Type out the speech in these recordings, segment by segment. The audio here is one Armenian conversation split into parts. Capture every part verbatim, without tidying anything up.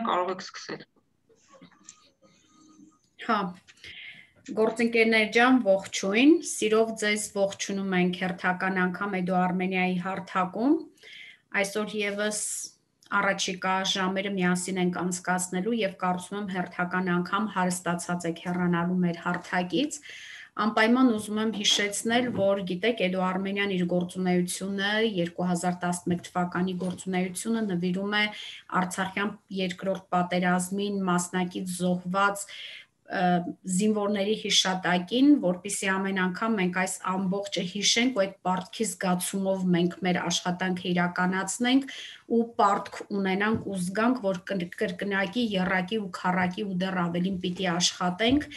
կարող եք սկսել։ Հա, գործընկերներ ջան, ողջույն, սիրով ձեզ ողջունում ենք հերթական անգամ Edu Armenia-ի հարթակում, այսօր եւս առաջիկա ժամերը միասին ենք անցկացնելու եւ կարծում եմ հերթական անգամ հարստացած եք հեռանալու մեր հարթակից, անպայման ուզում եմ հիշեցնել, որ գիտեք Edu Armenia-ն իր գործունեությունը երկու հազար տասնմեկ թվականի գործունեությունը նվիրում է Արցախյան երկրորդ պատերազմին մասնակից զոհված զինվորների հիշատակին, որպեսզի ամեն անգամ մենք այս ամբողջը հիշենք ու այդ պարտքի զգացումով մենք մեր աշխատանքը իրականացնենք ու պարտք ունենանք ու զգանք, որ կրկնակի, եռակի ու քառակի ու դեռ ավելին պիտի աշխատենք,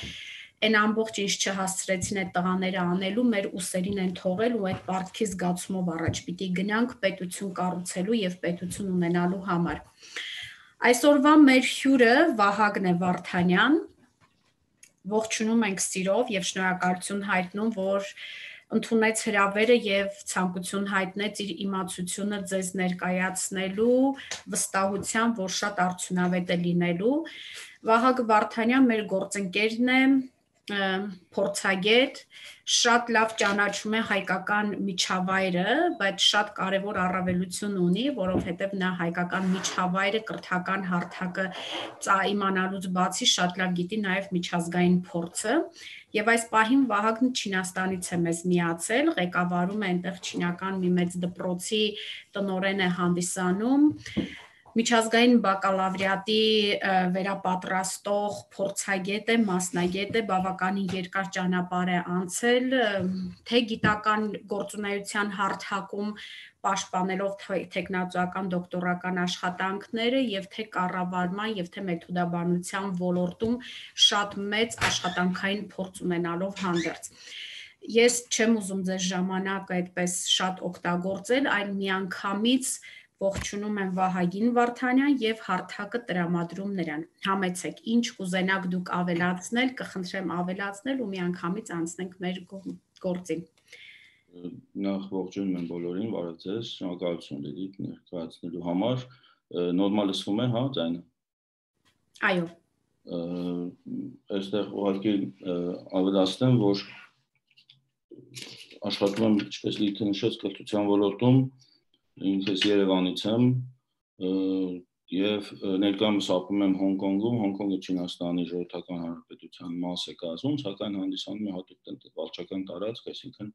այն ամբողջ ինչ չհասցրեցին այդ տղաները անելու, մեր ուսերին են թողել ու այդ պարտքի զգացումով առաջ պիտի գնանք պետություն կառուցելու եւ պետություն ունենալու համար։ Այսօրվա մեր հյուրը Վահագն է Վարդանյան, ողջունում ենք սիրով եւ շնորհակալություն հայտնում, որ ընդունեց հրավերը եւ ցանկություն հայտնեց իր իմացությունը ձեզ ներկայացնելու վստահությամբ, որ շատ արդյունավետ է լինելու։ Վահագն Վարդանյան մեր գործընկերն է, փորձագետ, շատ լավ ճանաչում է հայկական միջավայրը, բայց շատ կարևոր առավելություն ունի, որովհետև նա հայկական միջավայրը, կրթական հարթակը իմանալուց բացի շատ լավ գիտի նաև միջազգային փորձը, եւ այս պահին Վահագնը Չինաստանից է մեզ միացել, ղեկավարում է այնտեղ չինական մի մեծ դպրոցի տնօրեն է հանդիսանում, միջազգային բակալավրիատի վերապատրաստող փորձագետ է, մասնագետ է, բավականին երկար ճանապարհ է անցել, թե գիտական գործունեության հարթակում պաշտպանելով թեկնածուական դոկտորական աշխատանքները եւ թե կառավարման եւ թե մեթոդաբանության ոլորտում շատ մեծ աշխատանքային փորձ ունենալով հանդերձ։ Ես չեմ ուզում ձեզ ժամանակը այդպես շատ օգտագործել, այլ միանգամից ողջունում եմ Վահագին Վարդանյան եւ հարթակը տրամադրում նրան։ Համեցեք, ինչ կուզենաք դուք ավելացնել, կխնդրեմ ավելացնել ու միանգամից անցնենք մեր գործին։ Նախ ողջունում եմ բոլորին, բարև ձեզ, շնորհակալություն Լիլիթ ներկայացնելու համար։ Նորմալ լսվում է, հա, ձայնը։ Այո։ Այստեղ ուղղակի ավելացնեմ, որ աշխատում եմ, ինչպես Լիլիթը նշեց, կրթության ոլորտում, ինքս Երևանից եմ եւ ներկայումս ապրում եմ Հոնկոնգում, Հոնկոնգը Չինաստանի ժողովրդական հանրապետության մաս է կազմում, սակայն հանդիսանում է հատուկ վարչական տարածք, այսինքն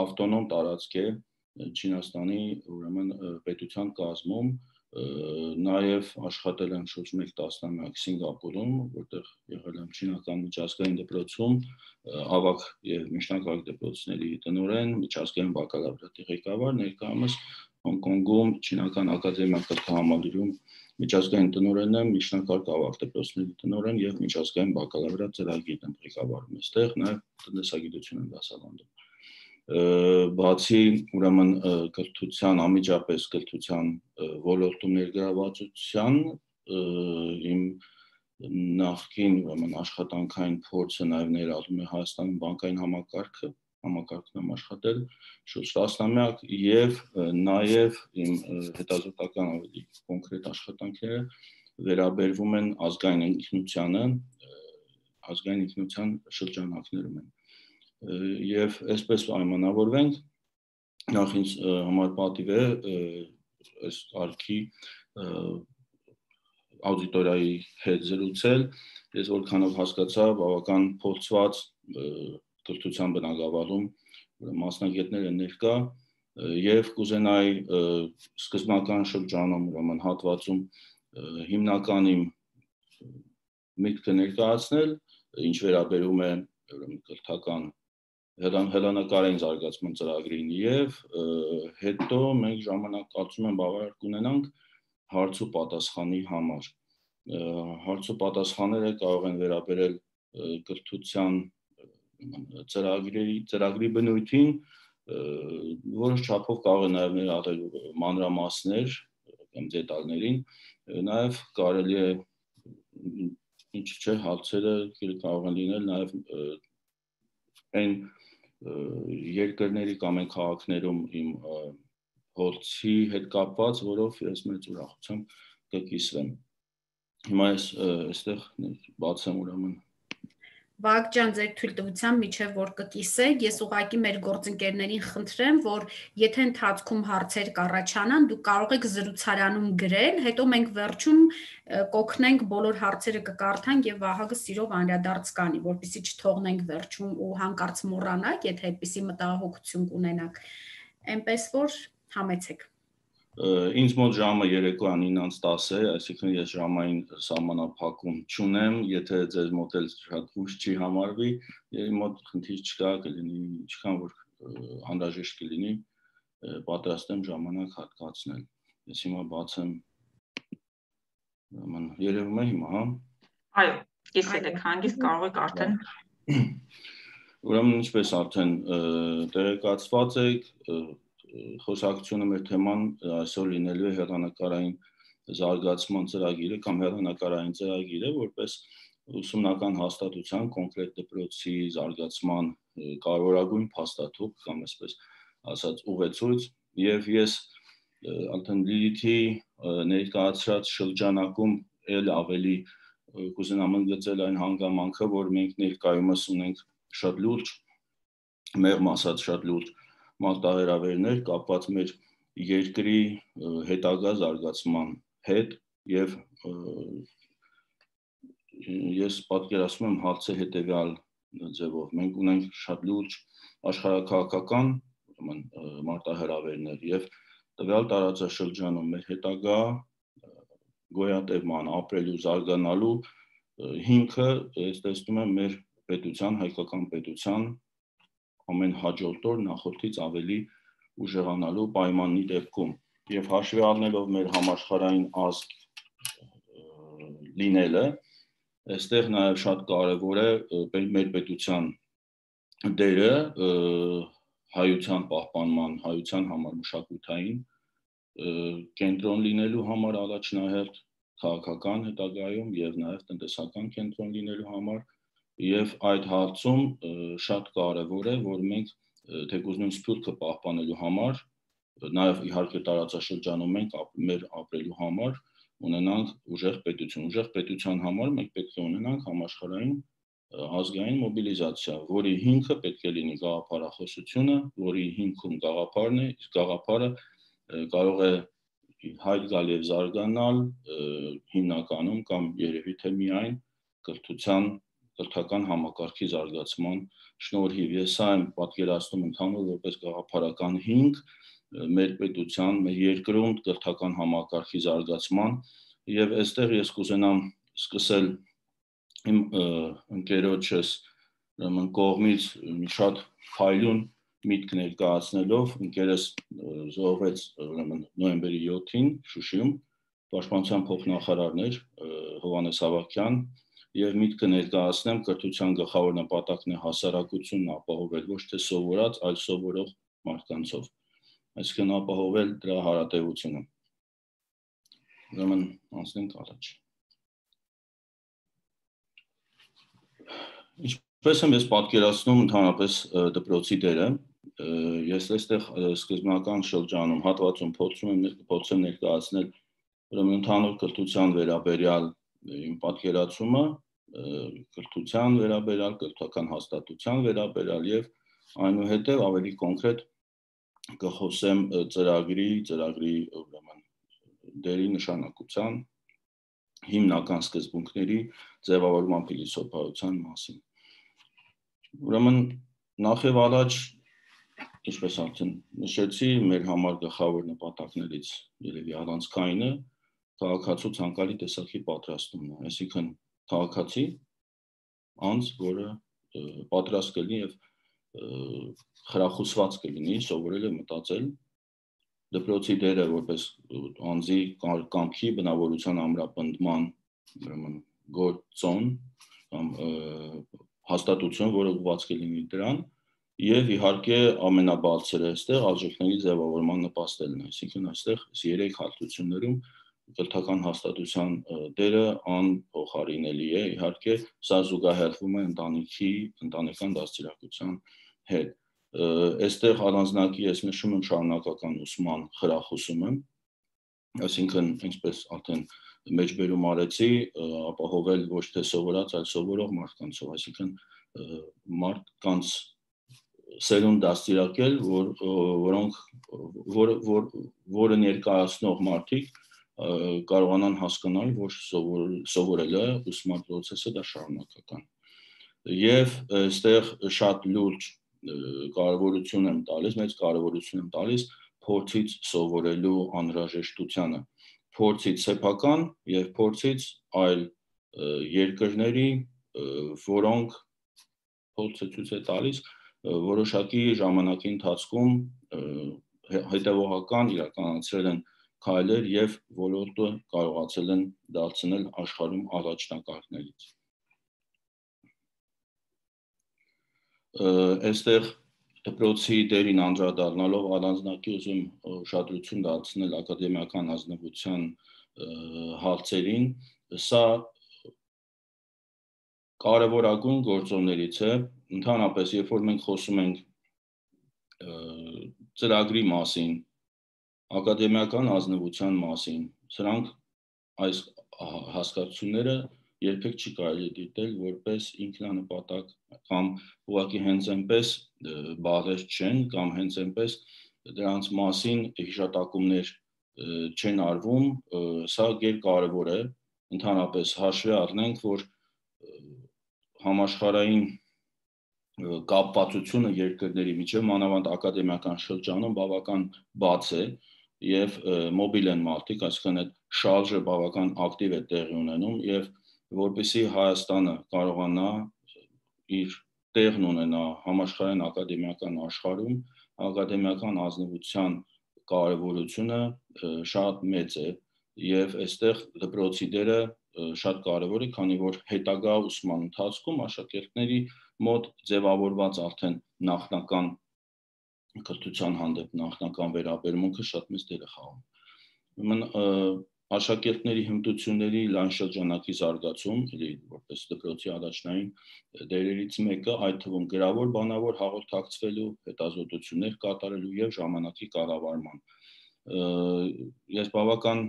ավտոնոմ տարածք է Չինաստանի ուրեմն պետության կազմում, նաև աշխատել եմ շուրջ մեկ տասնամյակ Սինգապուրում, որտեղ եղել եմ չինական միջազգային դպրոցում, ավագ եւ միջնակարգ դպրոցների տնօրեն, միջազգային բակալավրիատի ղեկավար, ներկայումս Հոնկոնգում չինական ակադեմիական կրթահամալիրում միջազգային տնօրեն եմ, միջնակարգ ավագ դպրոցների տնօրեն եւ միջազգային բակալավրիատ ծրագիր եմ ղեկավարում այստեղ, նաեւ տնտեսագիտություն եմ դասավանդում։ Բացի ուրեմն կրթության, անմիջապես կրթության ոլորտում ներգրավվածության, իմ նախկին ուրեմն աշխատանքային փորձը նաև ներառում է Հայաստանում բանկային համակարգը, համակարգն եմ աշխատել շուրջ տասնամյակ եւ նաեւ իմ հետազոտական ավելի կոնկրետ աշխատանքները վերաբերվում են ազգային ինքնությանը, ազգային ինքնության շրջանակներում են։ Եվ այսպես պայմանավորվենք, նախ ինձ համար պատիվ է այս արքի աուդիտորիայի հետ զրուցել, ես որքանով հասկացա բավական փորձված կրթության բնագավառում մասնագետներ են ներկա եւ կուզենայի սկզբնական շրջանում ուրեմն հատվածում հիմնականի միտքը ներկայացնել, ինչ վերաբերում է ուրեմն կրթական հեռանկարային զարգացման ծրագրին եւ հետո մենք ժամանակ կարծում եմ բավարար կունենանք հարց ու պատասխանի համար։ Հարց ու պատասխանները կարող են վերաբերել կրթության ծրագրերի ծրագրի բնույթին, որոշ չափով կարող է նաեւ ներառել մանրամասներ կամ դետալներին, նաեւ կարելի է ինչ չէ հարցերը կարող են լինել նաեւ այն երկրների կամ այն քաղաքներում իմ փորձի հետ կապված, որով ես մեծ ուրախությամբ կկիսվեմ։ Հիմա ես այստեղ բացեմ ուրեմն Վահագ ջան, ձեր թույլտվությամբ միջև որ կկիսեք, ես ուղղակի մեր գործընկերներին խնդրեմ, որ եթե ընթացքում հարցեր կառաջանան, դուք կարող եք զրուցարանում գրել, հետո մենք վերջում կօգնենք բոլոր հարցերը կկարդանք եւ Վահագը սիրով անդրադարձ կանի, որպեսզի չթողնենք վերջում ու հանկարծ մոռանանք, եթե այդպիսի մտահոգություն կունենաք։ Էնպես որ համեցեք։ Ինձ մոտ ժամը երեկոյան ինձ տասը է, այսինքն ես ժամային սահմանափակում չունեմ, եթե ձեզ մոտ էլ շատ ուշ չի համարվի, իմ մոտ խնդիր չկա, կլինի, ինչքան որ անհրաժեշտ կլինի, պատրաստ եմ ժամանակ հատկացնել։ Ես հիմա բացեմ, երևում է հիմա, հա։ Այո, կիսել եք հանգիստ, կարող եք արդեն։ Ուրեմն ինչպես արդեն տեղեկացված եք, խոսակցությունը մեր թեման այսօր լինելու է հեռանկարային զարգացման ծրագիրը կամ հեռանկարային ծրագիրը, որպես ուսումնական հաստատության կոնկրետ դպրոցի զարգացման կարևորագույն փաստաթուղթ կամ այսպես ասած ուղեցույց, եւ ես արդեն Լիլիթի ներկայացրած շրջանակում ել ավելի կուզենամ ընդգծել այն հանգամանքը, որ մենք ներկայումս ունենք շատ լուրջ, մեղմ ասած շատ լուրջ մարտահրավերներ կապված մեր երկրի հետագա զարգացման հետ եւ ես պատկերացնում եմ հարցը հետեւյալ ձևով մենք ունենք շատ լուրջ աշխարհաքաղաքական մարտահրավերներ եւ տվյալ տարածաշրջանում մեր հետագա գոյատևման, ապրելու, զարգանալու հիմքը ես տեսնում եմ մեր պետության, հայկական պետության ամեն հաջորդ օր նախորդից ավելի ուժեղանալու պայմանի դեպքում եւ հաշվի առնելով մեր համաշխարհային ազգ լինելը, այստեղ նաեւ շատ կարեւոր է մեր պետության դերը հայության պահպանման, հայության համար մշակութային կենտրոն լինելու համար առաջնահերթ քաղաքական հետագայում եւ նաեւ տնտեսական կենտրոն լինելու համար եւ այդ հարցում շատ կարեւոր է, որ մենք թեկուզ նույն սփյուռքը պահպանելու համար, նաեւ իհարկե տարածաշրջանում մենք մեր ապրելու համար ունենանք ուժեղ պետություն, ուժեղ պետության համար մենք պետք է ունենանք համաշխարհային ազգային մոբիլիզացիա, որի հիմքը պետք է լինի գաղափարախոսությունը, որի հիմքում գաղափարն է, իսկ գաղափարը կարող է հայտ գալ եւ զարգանալ հիմնականում կամ երևի թե միայն կրթության կրթական համակարգի զարգացման շնորհիվ ես սա եմ պատկերացնում ընդհանուր որպես գաղափարական հիմք մեր պետության, մեր երկրում կրթական համակարգի զարգացման եւ այստեղ ես կուզենամ սկսել իմ ընկերոջս ուրեմն կողմից մի շատ փայլուն միտք ներկայացնելով ընկերս զոհվեց ուրեմն նոյեմբերի յոթին Շուշիում պաշտպանության փոխնախարարն էր Հովհաննես Ավագյան եւ միտքը ներկայացնեմ կրթության գլխավոր նպատակն է հասարակությունն ապահովել ոչ թե սովորած, այլ սովորող մարդկանցով այսինքն ապահովել դրա հարատևությունը ուրեմն անցնենք առաջ Ինչպես եմ ես պատկերացնում ընդհանրապես դպրոցի դերը ես այստեղ սկզբնական շրջանում հատվածում փորձում եմ փորձեմ ներկայացնել ուրեմն ընդհանուր կրթության վերաբերյալ իմ պատկերացումը կրթության վերաբերյալ կրթական հաստատության վերաբերյալ եւ այնուհետեւ ավելի կոնկրետ կխոսեմ ծրագրի ծրագրի ուրեմն դերի նշանակության հիմնական սկզբունքների ձևավորման փիլիսոփայության մասին Ուրեմն նախ եւ առաջ ինչպես արդեն նշեցի մեր համար գլխավոր նպատակներից երևի առանցքայինը քաղաքացու ցանկալի տեսակի պատրաստումն է այսինքն քաղաքացի անձ որը պատրաստ կլինի եւ խրախուսված կլինի սովորել եւ մտածել դպրոցի դերը որպես անձի կամքի բնավորության ամրապնդման ուրեմն գործոն կամ հաստատություն, որը ուղղված կլինի դրան, եւ իհարկե ամենաբարձրը այստեղ արժեքների ձևավորման նպաստելն է, այսինքն այստեղ երեք հարթություններում կրթական հաստատության դերը անփոխարինելի է, իհարկե սա զուգահեռվում է ընտանիքի, ընտանեկան դաստիարակության հետ։ Այստեղ առանձնակի ես նշում եմ շարունակական ուսման խրախուսումը, Այսինքն, ինչպես արդեն մեջբերում արեցի, ապահովել ոչ թե սովորած, այլ սովորող մարդկանցով, այսինքն մարդկանց սերունդ դաստիարակել, որ որոնք որ որ որը ներկայացնող մարդիկ կարողանան հասկանալ, որ սովորելը ուսման process-ը դա շարունակական։ Եվ այստեղ շատ լուրջ կարևորություն եմ տալիս, մեծ կարևորություն եմ տալիս փորձից սովորելու անհրաժեշտությանը, փորձից սեփական եւ փորձից այլ երկրների, որոնք փորձը ցույց է տալիս որոշակի ժամանակի ընթացքում հետևողական իրականացրել են քայլեր եւ ոլորտը կարողացել են դարձնել աշխարհում առաջնակարգներից։ Այստեղ դպրոցի դերին անդրադառնալով առանձնակի ուզում ուշադրություն դարձնել ակադեմիական ազնվության հարցերին, սա կարևորագույն գործոններից է, ընդհանրապես, երբ որ մենք խոսում ենք ծրագրի մասին, ակադեմիական ազնվության մասին, սրանք այս հասկացությունները երբեք չի կարելի դիտել որպես ինքնանպատակ կամ ուղղակի հենց այնպես բաղեր չեն կամ հենց այնպես դրանց մասին հիշատակումներ չեն արվում, սա գերկարևոր է, ընդհանրապես հաշվի առնենք, որ համաշխարհային կապվածությունը երկրների միջև մանավանդ ակադեմիական շրջանում բավական բաց է եւ մոբիլ են մարդիկ, այսինքն այդ շարժը բավական ակտիվ է տեղի ունենում եւ որպեսզի Հայաստանը կարողանա իր տեղն ունենա համաշխարհային ակադեմիական աշխարհում, ակադեմիական ազնվության կարևորությունը շատ մեծ է եւ այստեղ դպրոցի դերը շատ կարևոր է, քանի որ հետագա ուսման ընթացքում աշակերտների մոտ ձևավորված արդեն նախնական կրթության հանդեպ նախնական վերաբերմունքը շատ մեծ դեր է խաղում։ Ուրեմն աշակերտների հմտությունների լայն շրջանակի զարգացում, որպես դպրոցի առաջնային դերերից մեկը, այդ թվում գրավոր բանավոր հաղորդակցվելու, հետազոտություններ կատարելու եւ ժամանակի կառավարման։ Ես բավական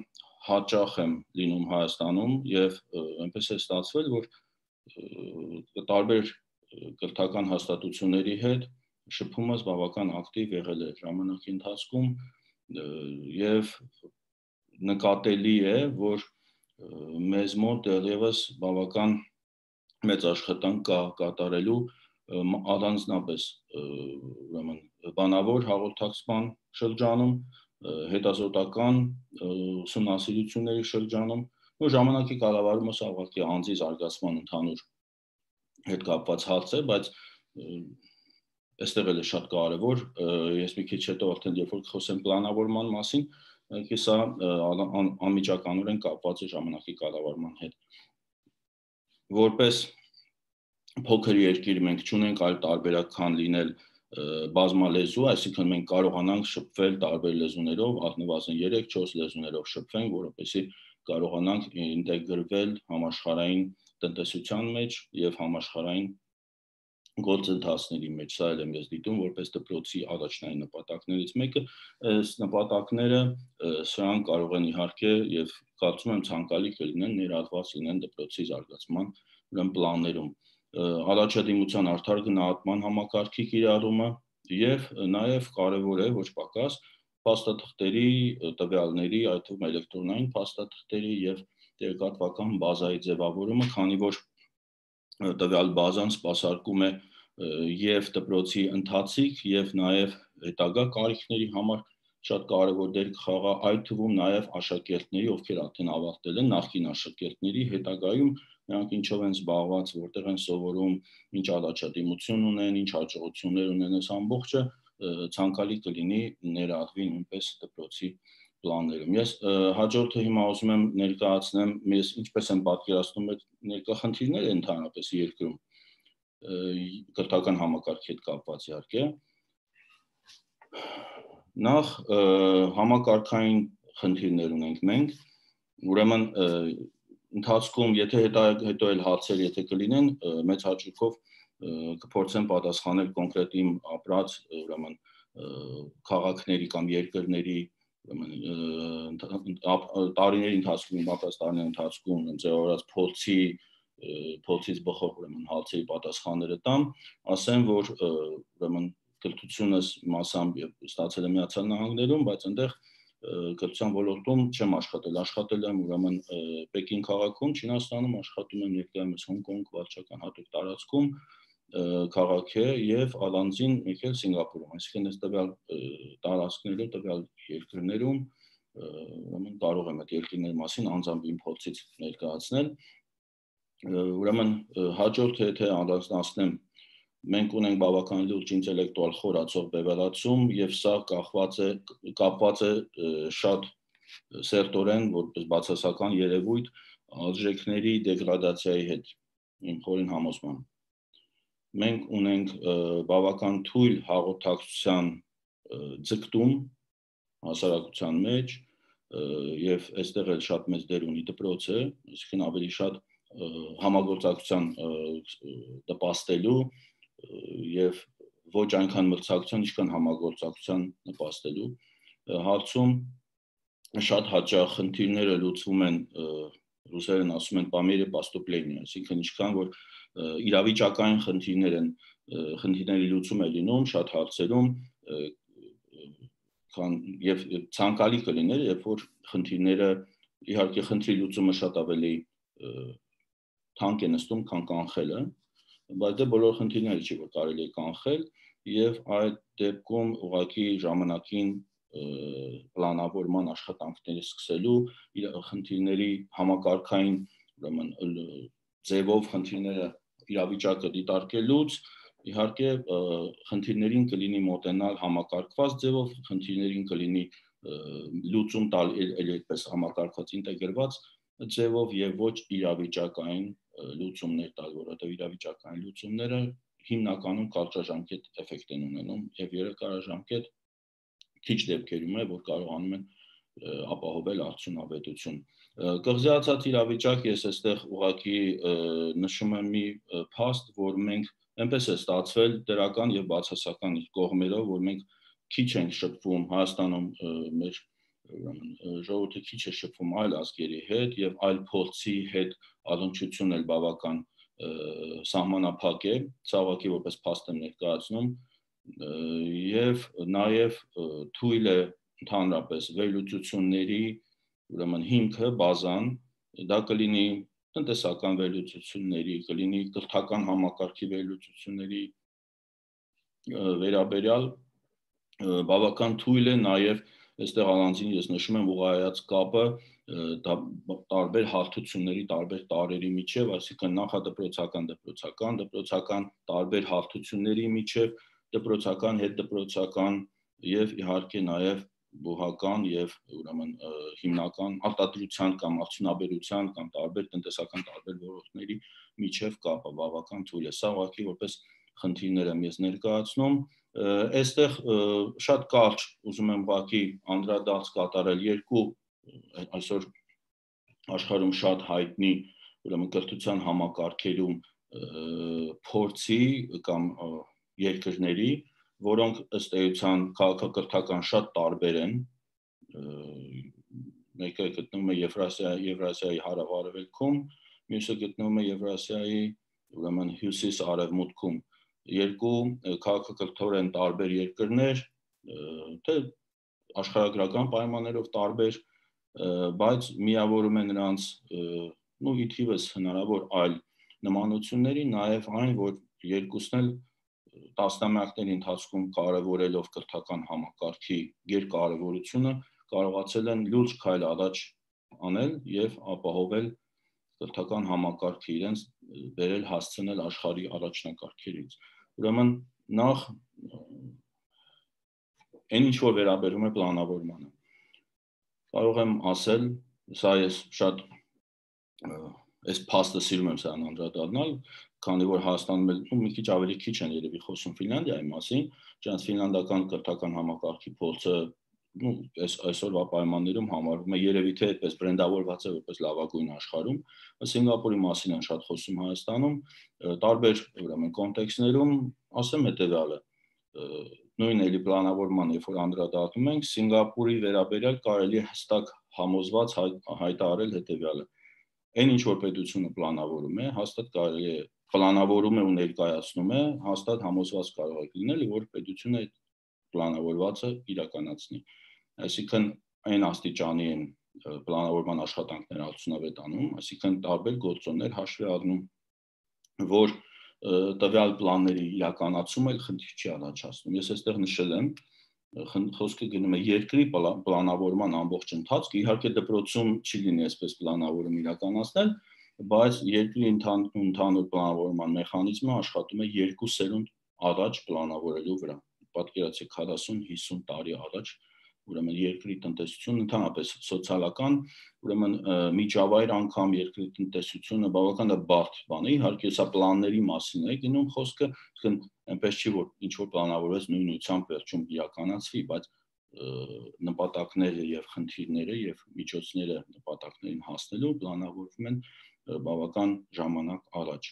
հաճախ եմ լինում Հայաստանում եւ այնպես է ստացվել, որ տարբեր կրթական հաստատությունների հետ շփումս բավական ակտիվ եղել է ժամանակի ընթացքում եւ նկատելի է, որ մեզ մոտ դեռևս բավական մեծ աշխատանք կա կատարելու առանձնապես ուրեմն բանավոր հաղորդակցման շրջանում, հետազոտական ուսումնասիրությունների շրջանում, որ ժամանակի կառավարումը սա ուղղակի անձի զարգացման ընդհանուր հետ կապված հարց է, բայց այստեղ էլ է շատ կարևոր, ես մի քիչ հետո արդեն երբ որ խոսեմ պլանավորման մասին, ինքը սա անմիջականորեն կապված է ժամանակի կառավարման հետ։ Որպես փոքր երկիր մենք չունենք այլ տարբերակ, քան լինել բազմալեզու, այսինքն մենք կարողանանք շփվել տարբեր լեզուներով, առնվազն երեք չորս լեզուներով շփվենք, որովհետեւ կարողանանք ինտեգրվել համաշխարհային տնտեսության մեջ եւ համաշխարհային գործընթացների մեջ, սա էլ եմ ես դիտում որպես դպրոցի առաջնային նպատակներից մեկը, այս նպատակները սրանք կարող են իհարկե եւ կարծում եմ ցանկալի կլինեն ներառված լինեն դպրոցի զարգացման ուրեմն պլաններում, առաջադիմության արդար գնահատման համակարգի կիրառումը եւ նաեւ կարեւոր է ոչ պակաս փաստաթղթերի տվյալների, այդ թվում էլեկտրոնային փաստաթղթերի եւ տեղեկատվական բազայի ձևավորումը, քանի որ տվյալ բազան սպասարկում է եւ դպրոցի ընթացիկ եւ նաեւ հետագա կարիքների համար շատ կարեւոր դեր կխաղա, այդ թվում նաեւ աշակերտների, ովքեր արդեն ավարտել են, նախկին աշակերտների հետագայում նրանք ինչով են զբաղված, որտեղ են սովորում, ինչ առաջադիմություն ունեն, ինչ հաջողություններ ունեն, այս ամբողջը ցանկալի կլինի ներառվի նույնպես դպրոցի պլաններում։ Ես հաջորդը հիմա ուզում եմ ներկայացնեմ, ես ինչպես եմ պատկերացնում այդ ներկա խնդիրները ընդհանրապես երկրում կրթական համակարգի հետ կապված իհարկե։ Նախ համակարգային խնդիրներ ունենք մենք, ուրեմն ընթացքում, եթե հետո էլ հարցեր եթե կլինեն, մեծ հաճույքով կփորձեմ պատասխանել կոնկրետ իմ ապրած ուրեմն քաղաքների կամ երկրների տարիների ընթացքում, ապրած տարիների ընթացքում ձևավորած փորձի փորձից բխող ուրեմն հարցերի պատասխանները տամ, ասեմ, որ ուրեմն կրթությունս մասամբ ստացել եմ Միացյալ Նահանգներում, բայց այնտեղ կրթության ոլորտում չեմ աշխատել, աշխատել եմ ուրեմն Պեկին քաղաքում, Չինաստանում, աշխատում եմ ներկայումս Հոնկոնգ վարչական հատուկ տարածքում քաղաք է եւ առանձին մեկ էլ Սինգապուրում, այսինքն այս տվյալ տարածքներում, տվյալ երկրներում ուրեմն կարող եմ այդ երկրների մասին անձամբ իմ փորձից ներկայացնել։ Ուրեմն հաջորդ եթե անդրադառնամ, մենք ունենք բավական լուրջ ինտելեկտուալ խորացող բևեռացում եւ սա կախված է կապված է շատ սերտորեն որպես բացասական երևույթ արժեքների դեգրադացիայի հետ իմ խորին համոզմամբ։ Մենք ունենք բավական թույլ հաղորդակցության ձգտում հասարակության մեջ եւ այստեղ էլ շատ մեծ դեր ունի դպրոցը, այսինքն ավելի շատ համագործակցության նպաստելու եւ ոչ այնքան մրցակցության, ինչքան համագործակցության նպաստելու հարցում շատ հաճախ խնդիրները լուծվում են ռուսերեն ասում են по мере поступления, այսինքն ինչքան որ իրավիճակային խնդիրներ են խնդիրների լուծում է լինում շատ հարցերում քան եւ ցանկալի կլիներ երբ որ խնդիրները իհարկե խնդրի լուծումը շատ ավելի թանկ է նստում քան կանխելը բայց դե բոլոր խնդիրները չի որ կարելի է կանխել եւ այդ դեպքում ուղղակի ժամանակին պլանավորման աշխատանքները սկսելու խնդիրների համակարգային ուրեմն ձևով խնդիրները իրավիճակը դիտարկելուց իհարկե խնդիրներին կլինի մոտենալ համակարգված ձևով խնդիրներին կլինի լուծում տալ այդպես համակարգված ինտեգրված ձևով եւ ոչ իրավիճակային լուծումներ տալ, որովհետեւ իրավիճակային լուծումները հիմնականում կարճաժամկետ էֆեկտ են ունենում եւ երկարաժամկետ քիչ դեպքերում է որ կարողանում են ապահովել արդյունավետություն կղզիացած իրավիճակ ես այստեղ ուղղակի նշում եմ մի փաստ որ մենք այնպես է ստացվել դրական եւ բացասական կողմերով որ մենք քիչ ենք շփվում Հայաստանում մեր ժողովուրդը քիչ է շփվում այլ ազգերի հետ եւ այլ փորձի հետ առնչությունն էլ բավական սահմանափակ է ցավոքի որպես փաստ եմ ներկայացնում եւ նաեւ թույլ է ընդհանրապես վերլուծությունների ուրեմն հիմքը բազան դա կլինի տնտեսական վերլուծությունների կլինի կրթական համակարգի վերլուծությունների վերաբերյալ բավական թույլ է նաեւ այստեղ առանձին ես նշում եմ ուղղայած կապը տարբեր հարթությունների տարբեր տարերի միջև, այսինքն նախադպրոցական, դպրոցական, դպրոցական տարբեր հարթությունների միջև, դպրոցական, հետդպրոցական եւ իհարկե նաեւ բուհական եւ ուրեմն հիմնական արտադրության կամ արդյունաբերության կամ տարբեր տնտեսական տարբեր ոլորտների միջև կապը բավական թույլ է։ Սա ուղղակի որպես խնդիրներ եմ ես ներկայացնում։ Այստեղ շատ կարճ ուզում եմ ուղղակի անդրադարձ կատարել երկու այսօր աշխարհում շատ հայտնի ուրեմն կրթության համակարգերում փորձի կամ երկրների, որոնք ըստ էության քաղաքակրթական շատ տարբեր են, մեկը գտնվում է Եվրասիայի Եվրասիայի հարավ-արևելքում, մյուսը գտնվում է Եվրասիայի ուրեմն հյուսիս-արևմուտքում, երկու քաղաքակրթորեն տարբեր երկրներ, թե աշխարհագրական պայմաններով տարբեր, բայց միավորում է նրանց նույն իթիվս հնարավոր այլ նմանությունների, նաև այն, որ երկուսն էլ տասնամյակների ընթացքում կարևորելով կրթական համակարգի երկարևորությունը կարողացել են լուրջ քայլ առաջ անել եւ ապահովել կրթական համակարգը իրենց բերել հասցնել աշխարհի առաջնակարգերից։ Ուրեմն նախ այն ինչ որ վերաբերում է պլանավորմանը կարող եմ ասել, սա ես շատ այս փաստը սիրում եմ սրան անդրադառնալ, քանի որ Հայաստանում մի քիչ ավելի քիչ են երևի խոսում Ֆինլանդիայի մասին, ջանց ֆինլանդական կրթական համակարգի փորձը ну այս այսօրվա պայմաններում համարվում է երևի թե այդպես բրենդավորված է որպես լավագույն աշխարհում, Սինգապուրի մասին են շատ խոսում Հայաստանում, տարբեր ուրեմն կոնտեքստներում ասեմ հետեւյալը նույն էլի պլանավորման, երբ որ անդրադառնում ենք, Սինգապուրի վերաբերյալ կարելի է հստակ համոզված հայտարարել հետևյալը. այն ինչ որ պետությունը պլանավորում է, հաստատ կարելի է պլանավորում է ու ներկայացնում է, հաստատ համոզված կարող է լինել, որ պետությունը այդ պլանավորվածը իրականացնի։ Այսինքն այն աստիճանի են պլանավորման աշխատանքները արդյունավետ անում, այսինքն տարբեր գործոններ հաշվի առնում, որ տվյալ պլանների իրականացումը խնդիր չի առաջացնում։ Ես այստեղ նշել եմ, խոսքը գնում է երկրի պլանավորման ամբողջ ընթացքը, իհարկե դպրոցում չի լինի այսպես պլանավորում իրականացնել, բայց երկրի ընդհանուր պլանավորման մեխանիզմը աշխատում է երկու սերունդ առաջ պլանավորելու վրա։ Պատկերացրեք քառասուն հիսուն տարի առաջ, ուրեմն երկրի տնտեսությունը ընդհանրապես սոցիալական, ուրեմն միջավայր անգամ երկրի տնտեսությունը բավական բարդ բան է, իհարկե սա պլանների մասին է գնում խոսքը, այնպես չի որ ինչ որ պլանավորվեց նույն ուղղությամբ վերջում իրականացվի, բայց նպատակները եւ խնդիրները եւ միջոցները նպատակներին հասնելու պլանավորվում են բավական ժամանակ առաջ։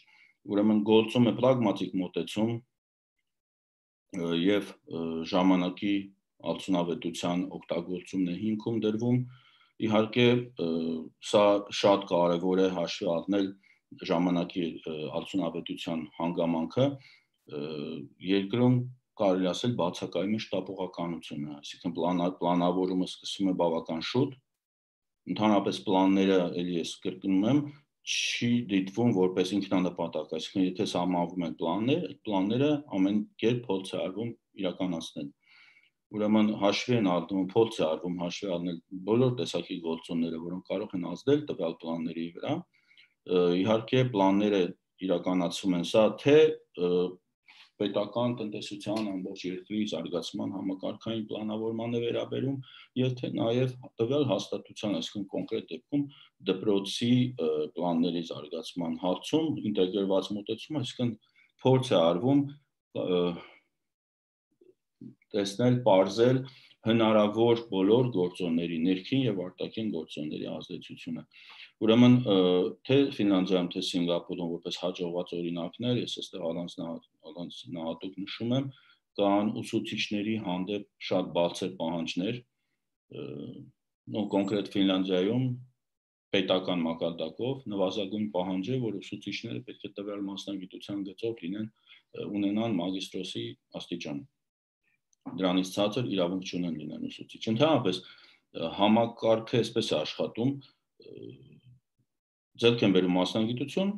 Ուրեմն գործում է պրագմատիկ մոտեցում եւ ժամանակի արդյունավետության օգտագործումն է հիմքում դրվում։ Իհարկե սա շատ կարևոր է հաշվի առնել ժամանակի արդյունավետության հանգամանքը երկրում կարելի ասել բացակայում է շտապողականությունը, այսինքն պլանավորումը սկսվում է բավական շուտ, ընդհանրապես պլանները, էլի ես կրկնում եմ, չի դիտվում որպես ինքնանպատակ, այսինքն եթե սահմանվում են պլաններ, այդ պլանները ամեն կերպ փորձ է արվում իրականացնել։ Ուրեմն հաշվի են առնում, փորձ է արվում հաշվի առնել բոլոր տեսակի գործոնները, որոնք կարող են ազդել տվյալ պլանների վրա։ Իհարկե պլանները իրականացվում են սա թե պետական տնտեսության ամբողջ երկրի զարգացման համակարգային պլանավորման է վերաբերում, եւ թե նաեւ տվյալ հաստատության, այսինքն կոնկրետ դեպքում դպրոցի պլանների զարգացման հարցում ինտեգրված մոտեցում, այսինքն փորձ է արվում տեսնել, պարզել հնարավոր բոլոր գործոնների, ներքին եւ արտաքին գործոնների ազդեցությունը։ Ուրեմն թե Ֆինլանդիայում, թե Սինգապուրում որպես հաջողված օրինակներ, ես այստեղ առանձնահատուկ նշում եմ, կան ուսուցիչների հանդեպ շատ բարձր պահանջներ, կոնկրետ Ֆինլանդիայում պետական մակարդակով նվազագույն պահանջ է, որ ուսուցիչները պետք է տվյալ մասնագիտության գծով լինեն, ունենան մագիստրոսի աստիճան։ Դրանից ցածր իրավունք չունեն լինեն ուսուցիչ։ Ընդհանրապես համակարգը այսպես է աշխատում, ձեռք են բերում մասնագիտություն,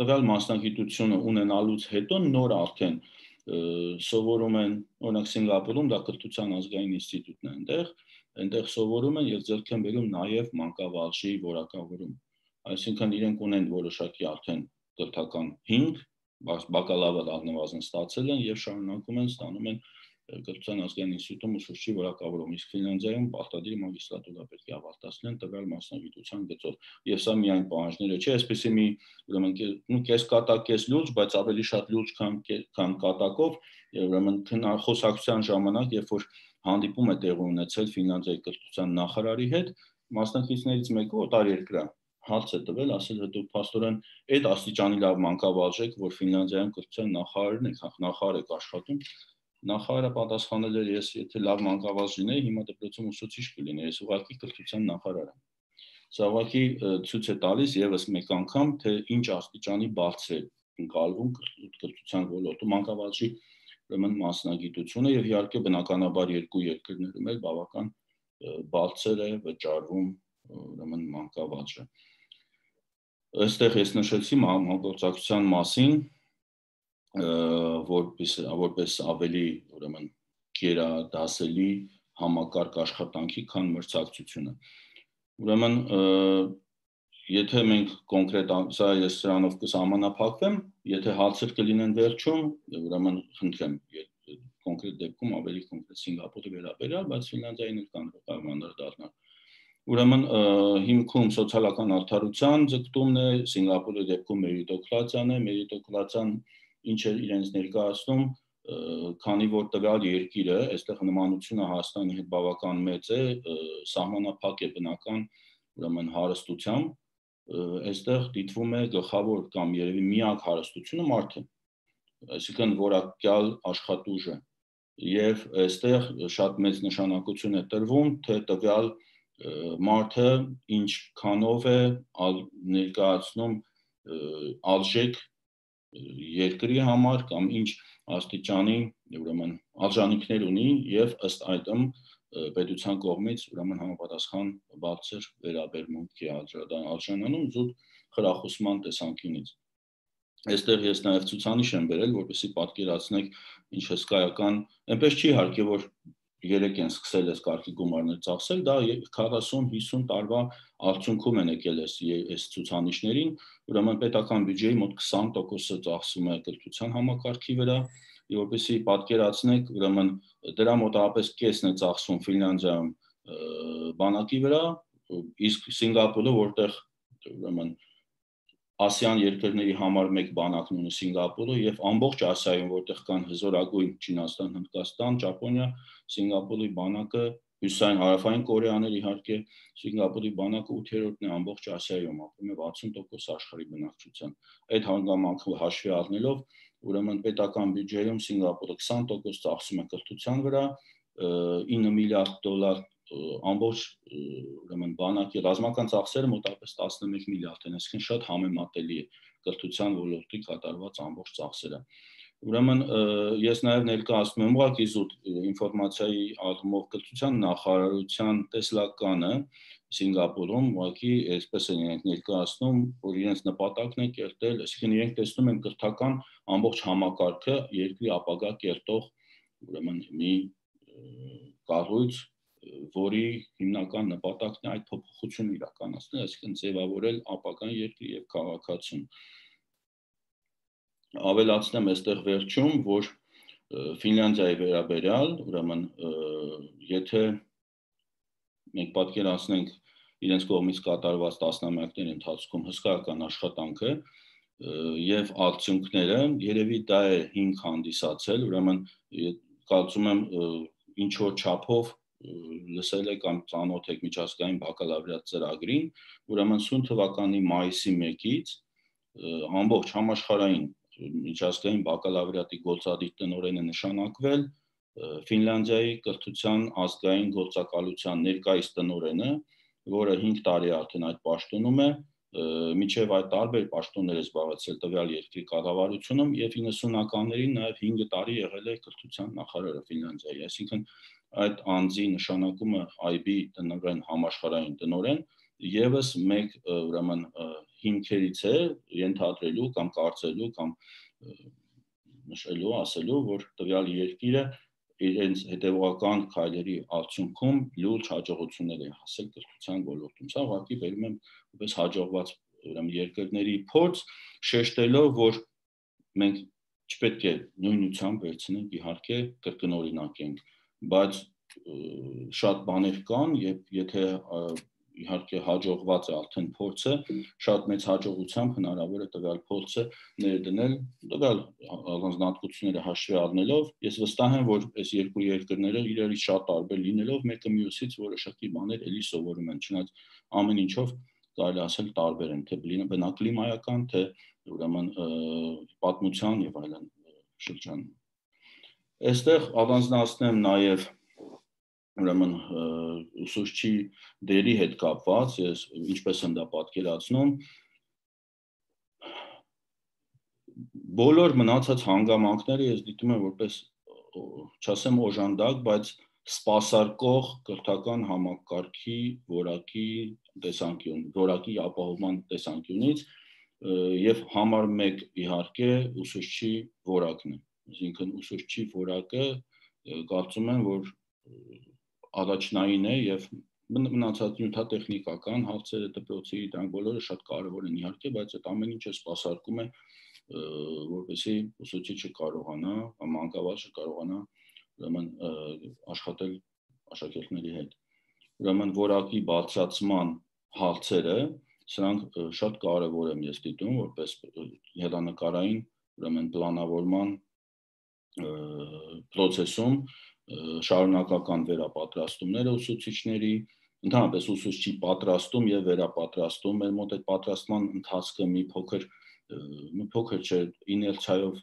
տվյալ մասնագիտությունը ունենալուց հետո նոր արդեն սովորում են, օրինակ Սինգապուրում դա կրթության ազգային ինստիտուտն է այնտեղ, այնտեղ սովորում են եւ ձեռք են բերում նաեւ մանկավարժի որակավորում։ Այսինքն իրենք ունեն որոշակի արդեն կրթական հիմք, բակալավր առնվազն ստացել են եւ շարունակում են ստանում են կրթության ազգային ինստիտուտում ուսուցչի որակավորում, իսկ Ֆինլանդիայում պարտադիր մագիստրատուրա պետք է ավարտացնեն տվյալ մասնագիտության գծով։ Եվ սա միայն պահանջները չէ, այսպեսի մի ուրեմն կես կատակ, կես լուրջ, բայց ավելի շատ լուրջ, քան քան կատակով, ուրեմն խոսակցության ժամանակ, երբ որ հանդիպում է տեղի ունեցել Ֆինլանդիայի կրթության նախարարի հետ, մասնակիցներից մեկը օտարերկրյա հարց է տվել, ասել հետո փաստորեն այդ աստիճանի լավ մանկավարժ եք, որ Ֆինլանդիայում կրթության նախարարն եք, նախարար եք աշխատում։ Նախարարը պատասխանել էր, ես եթե լավ մանկավարժ լինեի, հիմա դպրոցում ուսուցիչ կլինեի, ես ուղղակի կրթության նախարար եմ։ Սա ուղղակի ցույց է տալիս եւս մեկ անգամ, թե ինչ աստիճանի բարձր է ընկալվում կրթության ոլորտում մանկավարժի ուրեմն մասնագիտությունը եւ իհարկե բնականաբար երկու երկրներում էլ բավական բարձր է վճարվում ուրեմն մանկավարժը։ Այստեղ ես նշեցի համագործակցության մասին, որպես որպես ավելի ուրեմն գերադասելի համակարգ աշխատանքի, քան մրցակցությունը։ Ուրեմն եթե մենք կոնկրետ սա ես սրանով կսահմանափակվեմ, եթե հարցեր կլինեն վերջում, ուրեմն խնդրեմ կոնկրետ դեպքում ավելի կոնկրետ Սինգապուրի վերաբերյալ, բայց Ֆինլանդիային էլ կան կարող դառնալ։ Ուրեմն հիմքում սոցիալական արդարության ձգտումն է, Սինգապուրի դեպքում մերիտոկրատիան է, մերիտոկրատիան ինչ է իրենց ներկայացնում, քանի որ տվյալ երկիրը, այստեղ նմանությունը Հայաստանի հետ բավական մեծ է, սահմանափակ է բնական ուրեմն հարստությամբ, այստեղ դիտվում է գլխավոր կամ երևի միակ հարստությունը մարդը, այսինքն որակյալ աշխատուժը, եւ այստեղ շատ մեծ նշանակություն է տրվում, թե տվյալ մարդը ինչքանով է ներկայացնում արժեք երկրի համար կամ ինչ աստիճանի ուրեմն արժանինքներ ունի եւ ըստ այդմ պետության կողմից ուրեմն համապատասխան բարձր վերաբերմունքի արժանանում զուտ խրախուսման տեսանկյունից։ Այստեղ ես նաև ցուցանիշ եմ բերել, որպեսզի պատկերացնեք ինչ հսկայական, այնպես չի իհարկե, որ երեք են սկսել այս կարգի գումարներ ծախսել, դա քառասուն հիսուն տարվա արդյունքում են եկել այս ցուցանիշներին, ուրեմն պետական բյուջեի մոտ քսան տոկոսը ծախսում է կրթության համակարգի վրա, որպեսզի պատկերացնեք, ուրեմն դրա մոտավորապես կեսն է ծախսում Ֆինլանդիայում բանակի վրա, իսկ Սինգապուրը, որտեղ ուրեմն Ասիան երկրների համար մեկ բանակն ունի Սինգապուրը եւ ամբողջ Ասիայում, որտեղ կան հզորագույն Չինաստան, Հնդկաստան, Ճապոնիա, Սինգապուրի բանակը, Հյուսիսային հարավային Կորեաներ իհարկե, Սինգապուրի բանակը ութերորդն է ամբողջ Ասիայում, ապրում է վաթսուն տոկոս աշխարհի բնակչության։ Այդ հանգամանքը հաշվի առնելով, ուրեմն պետական բյուջեում Սինգապուրը քսան տոկոս ծախսում է կրթության վրա, ինը միլիարդ դոլար ամբողջ ուրեմն բանակի ռազմական ծախսերը մոտավորապես տասնմեկ միլիարդ են, այսինքն շատ համեմատելի է կրթության ոլորտի կատարված ամբողջ ծախսերը։ Ուրեմն ես նաև ներկայացնում եմ ուղղակի զուտ ինֆորմացիայի առումով կրթության նախարարության տեսլականը Սինգապուրում, ուղղակի այսպես են իրենք ներկայացնում, որ իրենց նպատակն է կերտել, այսինքն իրենք տեսնում են կրթական ամբողջ համակարգը երկրի ապագա կերտող ուրեմն մի կառույց, որի հիմնական նպատակն է այդ փոփոխությունը իրականացնել, այսինքն ձևավորել ապագան երկրի եւ քաղաքացուն։ Ավելացնեմ այստեղ վերջում, որ Ֆինլանդիայի վերաբերյալ, ուրեմն եթե մենք պատկերացնենք իրենց կողմից կատարված տասնամյակների ընթացքում հսկայական աշխատանքը եւ արդյունքները, երևի դա է հիմք հանդիսացել, ուրեմն կարծում եմ ինչ որ չափով լսել եք կամ ծանոթ եք միջազգային բակալավրիատ ծրագրին, ուրեմն սույն թվականի մայիսի մեկից ամբողջ համաշխարհային միջազգային բակալավրիատի գործադիր տնօրեն է նշանակվել Ֆինլանդիայի կրթության ազգային գործակալության ներկայիս տնօրենը, որը հինգ տարի արդեն այդ պաշտոնում է, միջև այդ տարբեր պաշտոններ է զբաղեցրել տվյալ երկրի կառավարությունում եւ իննսունականներին նաեւ հինգ տարի եղել է կրթության նախարարը Ֆինլանդիայի, այսինքն այդ անձի նշանակումը այ բի տնօրեն համաշխարհային տնօրեն եւս մեկ ուրեմն հիմքերից է ենթադրելու կամ կարծելու կամ նշելու, ասելու, որ տվյալ երկիրը իրենց հետևողական քայլերի արդյունքում լուրջ հաջողություններ է հասել կրթության ոլորտում։ Սա ուղղակի բերում եմ որպես հաջողված ուրեմն երկրների փորձ, շեշտելով, որ մենք չպետք է նույնությամբ վերցնենք, իհարկե կրկնօրինակենք, բայց շատ բաներ կան եւ եթե իհարկե հաջողված է արդեն փորձը, շատ մեծ հաջողությամբ հնարավոր է տվյալ փորձը ներդնել, տվյալ առանձնահատկությունները հաշվի առնելով, ես վստահ եմ, որ այս երկու երկրները իրարից շատ տարբեր լինելով, մեկը մյուսից որոշակի բաներ էլի սովորում են, չնայած ամեն ինչով կարելի ասել տարբեր են, թե բնակլիմայական, թե ուրեմն պատմության եւ այլն շրջանում։ Այստեղ առանձնացնեմ նաեւ ուրեմն ուսուցչի դերի հետ կապված, ես ինչպես եմ դա պատկերացնում, բոլոր մնացած հանգամանքները ես դիտում եմ որպես, չասեմ օժանդակ, բայց սպասարկող կրթական համակարգի որակի տեսանկյուն, որակի ապահովման տեսանկյունից եւ համար մեկ իհարկե ուսուցչի որակն է, այսինքն ուսուցչի որակը կարծում եմ, որ առաջնային է եւ մնացած նյութատեխնիկական հարցերը դպրոցի դրանք բոլորը շատ կարեւոր են իհարկե, բայց այդ ամեն ինչը սպասարկում է որպեսզի ուսուցիչը կարողանա կամ մանկավարժը կարողանա ուրեմն աշխատել աշակերտների հետ։ Ուրեմն որակի բարձրացման հարցերը, սրանք շատ կարեւոր եմ ես դիտում որպես հեռանկարային ուրեմն պլանավորման process-ում շարունակական վերապատրաստումները ուսուցիչների, ընդհանրապես ուսուցչի պատրաստում եւ վերապատրաստում, մեր մոտ այդ պատրաստման ընթացքը մի փոքր մի փոքր չէ իներցիայով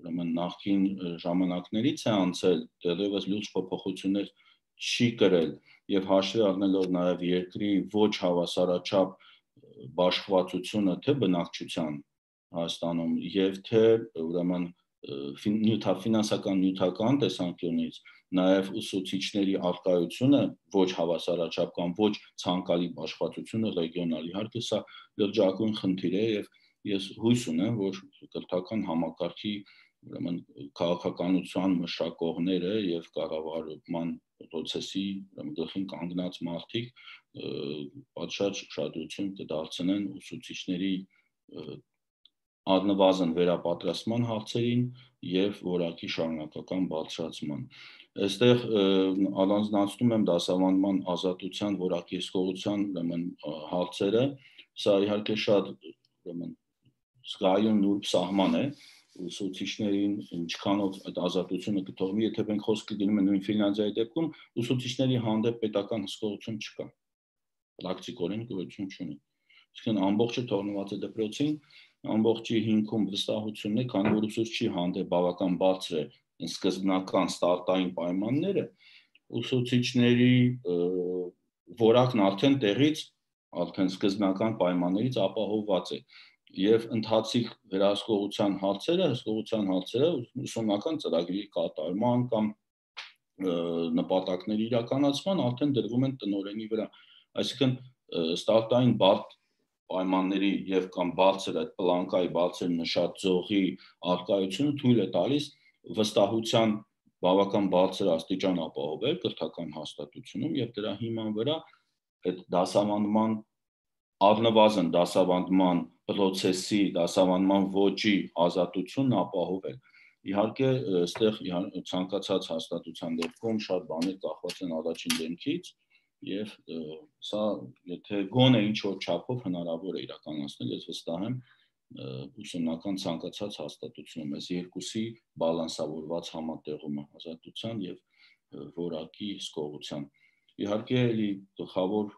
ուրեմն նախքին ժամանակներից է անցել, դեռևս լուրջ փոփոխություններ չի կրել եւ հաշվի առնելով նաեւ երկրի ոչ հավասարաչափ բաշխվածությունը թե բնակչության Հայաստանում եւ թե ուրեմն ֆինանսական նյութական տեսանկյունից նաեւ ուսուցիչների արկայությունը ոչ հավասարաչափ կամ ոչ ցանկալի բաշխվածությունը ռեգիոնալ իհարկե սա լրջագույն խնդիր է եւ ես հույս ունեմ որ կրթական համակարգի ուրեմն քաղաքականության մշակողները եւ կառավարման process-ի գլխին կանգնած մարդիկ պատշաճ ուշադրություն կդարձնեն ուսուցիչների առնվազն վերապատրաստման հարցերին եւ որակի շարունակական բարձրացման։ Այստեղ առանձնացնում եմ դասավանդման ազատության որակեսկողության ուրեմն հարցերը, սա իհարկե շատ ուրեմն զգայուն նուրբ սահման է, ուսուցիչներին ինչքանով այդ ազատությունը կթողնի, եթե մենք խոսքը գնում ենք նույն Ֆինլանդիայի դեպքում, ուսուցիչների հանդեպ պետական հսկողություն չկա, պրակտիկորեն գոյություն չունի։ Այսինքն ամբողջը թողնված է դպրոցին, ամբողջի հիմքում վստահությունն է, քանի որ ուսուցչի հանդեպ բավական բարձր է սկզբնական ստարտային պայմանները, ուսուցիչների որակն արդեն տեղից, արդեն սկզբնական պայմաններից ապահովված է եւ ընթացիկ վերահսկողության հարցերը, հսկողության հարցերը ուսումնական ծրագրի կատարման կամ նպատակների իրականացման արդեն դրվում են տնօրենի վրա, այսինքն ստարտային բարդ պայմանների եւ կամ բարձր այդ պլանկայի բարձր նշած ձողի արկայությունը թույլ է տալիս վստահության բավական բարձր աստիճան ապահովել կրթական հաստատությունում եւ դրա հիման վրա այդ դասավանդման առնվազն դասավանդման process-ի, դասավանդման ոճի ազատությունն ապահովել։ Իհարկե, այստեղ ցանկացած հաստատության դեպքում շատ բաներ կախված են առաջին դեմքից եւ սա եթե գոնե ինչ որ չափով հնարավոր է իրականացնել, ես վստահ եմ ուսումնական ցանկացած հաստատությունում այս երկուսի բալանսավորված համատեղումը ազատության եւ որակի հսկողության։ Իհարկե, էլի գլխավոր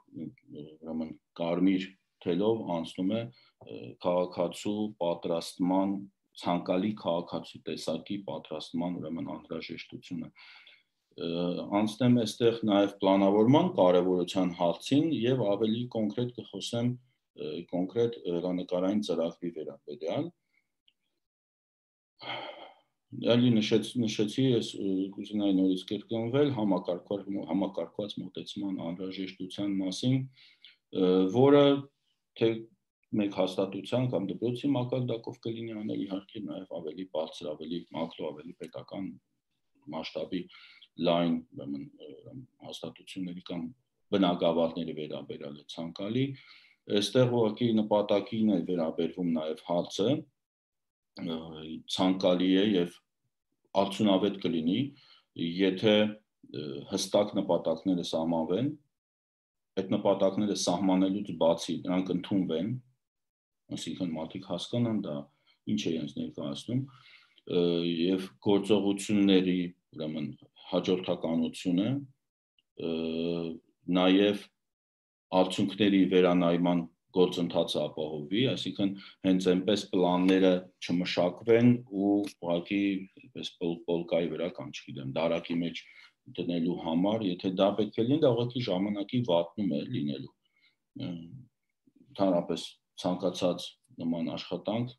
ուրեմն կարմիր թելով անցնում է քաղաքացու պատրաստման ցանկալի քաղաքացու տեսակի պատրաստման ուրեմն անհրաժեշտությունը։ Անցնեմ այստեղ նաև պլանավորման կարևորության հարցին եւ ավելի կոնկրետ կխոսեմ կոնկրետ հեռանկարային ծրագրի վերաբերյալ։ Ալի նշեցի, ես կուզենայի նորից կրկնվել համակարգված մոտեցման անհրաժեշտության մասին, որը թե մեկ հաստատության կամ դպրոցի մակարդակով կլինի անել իհարկե նաև ավելի բարձր, ավելի մակրո, ավելի պետական մասշտաբի լայն հաստատությունների կամ բնակավարների վերաբերյալ է ցանկալի։ Այստեղ ուղղակի նպատակին է վերաբերվում նաև հարցը ցանկալի է եւ արդյունավետ կլինի, եթե հստակ նպատակները սահմանվեն, այդ նպատակները սահմանելուց բացի նրանք ընդունվեն, այսինքն մարդիկ հասկանան դա ինչ է իրենց ներկայացնում եւ գործողությունների ուրեմն հաջորդականությունը նաեւ արդյունքների վերանայման գործընթացը ապահովի, այսինքն հենց այնպես պլանները չմշակվեն ու ուղղակի այնպես պոլկայի վրա կամ չգիտեմ դարակի մեջ դնելու համար, եթե դա պետք է լինի, դա ուղղակի ժամանակի վատնում է լինելու։ Ընդհանրապես ցանկացած նման աշխատանք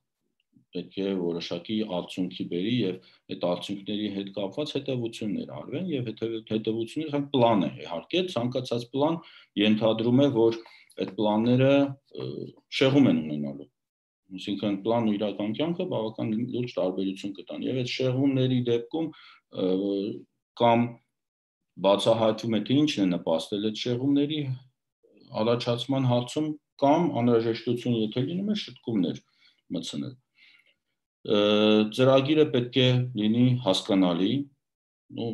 պետք է որոշակի արդյունքի բերի եւ այդ արդյունքների հետ կապված հետեւություններ արվեն եւ հետեւությունները հենց պլան է իհարկե ցանկացած պլան ենթադրում է որ այդ պլանները շեղում են ունենալու այսինքն պլանն ու իրական կյանքը բավական լուրջ տարբերություն կտան եւ այդ շեղումների դեպքում կամ բացահայտվում է թե ինչն է նպաստել այդ շեղումների առաջացման հարցում կամ անհրաժեշտություն եթե լինում է շտկումներ մտցնել ծրագիրը պետք է լինի հասկանալի ու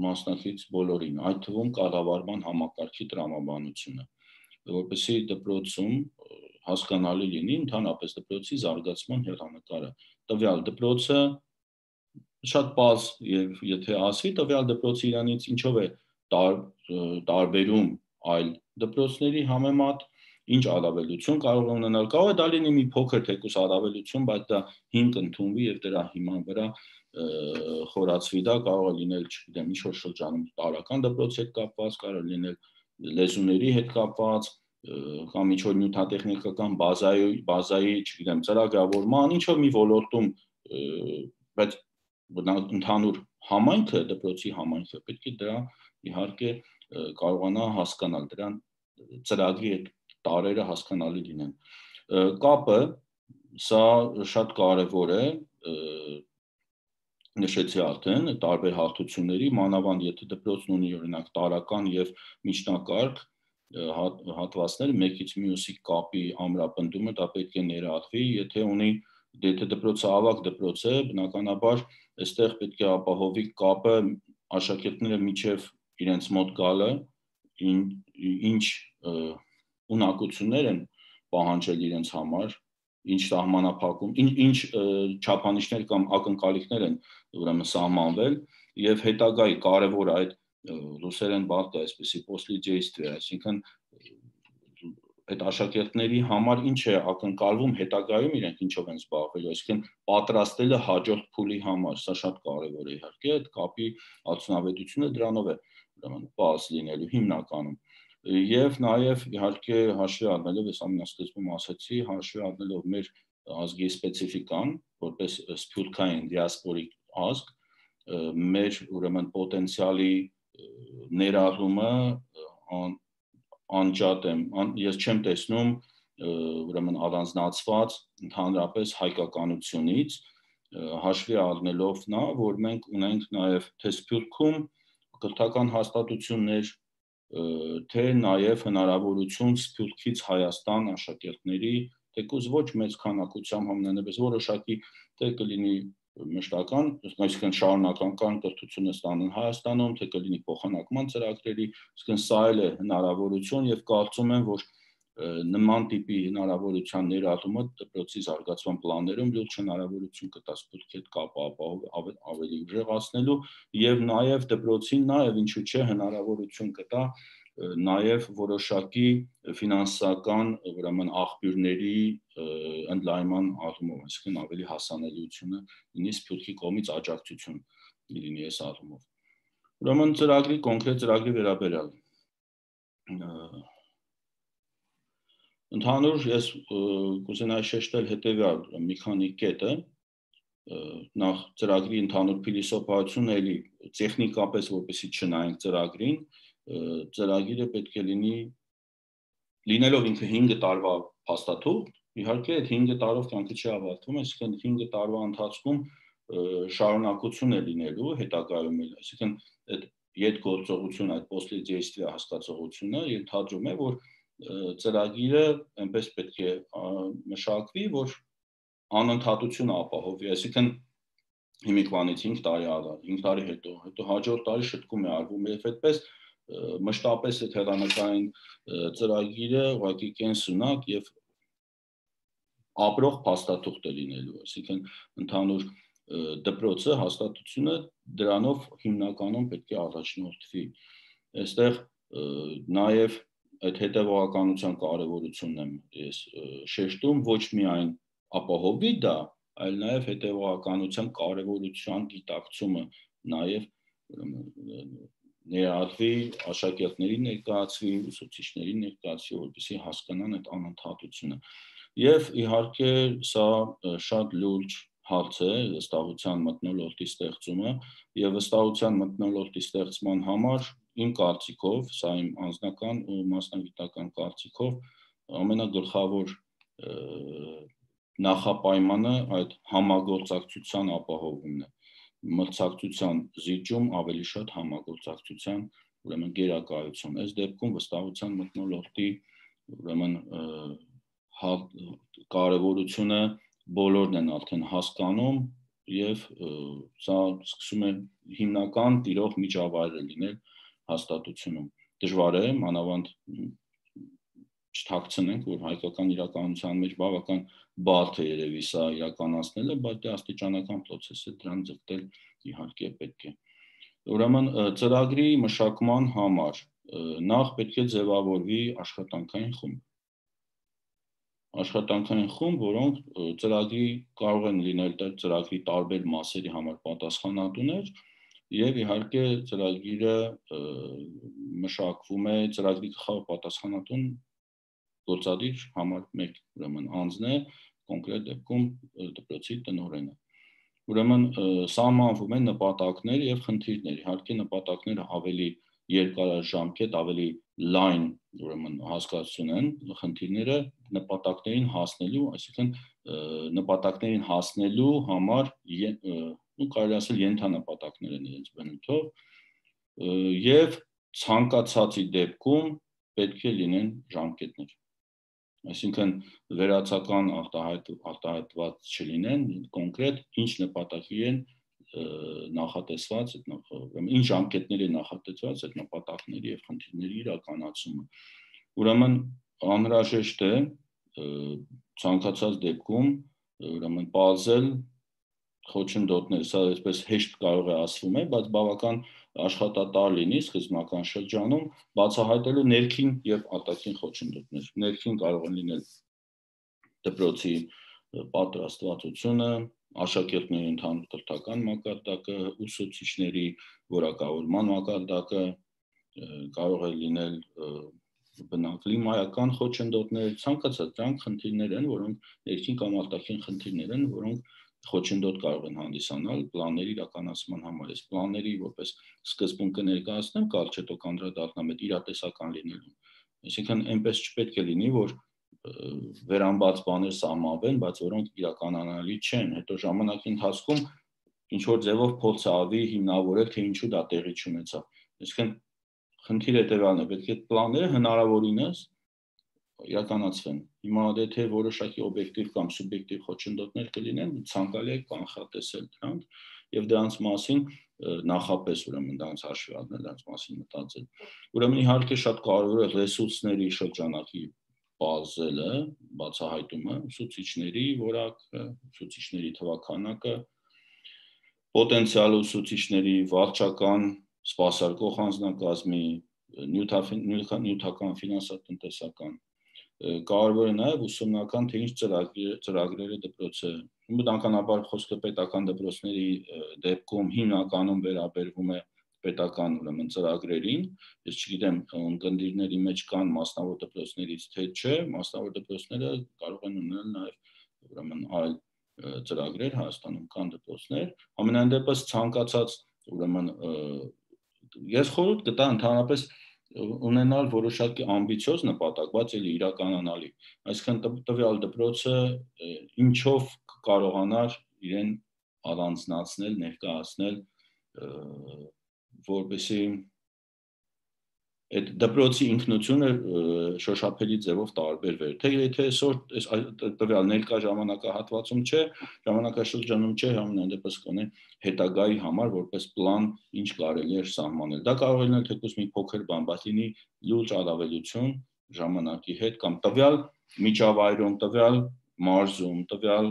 մասնակից բոլորին, այդ թվում կառավարման համակարգի տրամաբանությունը, որպեսզի դպրոցում հասկանալի լինի ընդհանրապես դպրոցի զարգացման հեռանկարը։ Տվյալ դպրոցը շատ պարզ եւ եթե ասվի տվյալ դպրոցը իրանից ինչով է տարբերում այլ դպրոցների համեմատ ինչ առավելություն կարող է ունենալ, կարող է դա լինի մի փոքր թեկուս առավելություն, բայց դա հիմք ընդունվի եւ դրա հիման վրա խորացվի դա, կարող է լինել, չգիտեմ, ինչ որ շրջանում տարրական դպրոցի հետ կապված, կարող է լինել լեզուների հետ կապված, կամ ինչ որ նյութատեխնիկական բազայի, բազայի, չգիտեմ, ծրագրավորման, ինչ որ մի ոլորտում, բայց ընդհանուր համայնքը, դպրոցի համայնքը պետք է դրա իհարկե կարողանա հասկանալ, դրան ծրագրի այդ տարրերը հասկանալի լինեն։ Կապը, սա շատ կարևոր է, նշեցի արդեն, տարբեր հարթությունների, մանավանդ եթե դպրոցն ունի օրինակ տարրական եւ միջնակարգ հատվածներ, մեկից մյուսի կապի ամրապնդումը դա պետք է ներառվի, եթե ունի, եթե դպրոցը ավագ դպրոց է, բնականաբար այստեղ պետք է ապահովի կապը աշակերտները միջև իրենց մոտ գալը, ինչ ունակություններ են պահանջել իրենց համար, ինչ սահմանափակում, ինչ չափանիշներ կամ ակնկալիքներ են ուրեմն սահմանվել եւ հետագայի կարևոր այդ ռուսերեն բառը այսպեսի после действия, այսինքն այդ աշակերտների համար ինչ է ակնկալվում հետագայում իրենք ինչով են զբաղվելու, այսինքն պատրաստելը հաջորդ փուլի համար, սա շատ կարևոր է իհարկե, այդ կապի արդյունավետությունը դրանով է ուրեմն բաց լինելու հիմնականում։ Եվ նաև իհարկե հաշվի առնելով, ես ամենասկզբում ասացի, հաշվի առնելով մեր ազգի սպეციფიკան, որպես սփյուռքային դիասպորիկ ազգ, մեր ուրեմն պոտենցիալի ներառումը անջատ եմ, ես չեմ տեսնում ուրեմն առանձնացված ընդհանրապես հայկականությունից, հաշվի առնելով նա, որ մենք ունենք նաև թե սփյուռքում կրթական հաստատություններ, թե նաև հնարավորություն Սփյուռքից Հայաստան աշակերտների, թեկուզ ոչ մեծ քանակությամբ համենայնիվս որոշակի թե կլինի մշտական, այսինքն շարունակական կրթությունը ստանան Հայաստանում, թե կլինի փոխանակման ծրագրերի, այսինքն սա էլ է հնարավորություն եւ կարծում եմ, որ նման տիպի հնարավորության ներառումը դպրոցի զարգացման պլաններում լուրջ հնարավորություն կտա Սփյուռքի հետ կապը ավելի ուժեղացնելու եւ նաեւ դպրոցին նաեւ ինչու՞ չէ հնարավորություն կտա նաև որոշակի ֆինանսական ուրեմն աղբյուրների ընդլայնման առումով, այսինքն ավելի հասանելիությունը լինի Սփյուռքի կողմից աջակցություն լինի այս առումով։ Ուրեմն ծրագրի կոնկրետ ծրագրի վերաբերյալ ընդհանուր ես կուզենայի շեշտել հետևյալ մի քանի կետը, նախ ծրագրի ընդհանուր փիլիսոփայությունը էլի տեխնիկապես որպեսզի չնայենք ծրագրին, ծրագիրը պետք է լինի լինելով ինքը հինգ տարվա փաստաթուղթ, իհարկե այդ հինգ տարով կյանքը չի ավարտվում, այսինքն հինգ տարվա ընթացքում շարունակություն է լինելու հետագայում էլ, այսինքն այդ յետգործողությունը, այդ после действия հասկացողությունը ենթադրում է, որ ծրագիրը այնպես պետք է մշակվի, որ անընդհատություն ապահովի, այսինքն հիմիկվանից հինգ տարի առաջ, հինգ տարի հետո, հետո հաջորդ տարի շտկում է արվում եւ այդպես մշտապես այդ հեռանկարային ծրագիրը ուղղակի կենսունակ եւ ապրող փաստաթուղթ է լինելու, այսինքն ընդհանուր դպրոցը հաստատությունը դրանով հիմնականում պետք է առաջնորդվի։ Այստեղ նաեւ այդ հետևողականության կարևորությունն եմ ես շեշտում, ոչ միայն ապահովի դա, այլ նաեւ հետևողականության կարևորության գիտակցումը նաեւ ներառվի աշակերտներին ներկայացվի, ուսուցիչներին ներկայացվի, որպեսզի հասկանան այդ անընդհատությունը։ Եվ իհարկե սա շատ լուրջ հարց է վստահության մթնոլորտի ստեղծումը եւ վստահության մթնոլորտի ստեղծման համար իմ կարծիքով, սա իմ անձնական ու մասնագիտական կարծիքով ամենագլխավոր նախապայմանը այդ համագործակցության ապահովումն է։ Մրցակցության զիջում ավելի շատ համագործակցության ուրեմն գերակայություն։ Այս դեպքում վստահության մթնոլորտի ուրեմն կարևորությունը բոլորն են արդեն հասկանում եւ սա սկսում է հիմնական տիրող միջավայրը լինել հաստատությունում։ Դժվար է, մանավանդ չթաքցնենք, որ հայկական իրականության մեջ բավական բարդ է երևի սա իրականացնելը, բայց դա աստիճանական process է, դրան ձգտել իհարկե պետք է։ Ուրեմն ծրագրի մշակման համար նախ պետք է ձևավորվի աշխատանքային խումբ։ աշխատանքային խումբ, որոնք ծրագրի կարող են լինել ծրագրի տարբեր մասերի համար պատասխանատուներ եւ իհարկե ծրագիրը մշակվում է ծրագրի գլխավոր պատասխանատուն գործադիր համար մեկ ուրեմն անձն է կոնկրետ դեպքում դպրոցի տնօրենը ուրեմն սահմանվում են նպատակներ եւ խնդիրներ իհարկե նպատակները ավելի երկարաժամկետ ավելի լայն ուրեմն հասկացություն են խնդիրները նպատակներին հասնելու այսինքն նպատակներին հասնելու համար ու կարելի ասել ենթանպատակներ են իրենց բնույթով եւ ցանկացածի դեպքում պետք է լինեն ժամկետներ այսինքն վերացական արտահայտված չլինեն կոնկրետ ինչ նպատակի են նախատեսված ինչ ժամկետների են նախատեսված այդ նպատակների եւ խնդիրների իրականացումը ուրեմն անհրաժեշտ է ցանկացած դեպքում ուրեմն բազել խոչընդոտներ սա այսպես հեշտ կարող է ասվում է բայց բավական աշխատատար լինի սկզբնական շրջանում բացահայտելու ներքին եւ արտաքին խոչընդոտներ ներքին կարող են լինել դպրոցի պատրաստվածությունը աշակերտների ընդհանուր կրթական մակարդակը ուսուցիչների որակավորման մակարդակը կարող է լինել բնակլիմայական խոչընդոտներ ցանկացած դրանք խնդիրներ են որոնք ներքին կամ արտաքին խնդիրներ են որոնք խոչընդոտ կարող են հանդիսանալ պլանների իրականացման համար այս պլանների որպես սկզբունքը ներկայացնեմ կարճ հետո կանդրադառնամ այդ իրատեսական լինելու այսինքն այնպես չպետք է լինի որ վերամբարձ բաներ սահմանվեն բայց որոնք իրականանալի չեն հետո ժամանակի ընթացքում ինչ որ ձևով փորձ արվի հիմնավորել թե ինչու դա տեղի չունեցավ այսինքն խնդիրը հետեւյալն է պետք է պլանները հնարավորինս իրականացվեն հիմա եթե որոշակի օբյեկտիվ կամ սուբյեկտիվ խոչընդոտներ կլինեն ցանկալի է կանխատեսել դրանք եւ դրանց մասին նախապես ուրեմն դրանց հաշվի առնել դրանց մասին մտածել ուրեմն իհարկե շատ կարևոր է ռեսուրսների շրջանակի բազելը բացահայտումը ուսուցիչների որակը ուսուցիչների թվաքանակը պոտենցիալ ուսուցիչների վարչական սպասարկող անձնակազմի նյութական ֆինանսատնտեսական կարևոր է նաև ուսումնական թե ինչ ծրագրերը դպրոցը բնականաբար խոսքը պետական դպրոցների դեպքում հիմնականում վերաբերվում է պետական ուրեմն ծրագրերին ես չգիտեմ ընկերների մեջ կան մասնավոր դպրոցներից թե չէ մասնավոր դպրոցները կարող են ունենալ նաև ուրեմն այլ ծրագրեր Հայաստանում կան դպրոցներ ամենայն դեպս ցանկացած ուրեմն ես խորհուրդ կտա ընդհանրապես ունենալ որոշակի ամբիցիոզ նպատակ, բայց էլի իրականանալի։ Այսինքն տվյալ դպրոցը ինչով կարողանար իրեն առանձնացնել, ներկայացնել, որպեսզի այդ դպրոցի ինքնությունը շոշափելի ձևով տարբերվեր։ Թե եթե այսօր տվյալ ներկա ժամանակահատվածում չէ, ժամանակաշրջանում չէ, համենայն դեպս կոնե հետագայի համար որպես պլան ինչ կարելի է սահմանել։ Դա կարող է լինել թեկուզ մի փոքր բան, բայց լինի լուրջ առավելություն ժամանակի հետ կամ տվյալ միջավայրում, տվյալ մարզում, տվյալ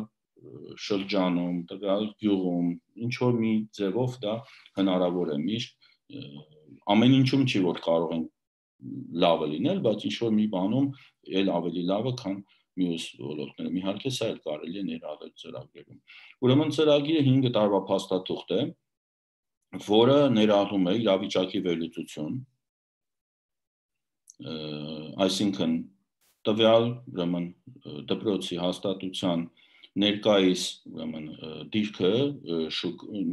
շրջանում, տվյալ գյուղում, ինչ որ մի ձևով դա հնարավոր է միշտ ամեն ինչում չի որ կարող են լավը լինել, բայց ինչ որ մի բանում էլ ավելի լավը, քան մյուս ոլորտներում։ Իհարկե սա էլ կարելի է ներառել ծրագրերում։ Ուրեմն ծրագիրը հինգ տարվա փաստաթուղթ է, որը ներառում է իրավիճակի վերլուծություն, այսինքն տվյալ ուրեմն դպրոցի հաստատության ներկայիս ուրեմն դիրքը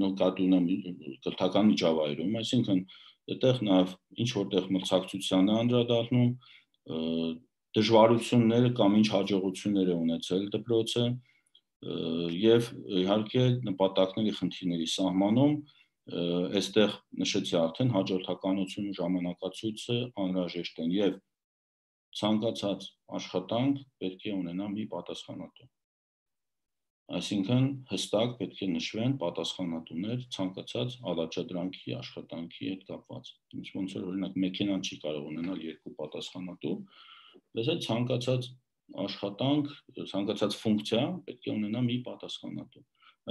նկատի ունեմ կրթական միջավայրում, այսինքն այդտեղ նաև ինչ որտեղ մրցակցության է անդրադառնում, դժվարությունները կամ ինչ հաջողություններ է ունեցել դպրոցը եւ իհարկե նպատակների խնդիրների սահմանում այստեղ նշեցի արդեն հաջորդականություն ու ժամանակացույցը անհրաժեշտ են եւ ցանկացած աշխատանք պետք է ունենա մի պատասխանատու Այսինքն հստակ պետք է նշվեն պատասխանատուներ ցանկացած առաջադրանքի աշխատանքի հետ կապված։ Ոնց որ օրինակ մեքենան չի կարող ունենալ երկու պատասխանատու, բայց այդ ցանկացած աշխատանք, ցանկացած ֆունկցիա պետք է ունենա մի պատասխանատու։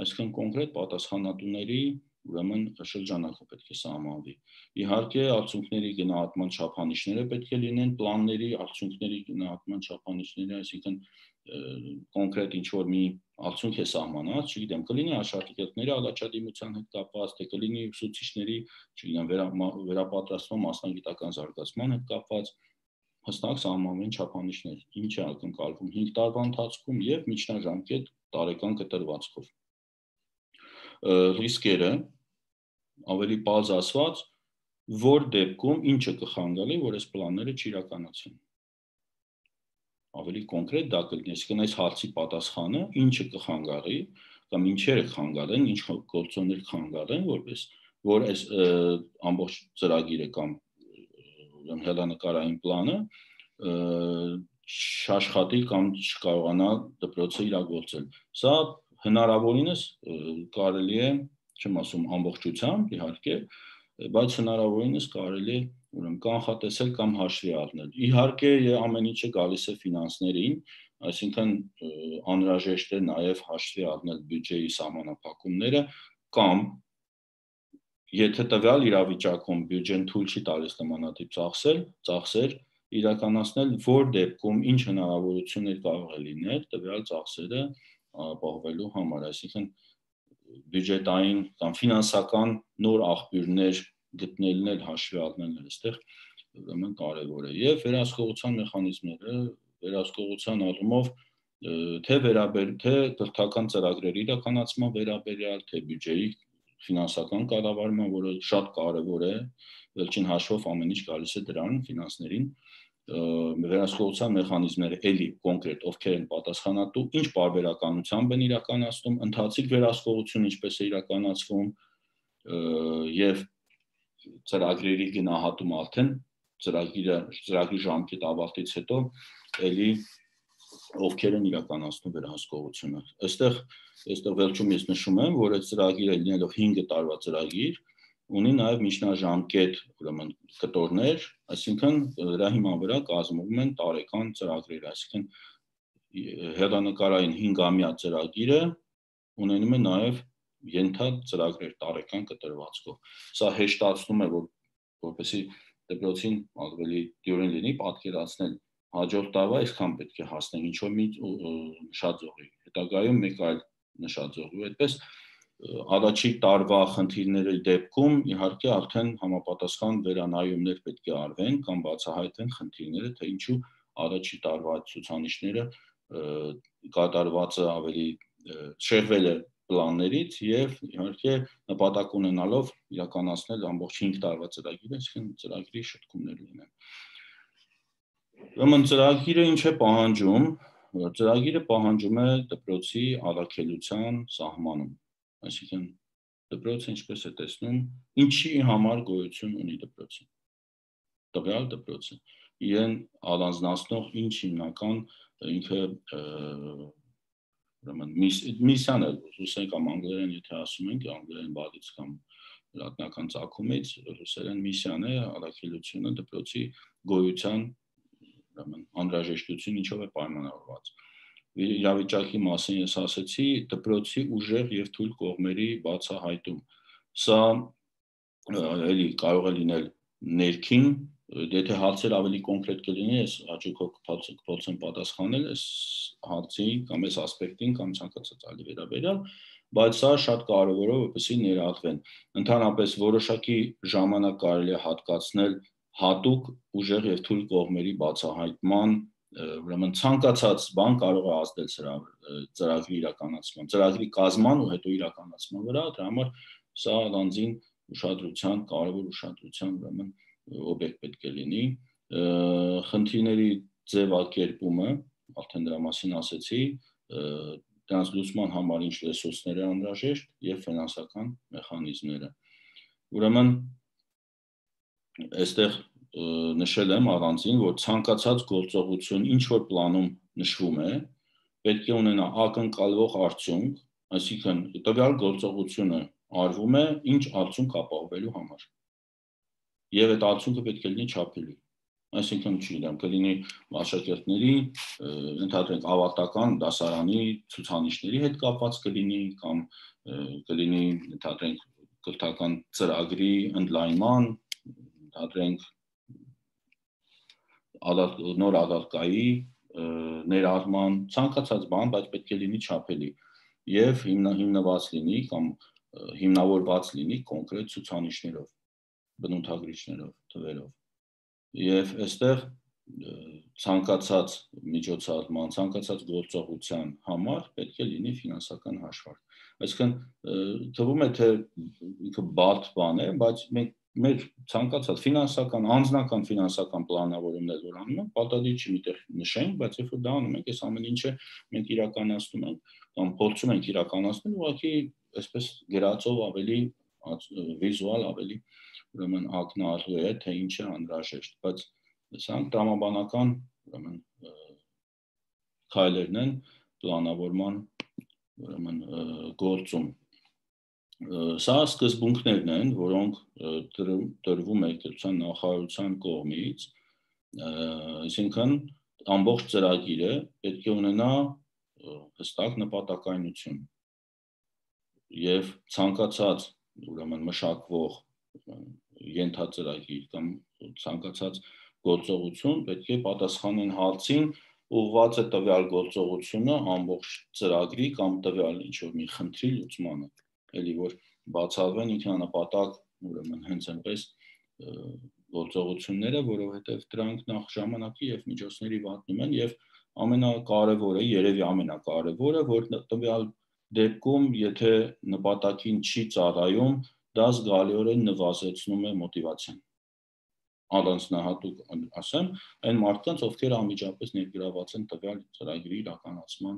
Այսինքն կոնկրետ պատասխանատուների ուրեմն շրջանակը պետք է սահմանվի։ Իհարկե արդյունքների գնահատման չափանիշները պետք է լինեն պլանների արդյունքների գնահատման չափանիշները, այսինքն կոնկրետ ինչ-որ մի արդյունք է սահմանած, չգիտեմ, կլինի աշակերտների առաջադիմության հետ կապված, թե կլինի ուսուցիչների, չգիտեմ, վերապատրաստման մասնագիտական զարգացման հետ կապված, հստակ սահմանվեն չափանիշներ, ինչ է ակնկալվում հինգ տարվա ընթացքում եւ միջնաժամկետ տարեկան կտրվածքով։ Ռիսկերը ավելի պարզ ասված, որ դեպքում ինչը կխանգարի, որ այս պլանները չիրականացվեն։ Ավելի կոնկրետ դա կլինի, այսինքն այս հարցի պատասխանը ինչը կխանգարի կամ ինչերը կխանգարեն, ինչ գործոններ կխանգարեն, որպես որ այս ամբողջ ծրագիրը կամ հեռանկարային պլանը չաշխատի կամ չկարողանա դպրոցը իրագործել։ Սա հնարավորինս կարելի է, չեմ ասում ամբողջությամբ, իհարկե, բայց հնարավորինս կարելի է ուրեմն կանխատեսել կամ հաշվի առնել։ Իհարկե, ամեն ինչը գալիս է ֆինանսներին, այսինքն անհրաժեշտ է նաև հաշվի առնել բյուջեի սահմանափակումները կամ եթե տվյալ իրավիճակում բյուջեն թույլ չի տալիս նմանատիպ ծախսել, ծախսեր իրականացնել, որ դեպքում ինչ հնարավորություններ կարող է լինել տվյալ ծախսերը ապահովելու համար, այսինքն բյուջետային կամ ֆինանսական նոր աղբյուրներ գտնելն էլ հաշվի առնելն այստեղ ուրեմն կարևոր է եւ վերահսկողության մեխանիզմները վերահսկողության առումով թե վերաբեր թե կրթական ծրագրերի իրականացման վերաբերյալ թե բյուջեի ֆինանսական կառավարման, որը շատ կարևոր է, վերջին հաշվով ամեն ինչ գալիս է դրան ֆինանսներին, վերահսկողության մեխանիզմները էլի կոնկրետ ովքեր են պատասխանատու, ինչ պարբերականությամբ են իրականացնում, ընթացիկ վերահսկողություն ինչպես է իրականացվում եւ ծրագրերի գնահատում արդեն ծրագիրը ծրագրի ժամկետ ավարտից հետո էլի ովքեր են իրականացնում վերահսկողությունը։ Այստեղ այստեղ վերջում ես նշում եմ, որ այդ ծրագիրը լինելով հինգ տարվա ծրագիր ունի նաև միջնաժամկետ ուրեմն կտորներ, այսինքն դրա հիման վրա կազմվում են տարեկան ծրագրեր, այսինքն հեռանկարային հինգամյա ծրագիրը ունենում է նաև ենթածրագրեր տարեկան կտրվածքով։ Սա հեշտացնում է, որ որպեսզի դպրոցին ավելի դյուրին լինի պատկերացնել հաջորդ տարվա այսքան պետք է հասնենք ինչ-որ մի նշաձողի, հետագայում մեկ այլ նշաձողի, այդպես առաջի տարվա խնդիրների դեպքում իհարկե արդեն համապատասխան վերանայումներ պետք է արվեն կամ բացահայտվեն խնդիրները, թե ինչու առաջի տարվա ցուցանիշները կատարվածը ավելի շեղվել է պլաններից եւ իհարկե նպատակ ունենալով իրականացնել ամբողջ հինգ տարվա ծրագիրը, այսինքն ծրագրի շտկումներ լինեն։ Ուրեմն ծրագիրը ինչ է պահանջում, ծրագիրը պահանջում է դպրոցի առաքելության սահմանում, այսինքն դպրոցը ինչպես է տեսնում, ինչի համար գոյություն ունի դպրոցը, տվյալ դպրոցը, իրեն առանձնացնող ինչ հիմնական ինքը միսիան է, ռուսերեն կամ անգլերեն եթե ասում ենք, անգլերեն բառից կամ լատինական ծագումից, ռուսերեն միսիան է առաքելությունը դպրոցի գոյության անհրաժեշտություն ինչով է պայմանավորված։ Իրավիճակի մասին ես ասացի, դպրոցի ուժեղ եւ թույլ կողմերի բացահայտում։ Սա էլի կարող է լինել ներքին, եթե հարցեր ավելի կոնկրետ կլինի, ես հաջողով կփորձեմ պատասխանել այս հարցի կամ այս ասպեկտին կամ ցանկացած այլ վերաբերյալ, բայց սա շատ կարևոր է, որպեսզի ներառվեն։ Ընդհանրապես որոշակի ժամանակ կարելի է հատկացնել հատուկ ուժեղ եւ թույլ կողմերի բացահայտման, ուրեմն ցանկացած բան կարող է ազդել ծրագրի իրականացման, ծրագրի կազման ու հետո իրականացման վրա, դրա համար սա առանձին ուշադրության, կարևոր ուշադրության ուրեմն օբյեկտ պետք է լինի։ Խնդիրների ձևակերպումը, արդեն դրա մասին ասեցի, դրանց լուծման համար ինչ ռեսուրսներ է անհրաժեշտ եւ ֆինանսական մեխանիզմները։ Ուրեմն այստեղ նշել եմ առանձին, որ ցանկացած գործողություն ինչ որ պլանում նշվում է, պետք է ունենա ակնկալվող արդյունք, այսինքն տվյալ գործողությունը արվում է ինչ արդյունք ապահովելու համար։ Եվ այդ արդյունքը պետք է լինի չափելի։ Այսինքն չգիտեմ, կլինի աշակերտների, ընդհանրենք ավարտական դասարանի ցուցանիշների հետ կապված կլինի կամ կլինի ընդհանրենք կրթական ծրագրի ընդլայնման, ընդհանրենք նոր ադարկայի ներառման, ցանկացած բան, բայց պետք է լինի չափելի եւ հիմնված լինի կամ հիմնավորված լինի կոնկրետ ցուցանիշներով, բնութագրիչներով, թվերով։ Եվ այստեղ ցանկացած միջոցառման, ցանկացած գործողության համար պետք է լինի ֆինանսական հաշվարկ։ Այսինքն թվում է թե ինքը բարդ բան է, բայց մենք մեր ցանկացած ֆինանսական, անձնական ֆինանսական պլանավորումներ որ անում ենք, պատահի չի միտեղ նշենք, բայց երբ որ դա անում ենք, այս ամեն ինչը մենք իրականացնում ենք կամ փորձում ենք իրականացնել, ուղղակի այսպես գրածով ավելի վիզուալ, ավելի ուրեմն ակնառու է, թե ինչ է անհրաժեշտ, բայց սրանք տրամաբանական ուրեմն քայլերն են պլանավորման ուրեմն գործում։ Սա սկզբունքներն են, որոնք տրվում է գիտության նախարարության կողմից, այսինքն ամբողջ ծրագիրը պետք է ունենա հստակ նպատակայնություն եւ ցանկացած ուրեմն մշակվող ենթածրագիր կամ ցանկացած գործողություն պետք է պատասխանեն հարցին ուղղված է տվյալ գործողությունը ամբողջ ծրագրի կամ տվյալ ինչ-որ մի խնդրի լուծմանը, էլի որ բացառվեն ինքնանպատակ ուրեմն հենց այնպես գործողությունները, որովհետև դրանք նախ ժամանակի եւ միջոցների վատնում են եւ ամենակարևորը, երևի ամենակարևորը, որ տվյալ դեպքում, եթե նպատակին չի ծառայում, դա զգալիորեն նվազեցնում է մոտիվացիան։ Առանձնահատուկ ասեմ, այն մարդկանց, ովքեր անմիջապես ներգրաված են տվյալ ծրագրի իրականացման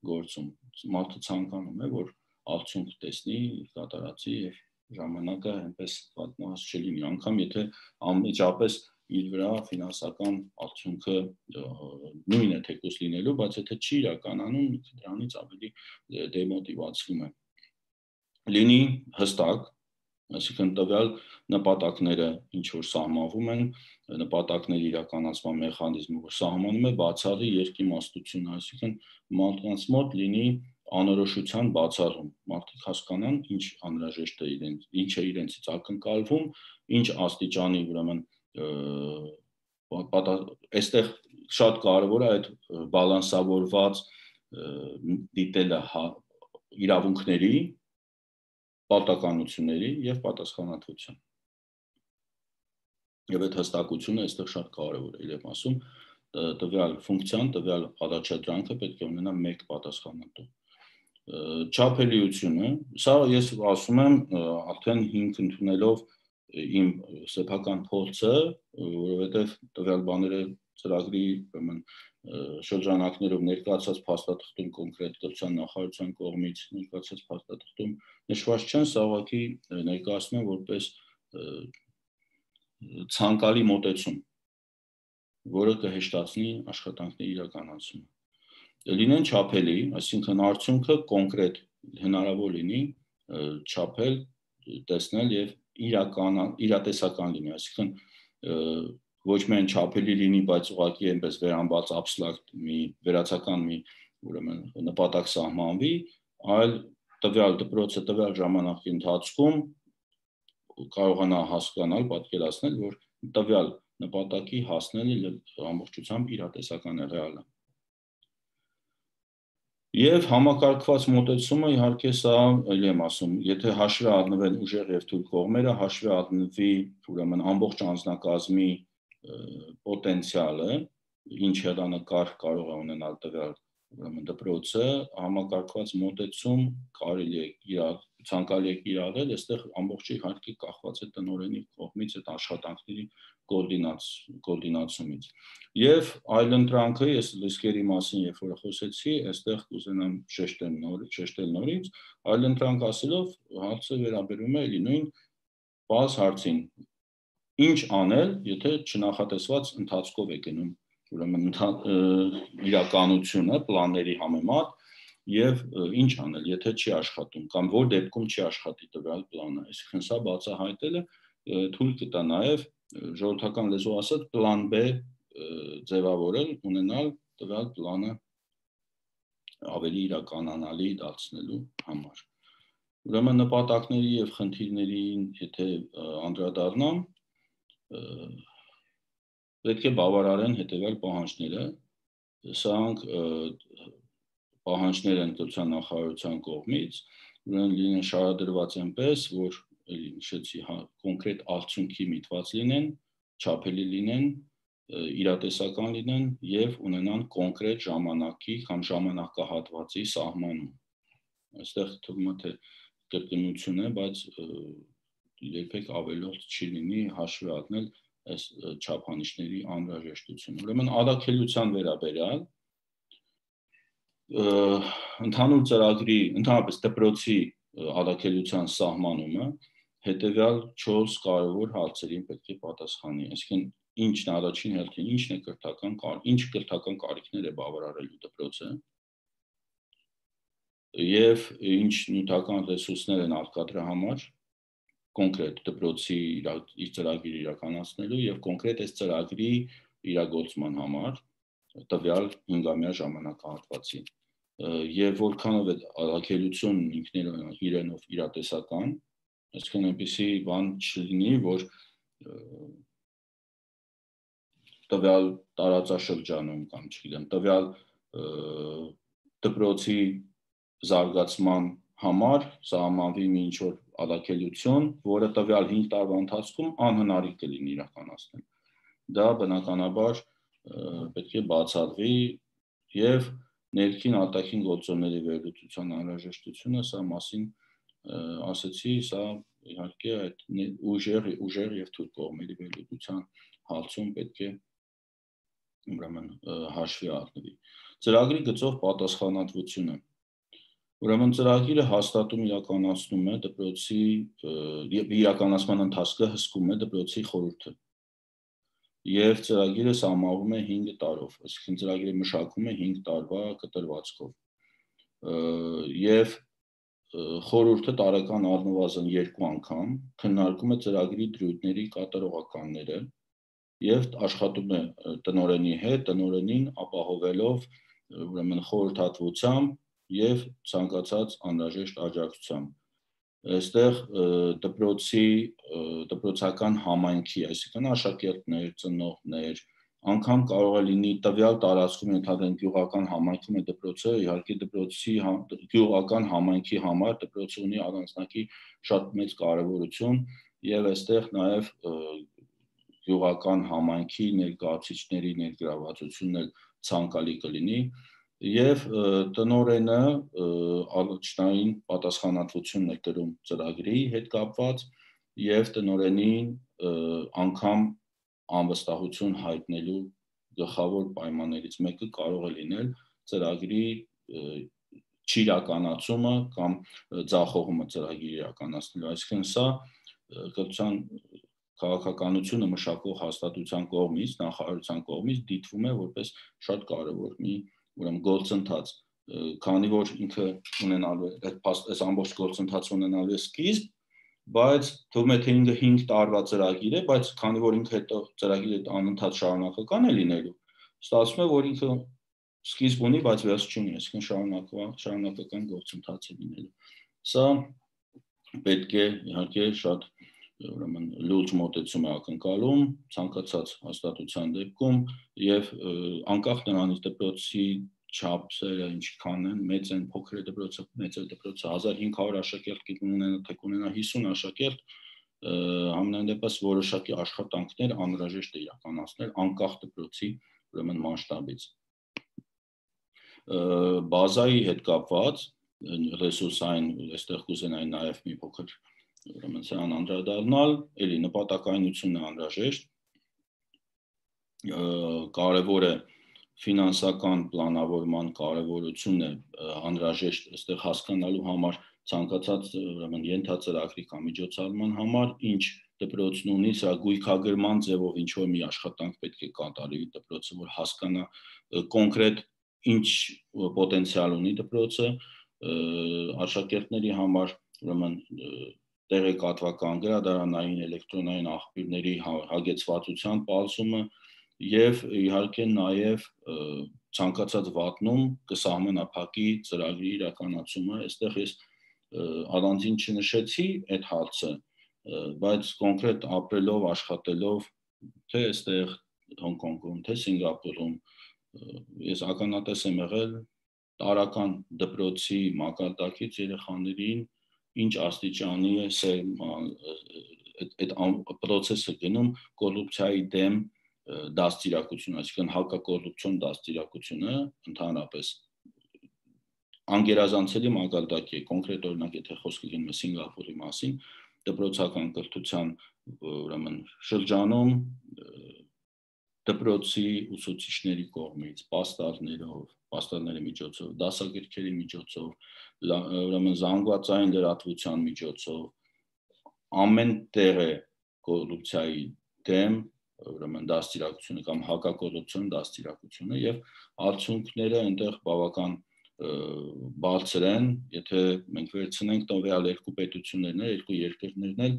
գործում։ Մարդը ցանկանում է, որ արդյունք տեսնի, կատարածի եւ ժամանակը այնպես վատնված չլինի, անգամ եթե անմիջապես իր վրա ֆինանսական արդյունքը նույնն է թեկուզ լինելու, բայց եթե չի իրականանում, դրանից ավելի դեմոտիվացվում է։ Լինի հստակ, այսինքն տվյալ նպատակները ինչ որ սահմանվում են, նպատակների իրականացման մեխանիզմը, որ սահմանում է բացառի երկիմաստություն, այսինքն մարդկանց մոտ լինի անորոշության բացառում, մարդիկ հասկանան ինչ անհրաժեշտ է իրենց, ինչ է իրենցից ակնկալվում, ինչ աստիճանի ուրեմն այստեղ շատ կարևոր է այդ բալանսավորված դիտելը իրավունքների, պարտականությունների եւ պատասխանատվության։ Եվ այդ հստակությունը այստեղ շատ կարևոր է, իրեմ ասում, տվյալ ֆունկցիան, տվյալ առաջադրանքը պետք է ունենա մեկ պատասխանատու։ Չափելիությունը, սա ես ասում եմ արդեն հիմք ընդունելով իմ սեփական փորձը, որովհետև տվյալ բաները ծրագրի շրջանակներով ներկայացած փաստաթղթում կոնկրետ կրթության նախարարության կողմից ներկայացած փաստաթղթում նշված չեն, սա ուղղակի ներկայացնում եմ որպես ցանկալի մոտեցում, որը կհեշտացնի աշխատանքների իրականացումը։ Լինեն չափելի, այսինքն արդյունքը կոնկրետ հնարավոր լինի չափել, տեսնել եւ իրական իրատեսական լինի, այսինքն ոչ միայն չափելի լինի, բայց ուղղակի այնպես վերամբարձ աբստրակտ մի վերացական մի ուրեմն նպատակ սահմանվի, այլ տվյալ դպրոցը տվյալ ժամանակի ընթացքում կարողանա հասկանալ, պատկերացնել, որ տվյալ նպատակի հասնելը ամբողջությամբ իրատեսական է, ռեալ է։ Եվ համակարգված մոտեցումը իհարկե սա էլի եմ ասում, եթե հաշվի առնվեն ուժեղ եւ թույլ կողմերը, հաշվի առնվի ուրեմն ամբողջ անձնակազմի պոտենցիալը, ինչ հեռանկար կարող է ունենալ տվյալ ուրեմն դպրոցը, համակարգված մոտեցում կարելի է իրար ցանկալի է կիրառել, այստեղ ամբողջ իհարկե կախված է տնօրենի կողմից այդ աշխատանքների կոորդինացումից։ Եվ այլընտրանքը, ես լիսկերի մասին երբ որ խոսեցի, այստեղ կուզենամ շեշտել նորից, շեշտել նորից, այլընտրանք ասելով հարցը վերաբերում է էլի նույն բաց հարցին։ Ինչ անել, եթե չնախատեսված ընթացքով է գնում, ուրեմն իրականությունը պլանների համեմատ եւ ինչ անել, եթե չի աշխատում կամ որ դեպքում չի աշխատի տվյալ պլանը, այսինքն սա բացահայտելը թույլ կտա նաեւ ժողովրդական լեզվով ասած պլան B ձևավորել, ունենալ տվյալ պլանը ավելի իրականանալի դարձնելու համար։ Ուրեմն նպատակների եւ խնդիրներին եթե անդրադառնամ, պետք է բավարարեն հետեւյալ պահանջները, սրանք պահանջներ են դրության նախարարության կողմից, ուրեմն լինեն շարադրված այնպես, որ նշեցի կոնկրետ արդյունքի միտված լինեն, չափելի լինեն, իրատեսական լինեն եւ ունենան կոնկրետ ժամանակի կամ ժամանակահատվածի սահմանում։ Այստեղ թվում է թե կրկնություն է, բայց երբեք ավելորդ չի լինի հաշվի առնել այս չափանիշների անհրաժեշտությունը։ Ուրեմն ադաքելության վերաբերյալ ընդհանուր ծրագրի, ընդհանրապես դպրոցի ադաքելության սահմանումը հետևյալ չորս կարևոր հարցերին պետք է պատասխանի։ Այսինքն ինչն է առաջին հերթին, ինչն է կրթական, ինչ կրթական կարիքներ է բավարարելու դպրոցը եւ ինչ նյութական ռեսուրսներ են արկա դրա համար կոնկրետ դպրոցի իր ծրագիրը իրականացնելու եւ կոնկրետ այս ծրագրի իրագործման համար տվյալ հինգամյա ժամանակահատվածի եւ որքանով է ադաքելություն ինքներով իրենով իրատեսական, այսինքն այնպեսի բան չլինի, որ տվյալ տարածաշրջանում կամ չգիտեմ, տվյալ դպրոցի զարգացման համար սահմանվի մի ինչ-որ ադաքելություն, որը տվյալ հինգ տարվա ընթացքում անհնարին կլինի իրականացնել։ Դա բնականաբար պետք է բացառվի եւ ներքին արտաքին գործոնների վերլուծության անհրաժեշտությունը, սա մասին ասեցի, սա իհարկե այդ ուժեղ ուժեղ եւ թույլ կողմերի վերլուծության հարցում պետք է ուրեմն հաշվի առնվի։ Ծրագրի գծով պատասխանատվությունը։ Ուրեմն ծրագիրը հաստատում իրականացնում է դպրոցի իրականացման ընթացքը հսկում է դպրոցի խորհուրդը եւ ծրագիրը սահմանվում է հինգ տարով, այսինքն ծրագիրը մշակում է հինգ տարվա կտրվածքով եւ խորհուրդը տարեկան առնվազն երկու անգամ քննարկում է ծրագրի դրույթների կատարողականները եւ աշխատում է տնօրենի հետ, տնօրենին ապահովելով ուրեմն խորհրդատվությամբ եւ ցանկացած անհրաժեշտ աջակցությամբ։ Այստեղ դպրոցի դպրոցական համայնքի, այսինքն աշակերտներ, ծնողներ, անգամ կարող է լինի տվյալ տարածքում ենթադրենք գյուղական համայնքում է դպրոցը, իհարկե դպրոցի գյուղական համայնքի համար դպրոցը ունի առանձնակի շատ մեծ կարեւորություն եւ այստեղ նաեւ գյուղական համայնքի ներկայացուցիչների ներգրավվածությունն էլ ցանկալի կլինի եւ տնօրենը առաջնային պատասխանատվությունն է կրում ծրագրի հետ կապված եւ տնօրենին անգամ անվստահություն հայտնելու գլխավոր պայմաններից մեկը կարող է լինել ծրագրի չիրականացումը կամ ձախողումը ծրագրի իրականացնելու, այսինքն սա կրթության քաղաքականությունը մշակող հաստատության կողմից, նախարարության կողմից դիտվում է որպես շատ կարևոր մի ուրեմն գործընթաց, քանի որ ինքը ունենալու է այս ամբողջ գործընթացը ունենալու է սկիզբ, բայց թվում է թե ինքը հինգ տարվա ծրագիր է, բայց քանի որ ինքը հետո ծրագիրը անընդհատ շարունակական է լինելու, ստացվում է, որ ինքը սկիզբ ունի, բայց վերջ չունի, այսինքն շարունակական շարունակական գործընթաց է լինելու։ Սա պետք է իհարկե շատ ուրեմն լուրջ մոտեցում է ակնկալում ցանկացած հաստատության դեպքում եւ անկախ նրանից դպրոցի չափսերը ինչքան են, մեծ են, փոքր է դպրոցը, մեծ է դպրոցը, հազար հինգ հարյուր աշակերտ կունենա, թե կունենա հիսուն աշակերտ, համենայն դեպս որոշակի աշխատանքներ անհրաժեշտ է իրականացնել անկախ դպրոցի ուրեմն մասշտաբից։ Բազայի հետ կապված ռեսուրսային, այստեղ կուզենայի նաեւ մի փոքր ուրեմն սրան անդրադառնալ, էլի նպատակայնությունն է անհրաժեշտ, կարևոր է ֆինանսական պլանավորման կարևորությունն է անհրաժեշտ այստեղ հասկանալու համար ցանկացած ուրեմն ենթածրագրի կամ միջոցառման համար, ինչ դպրոցն ունի, սա գույքագրման ձևով ինչ որ մի աշխատանք պետք է կատարի դպրոցը, որ հասկանա կոնկրետ ինչ պոտենցիալ ունի դպրոցը, աշակերտների համար ուրեմն տեղեկատվական, գրադարանային, էլեկտրոնային աղբյուրների հագեցվածության պարզումը եւ իհարկե նաեւ ցանկացած վատնում կսահմանափակի ծրագրի իրականացումը, այստեղ ես առանձին չնշեցի այդ հարցը, բայց կոնկրետ ապրելով, աշխատելով թե այստեղ Հոնկոնգում, թե Սինգապուրում, ես ականատես եմ եղել տարական դպրոցի մակարդակից երեխաներին ինչ աստիճանի է այդ process-ը գնում կոռուպցիայի դեմ դաստիարակություն, այսինքն հակակոռուպցիոն դաստիարակությունը ընդհանրապես անգերազանցելի մակարդակի է, կոնկրետ օրինակ եթե խոսքը գնում է Սինգապուրի մասին, դպրոցական կրթության ուրեմն շրջանում դպրոցի ուսուցիչների կողմից, պաստառներով, պաստառների միջոցով, դասագրքերի միջոցով, ուրեմն զանգվածային լրատվության միջոցով ամեն տեղ է կոռուպցիայի դեմ ուրեմն դաստիարակությունը կամ հակակոռուպցիոն դաստիարակությունը եւ արդյունքները այնտեղ բավական բարձր են, եթե մենք վերցնենք տվյալ երկու պետություններն, երկու երկրներն էլ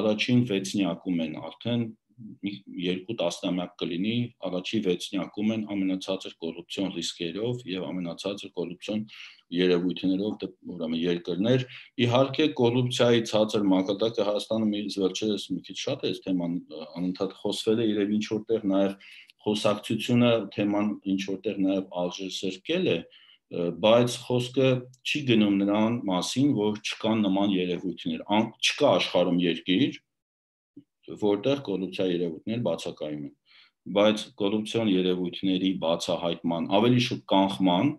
առաջին վեցնյակում են արդեն երկու տասնամյակ կլինի, առաջի վեցնյակում են ամենացածր կոռուպցիոն ռիսկերով եւ ամենացածր կոռուպցիոն երևույթներով ուրեմն երկրներ։ Իհարկե կոռուպցիայի ցածր մակարդակը Հայաստանում ինձ վերջերս մի քիչ շատ է այս թեման անընդհատ խոսվել է, երբ ինչ որտեղ նաեւ խոսակցությունը թեման ինչ որտեղ նաեւ արժեզրկել է, բայց խոսքը չի գնում նրան մասին, որ չկան նման երևույթներ, չկա աշխարհում երկիր, որտեղ կոռուպցիայի երևույթներ բացակայում են, բայց կոռուպցիոն երևույթների բացահայտման, ավելի շուտ կանխման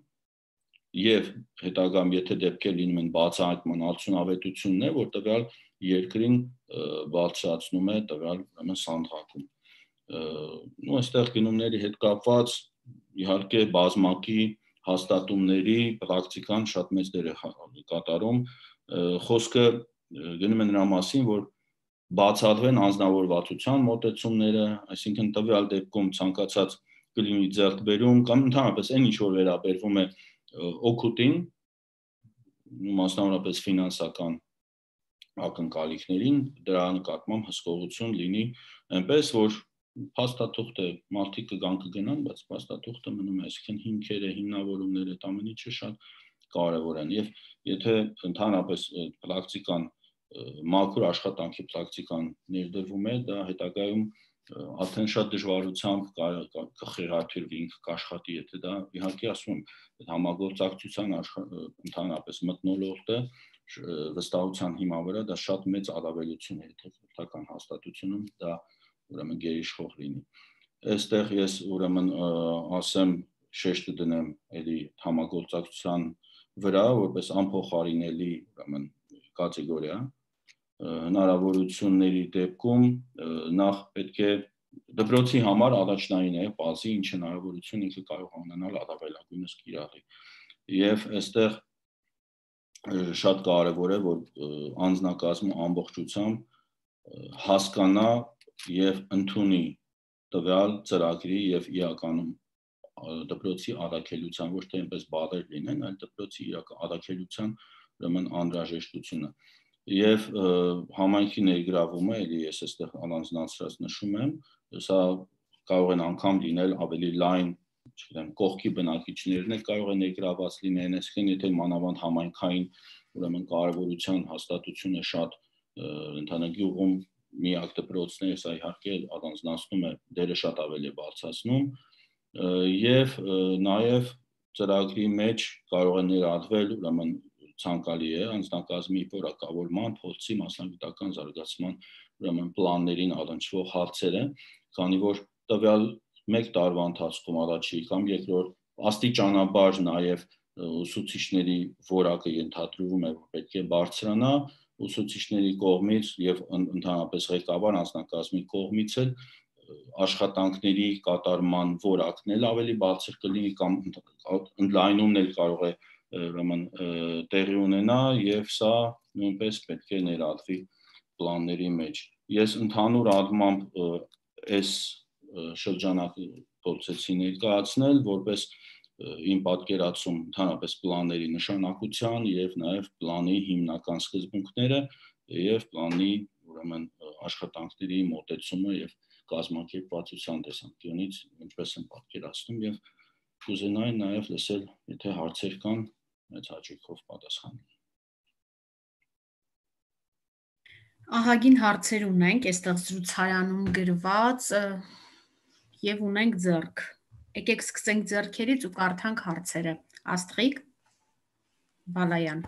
եւ հետագայում եթե դեպքեր լինում են բացահայտման արդյունավետությունն է, որ տվյալ երկրին բարձրացնում է տվյալ ուրեմն սանդղակում։ Ու այստեղ գնումների հետ կապված իհարկե բազմակի հաստատումների պրակտիկան շատ մեծ դեր է կատարում, խոսքը գնում է նրա մասին, որ բացառվեն անձնավորվածության մոտեցումները, այսինքն տվյալ դեպքում ցանկացած կլինի ձեռքբերում կամ ընդհանրապես այն ինչ որ վերաբերվում է օգուտին, մասնավորապես ֆինանսական ակնկալիքներին, դրա նկատմամբ հսկողություն լինի, այնպես որ փաստաթուղթը մարդիկ կգան կգնան, բայց փաստաթուղթը մնում է, այսինքն հիմքերը, հիմնավորումները, այդ ամեն ինչը շատ կարևոր են եւ եթե ընդհանրապես պրակտիկան մաքուր աշխատանքի պրակտիկան ներդրվում է, դա հետագայում արդեն շատ դժվարությամբ կխեղաթյուրվի, ինքը կաշխատի, եթե դա իհարկե ասում եմ համագործակցության ընդհանրապես մթնոլորտը վստահության հիման վրա դա շատ մեծ առավելություն է, եթե քրթական հաստատությունում դա ուրեմն գերիշխող լինի։ Այստեղ ես ուրեմն ասեմ շեշտը դնեմ էլի համագործակցության վրա, որպես անփոխարինելի ուրեմն կատեգորիա, հնարավորությունների դեպքում նախ պետք է դպրոցի համար առաջնային է բազի ինչ հնարավորություն ինքը կարող ունենալ առավելագույնս կիրառի։ Եվ այստեղ շատ կարևոր է, որ անձնակազմը ամբողջությամբ հասկանա եւ ընդունի տվյալ ծրագրի եւ իրականում դպրոցի առաքելության, ոչ թե այնպես բառեր լինեն, այլ դպրոցի առաքելության ուրեմն անհրաժեշտությունը։ Եվ համայնքի ներգրավումը, էլի ես այստեղ առանձնացրած նշում եմ, սա կարող են անգամ լինել ավելի լայն, չգիտեմ, կողքի բնակիչներն էլ կարող են ներգրաված լինեն, այսինքն եթե մանավանդ համայնքային ուրեմն կարևորության հաստատությունը շատ ընդհանրագյուղում միակ դպրոցն է, սա իհարկե առանձնացնում է, դերը շատ ավելի բարձրացնում եւ նաեւ ծրագրի մեջ կարող է ներառվել ուրեմն ցանկալի է անձնակազմի որակավորման, փորձի, մասնագիտական զարգացման ուրեմն պլաններին առնչվող հարցերը, քանի որ տվյալ մեկ տարվա ընթացքում առաջի կամ երկրորդ աստիճանաբար նաեւ ուսուցիչների որակը ենթադրվում է, որ պետք է բարձրանա ուսուցիչների կողմից եւ ընդհանրապես ղեկավար անձնակազմի կողմից էլ աշխատանքների կատարման որակն էլ ավելի բարձր կլինի կամ ընդլայնումն էլ կարող է ուրեմն տեղի ունենա եւ սա նույնպես պետք է ներառվի պլանների մեջ։ Ես ընդհանուր առմամբ այս շրջանակը փորձեցի ներկայացնել որպես իմ պատկերացում ընդհանրապես պլանների նշանակության եւ նաեւ պլանի հիմնական սկզբունքները եւ պլանի ուրեմն աշխատանքների մոտեցումը եւ կազմակերպվածության տեսանկյունից ինչպես են պատկերացնում եւ կուզենայի նաեւ լսել, եթե հարցեր կան, մեծ հաճույքով պատասխանեմ։ Ահագին հարցեր ունենք այստեղ զրուցարանում գրված եւ ունենք ձեռք Եկեք սկսենք ձեռքերից ու կարդանք հարցերը։ Աստղիկ, Բալայան։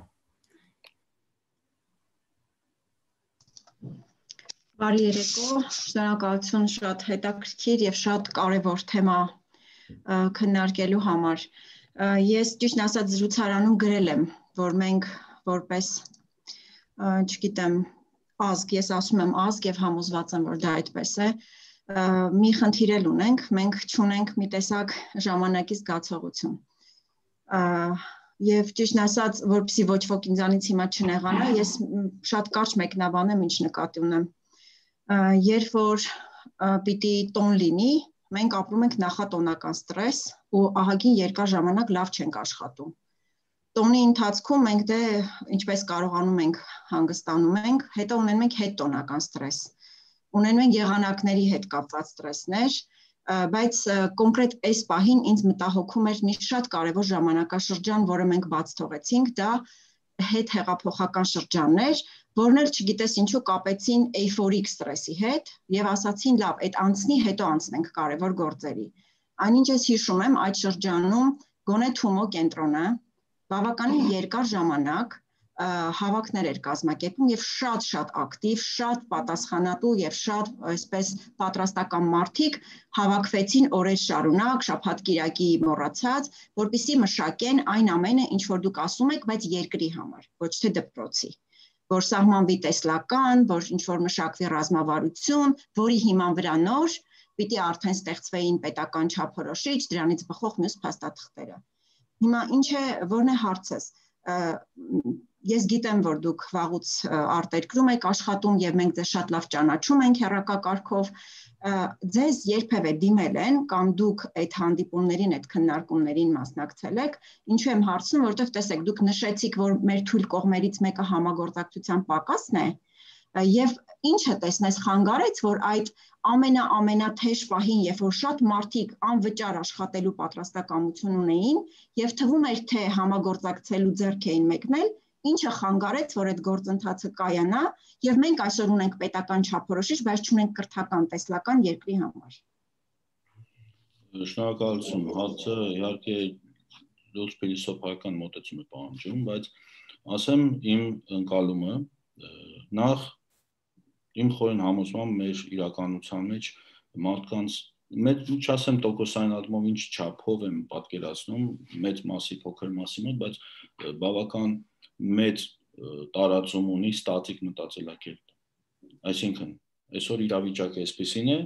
Բարի երեկո, շնորհակալություն շատ հետաքրքիր եւ շատ կարեւոր թեմա քննարկելու համար։ Ես ճիշտ ասած զրուցարանում գրել եմ, որ մենք որպես, չգիտեմ, ազգ, ես ասում եմ ազգ եւ համոզված եմ, որ դա այդպես է, մի խնդիր էլ ունենք, մենք չունենք մի տեսակ ժամանակի զգացողություն։ Եվ ճիշտ ասած, որպեսզի ոչ ոք ինձանից հիմա չնեղանա, ես շատ կարճ մեկնաբանեմ, ինչ նկատի ունեմ։ Երբ որ պիտի տոն լինի, մենք ապրում ենք նախատոնական ստրես ու ահագին երկար ժամանակ լավ չենք աշխատում։ Տոնի ընթացքում մենք դե ինչպես կարողանում ենք հանգստանում ենք, հետո ունենում ենք հետտոնական ստրես։ Ունենում ենք եղանակների հետ կապված ստրեսներ, բայց կոնկրետ այս պահին ինձ մտահոգում էր մի շատ կարևոր ժամանակաշրջան, որը մենք բաց թողեցինք, դա հետ հեղափոխական շրջաններ, որն էլ չգիտես ինչու կապեցին էյֆորիկ ստրեսի հետ եւ ասացին լավ, այդ անցնի, հետո անցնենք կարևոր գործերի։ Այնինչ ես հիշում եմ այդ շրջանում գոնե Թումո կենտրոնը բավականին երկար ժամանակ հավաքներ էր կազմակերպում եւ շատ-շատ ակտիվ, շատ պատասխանատու եւ շատ այսպես պատրաստական մարդիկ հավաքվեցին օրեր շարունակ, շաբաթ-կիրակի մոռացած, որպեսզի մշակեն այն ամենը, ինչ որ դուք ասում եք, բայց երկրի համար, ոչ թե դպրոցի, որ սահմանվի տեսլական, որ ինչ որ մշակվի ռազմավարություն, որի հիման վրա նոր պիտի արդեն ստեղծվեին պետական չափորոշիչ, դրանից բխող մյուս փաստաթղթերը։ Հիմա ինչ է, որն է հարցս։ Ես գիտեմ, որ դուք վաղուց արտերկրում եք աշխատում եւ մենք ձեզ շատ լավ ճանաչում ենք հեռակակարգով, ձեզ երբևէ դիմել են կամ դուք այդ հանդիպումներին, այդ քննարկումներին մասնակցել եք, ինչու եմ հարցնում, որովհետեւ տեսեք, դուք նշեցիք, որ մեր թույլ կողմերից մեկը համագործակցության պակասն է, եւ ինչը տեսնես խանգարեց, որ այդ ամենա-ամենաթեժ պահին, երբ որ շատ մարդիկ անվճար աշխատելու պատրաստակամություն ունեին եւ թվում էր, թե համագործակցելու ձեռք էին մեկնել, ինչը խանգարեց, որ այդ գործընթացը կայանա եւ մենք այսօր ունենք պետական չափորոշիչ, բայց չունենք կրթական տեսլական երկրի համար։ Շնորհակալություն, հարցը իհարկե լուրջ փիլիսոփայական մոտեցում է պահանջում, բայց ասեմ իմ ընկալումը, նախ իմ խորին համոզմամբ մեր իրականության մեջ մարդկանց մեծ չասեմ տոկոսային առումով ինչ չափով եմ պատկերացնում մեծ մասի փոքր մասի մոտ, բայց բավական մեծ տարածում ունի ստատիկ մտածելակերպ։ Այսինքն, այսօր իրավիճակը այսպեսին է,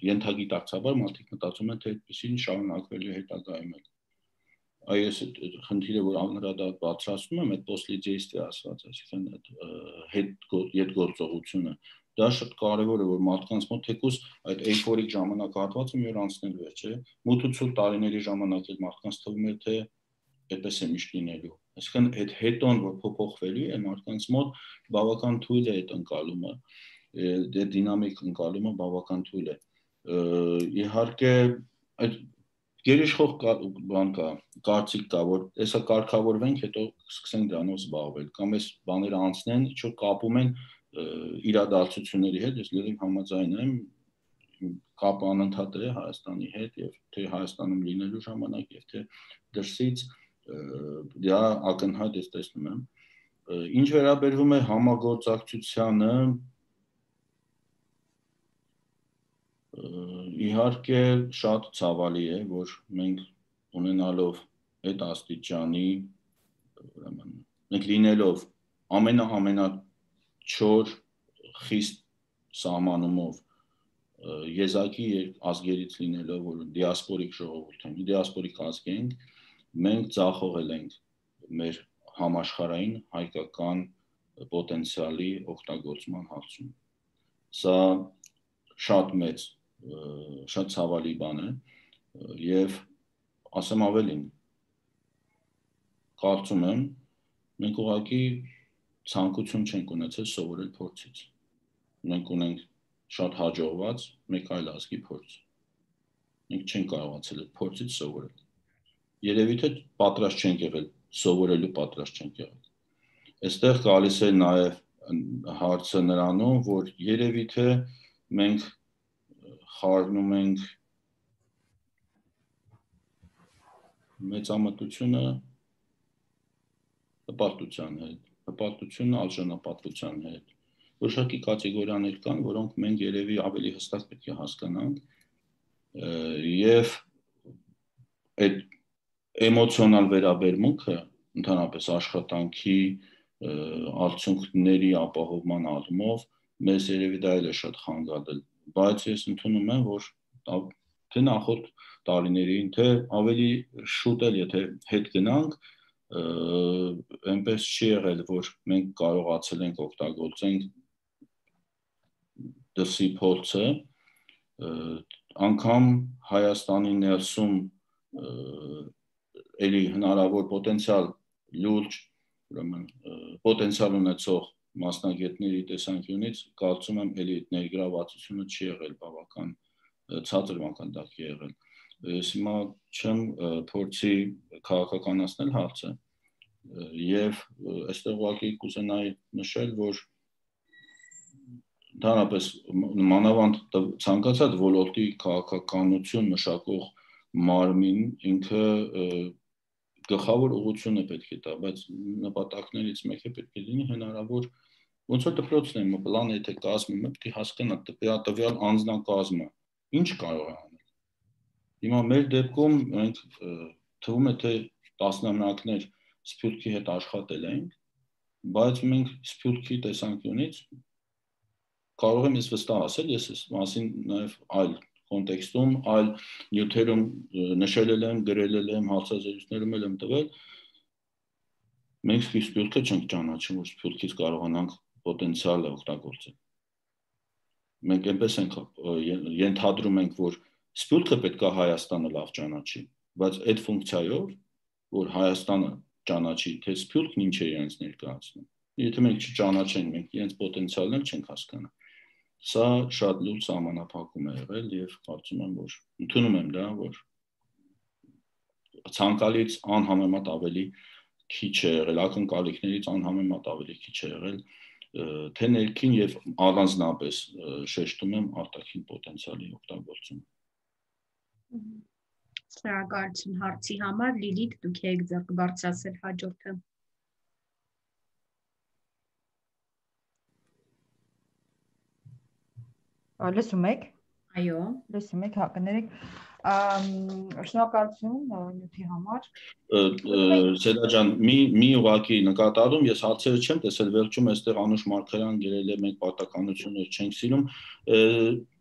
ենթագիտակցաբար մարդիկ մտածում են, թե այդպեսին շարունակվելու հետագայում է։ Այս խնդիրը, որ անդրադառ բարձրացնում եմ, այդ պոստլիդեիստի ասված, այսինքն հետգործողությունը, դա շատ կարևոր է, որ մարդկանց մոտ թեկուզ այդ էյֆորիկ ժամանակահատվածը մի օր անցնելու է, չէ՞։ Մութ ու ցուրտ տարիների ժամանակ այդ մարդկանց թվում էր, թե այդպես է միշտ լինելու։ Այսինքն այդ հետոն, որ փոփոխվելու է, մարդկանց մոտ բավական թույլ է այդ ընկալումը, այդ դինամիկ ընկալումը բավական թույլ է։ Իհարկե, այդ գերիշխող բան կա, կարծիք կա, որ հեսա կարգավորվենք, հետո սկսենք դրանով զբաղվել, կամ այս բաները անցնեն, ինչ որ կապում են իրադարձությունների հետ, ես լրիվ համաձայն եմ, կապը անընդհատ է Հայաստանի հետ եւ թե Հայաստանում լինելու ժամանակ եւ թե դրսից դա ակնհայտ ես տեսնում եմ։ Ինչ վերաբերվում է համագործակցությանը, իհարկե շատ ցավալի է, որ մենք ունենալով այդ աստիճանի, ուրեմն մենք լինելով ամենա-ամենա չոր խիստ սահմանումով եզակի ազգերից լինելով, որ դիասպորիկ ժողովուրդ ենք, դիասպորիկ ազգ ենք, մենք ձախողել ենք մեր համաշխարհային հայկական պոտենցիալի օգտագործման հարցում։ Սա շատ մեծ, շատ ցավալի բան է եւ ասեմ ավելին, կարծում եմ, մենք ուղղակի ցանկություն չենք ունեցել սովորել փորձից։ Մենք ունենք շատ հաջողված մեկ այլ ազգի փորձ։ Մենք չենք կարողացել այդ փորձից սովորել։ Երևի թե պատրաստ չենք եղել, սովորելու պատրաստ չենք եղել։ Այստեղ գալիս է նաև հարցը նրանում, որ երևի թե մենք խառնում ենք մեծամտությունը հպարտության հետ, հպարտությունը արժանապատվության հետ։ Որոշակի կատեգորիաներ կան, որոնք մենք երևի ավելի հստակ պետք է հասկանանք եւ այդ էմոցիոնալ վերաբերմունքը ընդհանրապես աշխատանքի արդյունքների ապահովման առումով մեզ երևի դա էլ է շատ խանգարել, բայց ես ընդունում եմ, որ թե նախորդ տարիներին, թե ավելի շուտ էլ եթե հետ գնանք, այնպես չի եղել, որ մենք կարողացել ենք օգտագործենք դրսի փորձը, անգամ Հայաստանի ներսում էլի հնարավոր պոտենցիալ լուրջ, ուրեմն պոտենցիալ ունեցող մասնագետների տեսանկյունից կարծում եմ էլի ներգրավվածությունը չի եղել բավական ցածր մակարդակի եղել։ Ես հիմա չեմ փորձի քաղաքականացնել հարցը եւ այստեղ ուղղակի կուզենայի նշել, որ ընդհանրապես մանավանդ ցանկացած ոլորտի քաղաքականություն մշակող մարմին ինքը գլխավոր ուղղությունը պետք է տա, բայց նպատակներից մեկը պետք է լինի հնարավոր ոնց որ դպրոցն է, պլան եթե կազմում է, պետք է հասկանա տվյալ անձնակազմը ինչ կարող է անել։ Հիմա մեր դեպքում մենք թվում է թե տասնամյակներ Սփյուռքի հետ աշխատել ենք, բայց մենք Սփյուռքի տեսանկյունից կարող եմ ես վստահ ասել, ես այս մասին նաև այլ կոնտեքստում, այլ նյութերում նշել եմ, գրել եմ, հարցազրույցներում եմ տվել, մենք Սփյուռքը չենք ճանաչում, որ Սփյուռքից կարողանանք պոտենցիալ օգտագործել։ Մենք այնպես ենք ենթադրում ենք, որ Սփյուռքը պետք է Հայաստանը լավ ճանաչի, բայց այդ ֆունկցիայով, որ Հայաստանը ճանաչի, թե Սփյուռքն ինչ է իրենց ներկայացնում։ Եթե մենք չճանաչենք, մենք իրենց պոտենցիալն չենք հասկանա։ Սա շատ լուրջ սահմանափակում է եղել եւ կարծում եմ, որ ընդունում եմ դա, որ ցանկալից անհամեմատ ավելի քիչ է եղել, ակնկալիքներից անհամեմատ ավելի քիչ է եղել, թե ներքին եւ առանձնապես շեշտում եմ արտաքին պոտենցիալի օգտագործումը։ Շնորհակալություն հարցի համար, Լիլիթ, դուք եք ձեռք բարձրացել հաջորդը։ Լսում եք։ Այո, լսում եք, հա, կներեք, շնորհակալություն նյութի համար։ Սեդա ջան, մի մի ուղղակի նկատառում ես հարցերը չեմ տեսել, վերջում այստեղ Անուշ Մարգարյան գրել է մենք պատականություններ չենք սիրում։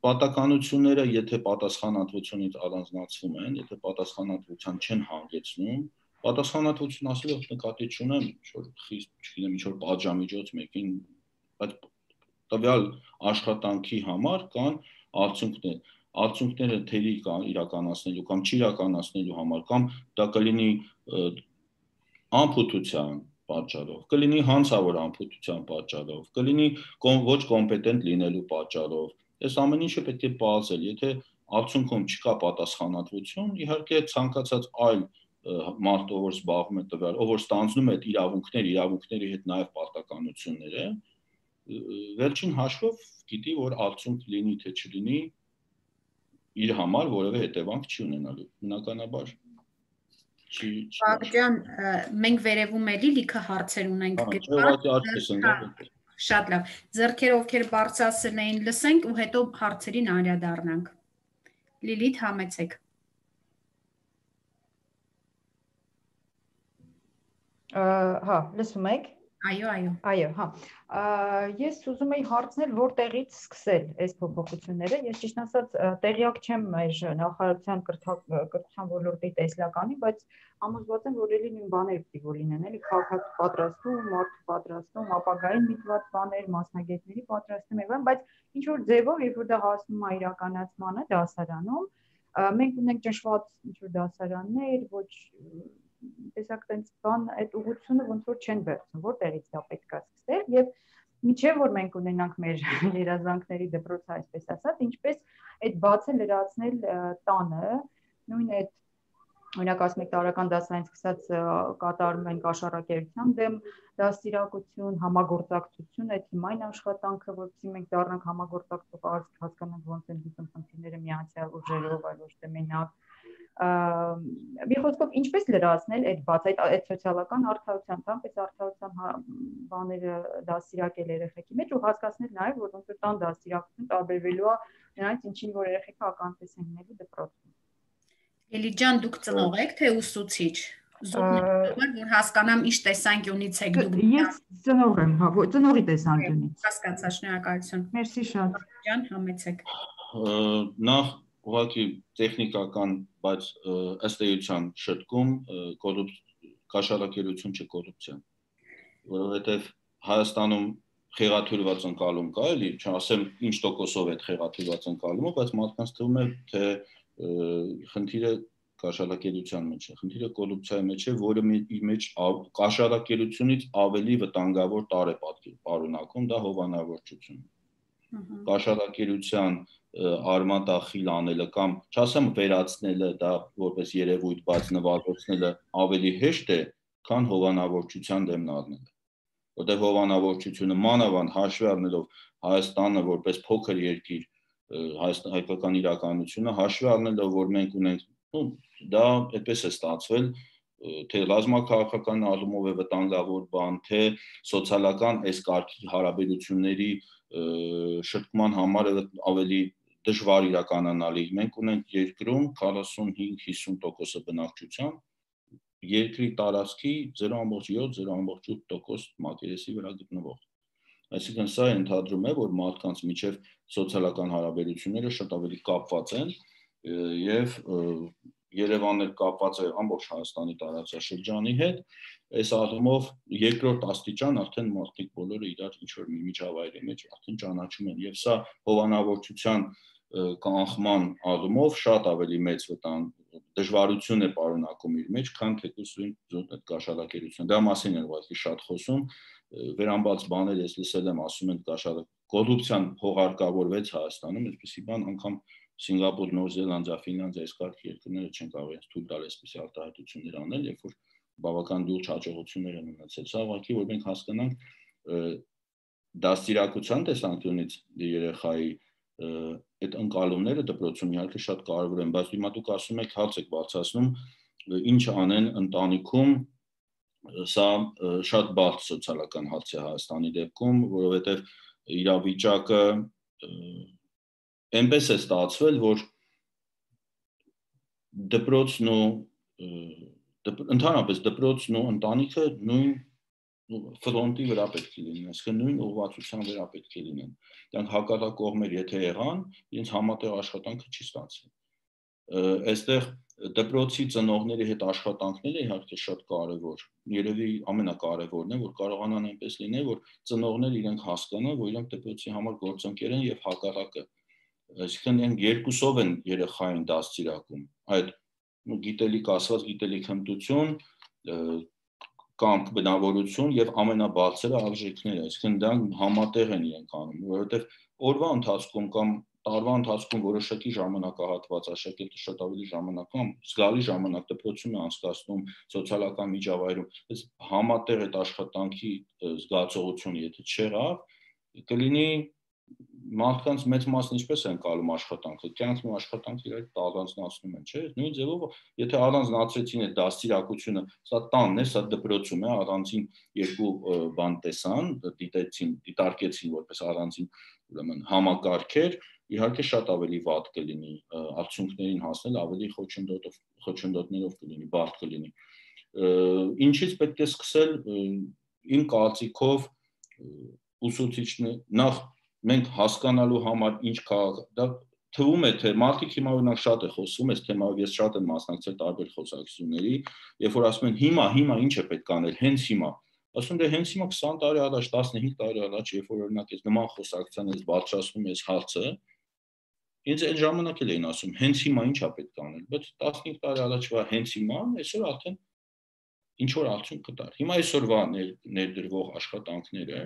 Պատականությունները, եթե պատասխանատվությունից առանձնացվում են, եթե պատասխանատվության չեն հանգեցնում, պատասխանատվություն ասելով նկատի չունեմ, ինչ-որ խիստ, չգիտեմ, ինչ-որ պատժամիջոց մեկին, բայց տվյալ աշխատանքի համար կան արդյունքներ, արդյունքները թերի կան իրականացնելու կամ չիրականացնելու համար, կամ դա կլինի անփութության պատճառով, կլինի հանցավոր անփութության պատճառով, կլինի ոչ կոմպետենտ լինելու պատճառով, այս ամեն ինչը պետք է պարզել, եթե արդյունքում չկա պատասխանատվություն, իհարկե ցանկացած այլ մարդ, ով որ զբաղվում է տվյալ, ով որ ստանձնում է իրավունքներ, իրավունքների հետ նաև պարտականությունները, վերջին հաշվով գիտի, որ արդյունք լինի թե չլինի, իր համար որևէ հետևանք չի ունենալու, բնականաբար չի։ Պարկ ջան, մենք վերևում էլի լիքը հարցեր ունենք գրված։ Շատ լավ, ձեռքերը ովքեր բարձրացել էին լսենք ու հետո հարցերին անդրադառնանք։ Լիլիթ, համեցեք։ Հա, լսում եք։ Այո, այո։ Այո, հա։ Ես ուզում եի հարցնել, որտեղից սկսել այս փոփոխությունները։ Ես ճիշտ ասած տեղյակ չեմ մեր նախարարության կրթության ոլորտի տեսլականի, բայց համոզված եմ, որ էլի նույն բաները պետք է լինեն, էլի քաղաքացու պատրաստում, մարդ պատրաստում, ապագային միտված բաներ, մասնագետների պատրաստում եւ այլն, բայց ինչ որ ձևով, երբ որ դա հասնում է իրականացմանը դասարանում, մենք ունենք ճնշված ինչ որ դասարաններ, ոչ տեսակ տենց բան այդ ուղղությունը ոնց որ չեն վերցնում, որտեղից դա պետք է սկսել եւ միջև որ մենք ունենանք մեր երազանքների դպրոցը, այսպես ասած, ինչպես այդ բացը լրացնել տանը, նույն այդ օրինակ ասում եք տարական դասարանից սկսած կատարում ենք աշխարհակերության դեմ դաստիարակություն, համագործակցություն, այդ հիմային աշխատանքը, որովհետեւ մենք դառնանք համագործակցող ազգ, հասկանանք ոնց են դիտում խնդիրները միացյալ ուժերով, այլ ոչ թե մենակ Մի խոսքով ինչպես լրացնել այդ բաց այդ այդ սոցիալական արդարության, այնպես արդարության բաները դաստիարակել երեխեքի մեջ ու հասկացնել նաև որ ոնց որ տան դաստիարակությունը տարբերվելու է նրանից ինչին որ երեխեքը ականատես են լինելու դպրոցում։ Էլի ջան, դուք ծնող եք թե ուսուցիչ։ Զուգն որ հասկանամ ինչ տեսանկյունից եք դուք։ Ես ծնող եմ, հա, ծնողի տեսանկյունից։ Հասկացա, շնորհակալություն։ Մերսի շատ։ Ջան, համեցեք։ Նախ ուղղակի տեխնիկական, բայց ըստ էության շտկում կաշառակերություն չէ կոռուպցիա, որովհետև Հայաստանում խեղաթյուրված ընկալում կա, էլի, չասեմ ինչ տոկոսով է խեղաթյուրված ընկալումը, բայց մարդկանց թվում է, թե խնդիրը կաշառակերության մեջ է, խնդիրը կոռուպցիայի մեջ է, որը իր մեջ կաշառակերությունից ավելի վտանգավոր տարր է պարունակում, դա հովանավորչությունն է։ Կաշառակերության արմատախիլ անելը կամ չասեմ վերացնելը, դա որպես երևույթ, բայց նվազեցնելը ավելի հեշտ է, քան հովանավորչության դեմն առնելը։ Որտեղ հովանավորչությունը մանավանդ հաշվի առնելով Հայաստանը որպես փոքր երկիր, հայկական իրականությունը հաշվի առնելով, որ մենք ունենք, դա այդպես է ստացվել, թե ռազմաքաղաքական առումով է վտանգավոր բան, թե սոցիալական այս կարգի հարաբերությունների շտկման համար ավելի դժվար իրականանալի։ Մենք ունենք երկրում քառասունհինգ հիսուն տոկոս բնակչության, երկրի տարածքի զերո կոմա յոթ զերո կոմա ութ տոկոս մակերեսի վրա գտնվող։ Այսինքն սա ենթադրում է, որ մարդկանց միջև սոցիալական հարաբերությունները շատ ավելի կապված են եւ Երևանն էլ կապված է ամբողջ Հայաստանի տարածաշրջանի հետ, այս առումով երկրորդ աստիճան արդեն մարդիկ բոլորը իրար ինչ-որ մի միջավայրի մեջ արդեն ճանաչում են եւ սա հովանավորչության կանխման առումով շատ ավելի մեծ վտանգ դժվարություն է պարունակում իր մեջ, քան թեկուզ այդ կաշառակերություն։ Դա մասին են ուղղակի շատ խոսում, վերամբարձ բաներ ես լսել եմ, ասում են կաշառակ կոռուպցիան հողարկավորվեց Հայաստանում, այսպեսի բան անգամ Սինգապուր, Նոր Զելանդիա, Ֆինլանդիա, այս կարգ երկրները չեն կարող այս թույլ տալ այսպիսի արտահայտություններ անել, երբ որ բավական լուրջ հաջողություններ են ունեցել։ Սա ուղղակի որ մենք հասկանանք դաստիարակության տեսանկյունից երեխայի այդ ընկալումները դպրոցում իհարկե շատ կարևոր են, բայց հիմա դուք ասում եք հարց եք բարձրացնում, ինչ անեն ընտանիքում, սա շատ բարդ սոցիալական հարց է Հայաստանի դեպքում, որովհետև իրավիճակը այնպես է ստացվել, որ դպրոցն ու ընդհանրապես դպրոցն ու ընտանիքը նույն ֆրոնտի վրա պետք է լինեն, այսինքն նույն ուղղվածության վրա պետք է լինեն։ Դրանք հակառակ կողմեր եթե եղան, իրենց համատեղ աշխատանքը չի ստացվի։ Այստեղ դպրոցի ծնողների հետ աշխատանքները իհարկե շատ կարևոր, երևի ամենակարևորն է, որ կարողանան այնպես լինել, որ ծնողները իրենք հասկանան, որ իրենք դպրոցի համար գործընկեր են եւ հակառակը։ Այսինքն իրենք երկուսով են երեխային դաստիարակում, այդ գիտելիք ասված գիտելիք հմտություն կամ բնավորություն եւ ամենաբարձրը արժեքները, այսինքն դրանք համատեղ են իրենք անում, որովհետեւ օրվա ընթացքում կամ տարվա ընթացքում որոշակի ժամանակահատված աշակերտը շատ ավելի ժամանակ կամ զգալի ժամանակ դպրոցում է անցկացնում սոցիալական միջավայրում, այս համատեղ այդ աշխատանքի զգացողությունը եթե չեղավ, կլինի մարդկանց մեծ մասն ինչպես են կալում աշխատանքը, կյանքն ու աշխատանքը իրար առանձնացնում են, չէ՞։ Նույն ձևով, եթե առանձնացրեցին այդ դաստիարակությունը, սա տանն է, սա դպրոցում է, առանձին երկու բան տեսան, դիտեցին, դիտարկեցին որպես առանձին, ուրեմն համակարգեր, իհարկե շատ ավելի վատ կլինի, արդյունքներին հասնել ավելի խոչընդոտով, խոչընդոտներով կլինի, բարդ կլինի։ Ինչից պետք է սկսել, իմ կարծիքով ուսուցիչներ, նախ մենք հասկանալու համար ինչ քաղաք, դա թվում է, թե մարդիկ հիմա օրինակ շատ է խոսում, այս թեմայով ես շատ եմ մասնակցել տարբեր խոսակցությունների, երբ որ ասում են հիմա, հիմա ինչ է պետք անել, հենց հիմա։ Ասում դե հենց հիմա քսան տարի առաջ, տասնհինգ տարի առաջ, երբ որ օրինակ այս նման խոսակցության ես բարձրացնում ես հարցը, ինձ այդ ժամանակ էլ էին ասում, հենց հիմա ինչ է պետք անել, բայց տասնհինգ տարի առաջվա հենց հիմա, այսօր արդեն ինչ որ արդյունք կտար։ Հիմա այսօրվա ներդրվող աշխատանքները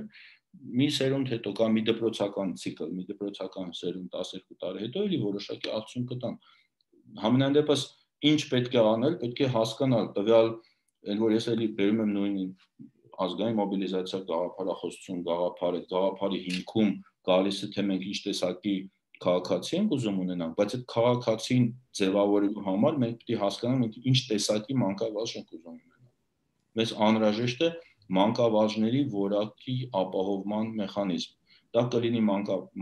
մի սերունդ հետո կամ մի դպրոցական ցիկլ, մի դպրոցական սերունդ տասներկու տարի հետո էլի որոշակի արդյունք կտան։ Համենայն դեպս ինչ պետք է անել, պետք է հասկանալ տվյալ, այն որ ես էլի բերում եմ նույն ազգային մոբիլիզացիա գաղափարախոսություն, գաղափարը, գաղափարի հիմքում գալիս է թե մենք ինչ տեսակի քաղաքացի ենք ուզում ունենանք, բայց այդ քաղաքացին ձևավորելու համար մենք պետք է հասկանանք ինչ տեսակի մանկավարժ ենք ուզում ունենալ։ Մեզ անհրաժեշտ է մանկավարժների որակի ապահովման մեխանիզմ։ Դա կլինի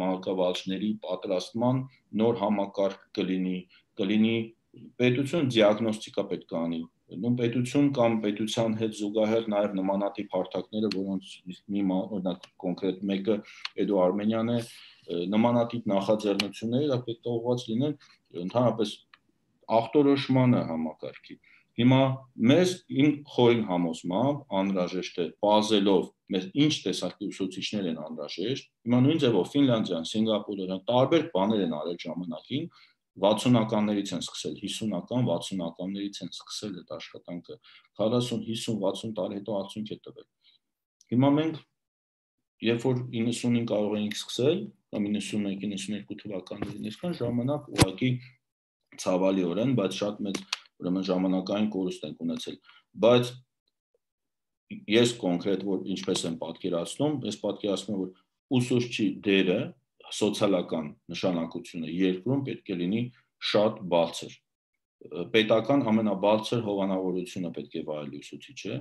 մանկավարժների պատրաստման նոր համակարգ կլինի, կլինի պետություն դիագնոստիկա պետք է անի, նույն պետություն կամ պետության հետ զուգահեռ նաև նմանատիպ հարթակները, որոնց մի օրինակ կոնկրետ մեկը Էդո Արմենյան է, նմանատիպ նախաձեռնությունները դա պետք է ուղղված լինեն ընդհանրապես ախտորոշմանը համակարգի։ Հիմա մեզ իմ խորին համոզմամբ անհրաժեշտ է բազելով մեզ ինչ տեսակի ուսուցիչներ են անհրաժեշտ։ Հիմա նույն ձևով Ֆինլանդիան, Սինգապուրը տարբեր բաներ են արել ժամանակին, վաթսունականներից են սկսել, հիսունական, վաթսունականներից են սկսել այդ աշխատանքը, քառասուն, հիսուն, վաթսուն տարի հետո արդյունք է տվել։ Հիմա մենք երբ որ իննսունին կարող էինք սկսել, կամ իննսունմեկ իննսունյոթ թվականներին, այսքան ժամանակ ուղղակի ցավալիորեն, բայց շատ մեծ ուրեմն ժամանակային կորուստ ենք ունեցել, բայց ես կոնկրետ որ ինչպես եմ պատկերացնում, ես պատկերացնում եմ որ ուսուցչի դերը, սոցիալական նշանակությունը երկրում պետք է լինի շատ բարձր։ Պետական ամենաբարձր հովանավորությունը պետք է վայելի ուսուցիչը։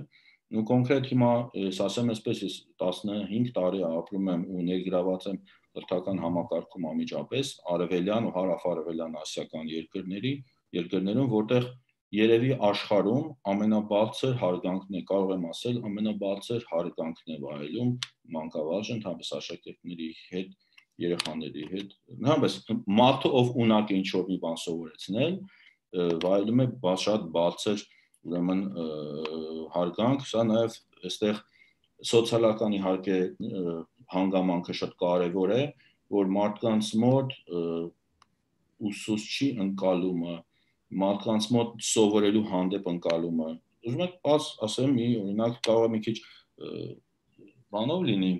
Ու կոնկրետ հիմա ես ասեմ այսպես, ես տասնհինգ տարի ապրում եմ ու ներգրաված եմ կրթական համակարգում անմիջապես արևելյան ու հարավ-արևելյան ասիական երկրների, երկրներում, որտեղ երևի աշխարհում ամենաբարձր հարգանքն է, կարող եմ ասել, ամենաբարձր հարգանքն է վայելում մանկավարժը, ընդհանրապես աշակերտների հետ, երեխաների հետ, ընդհանրապես մարդը ով ունակ է ինչ-որ մի բան սովորեցնել, վայելում է շատ բարձր ուրեմն հարգանք, սա նաև այստեղ սոցիալական իհարկե հանգամանքը շատ կարևոր է, որ մարդկանց մոտ ուսուցչի ընկալումը, մարդկանց մոտ սովորելու հանդեպ ընկալումը, ուզում եք բաց ասեմ մի օրինակ կարող է մի քիչ բանով լինի,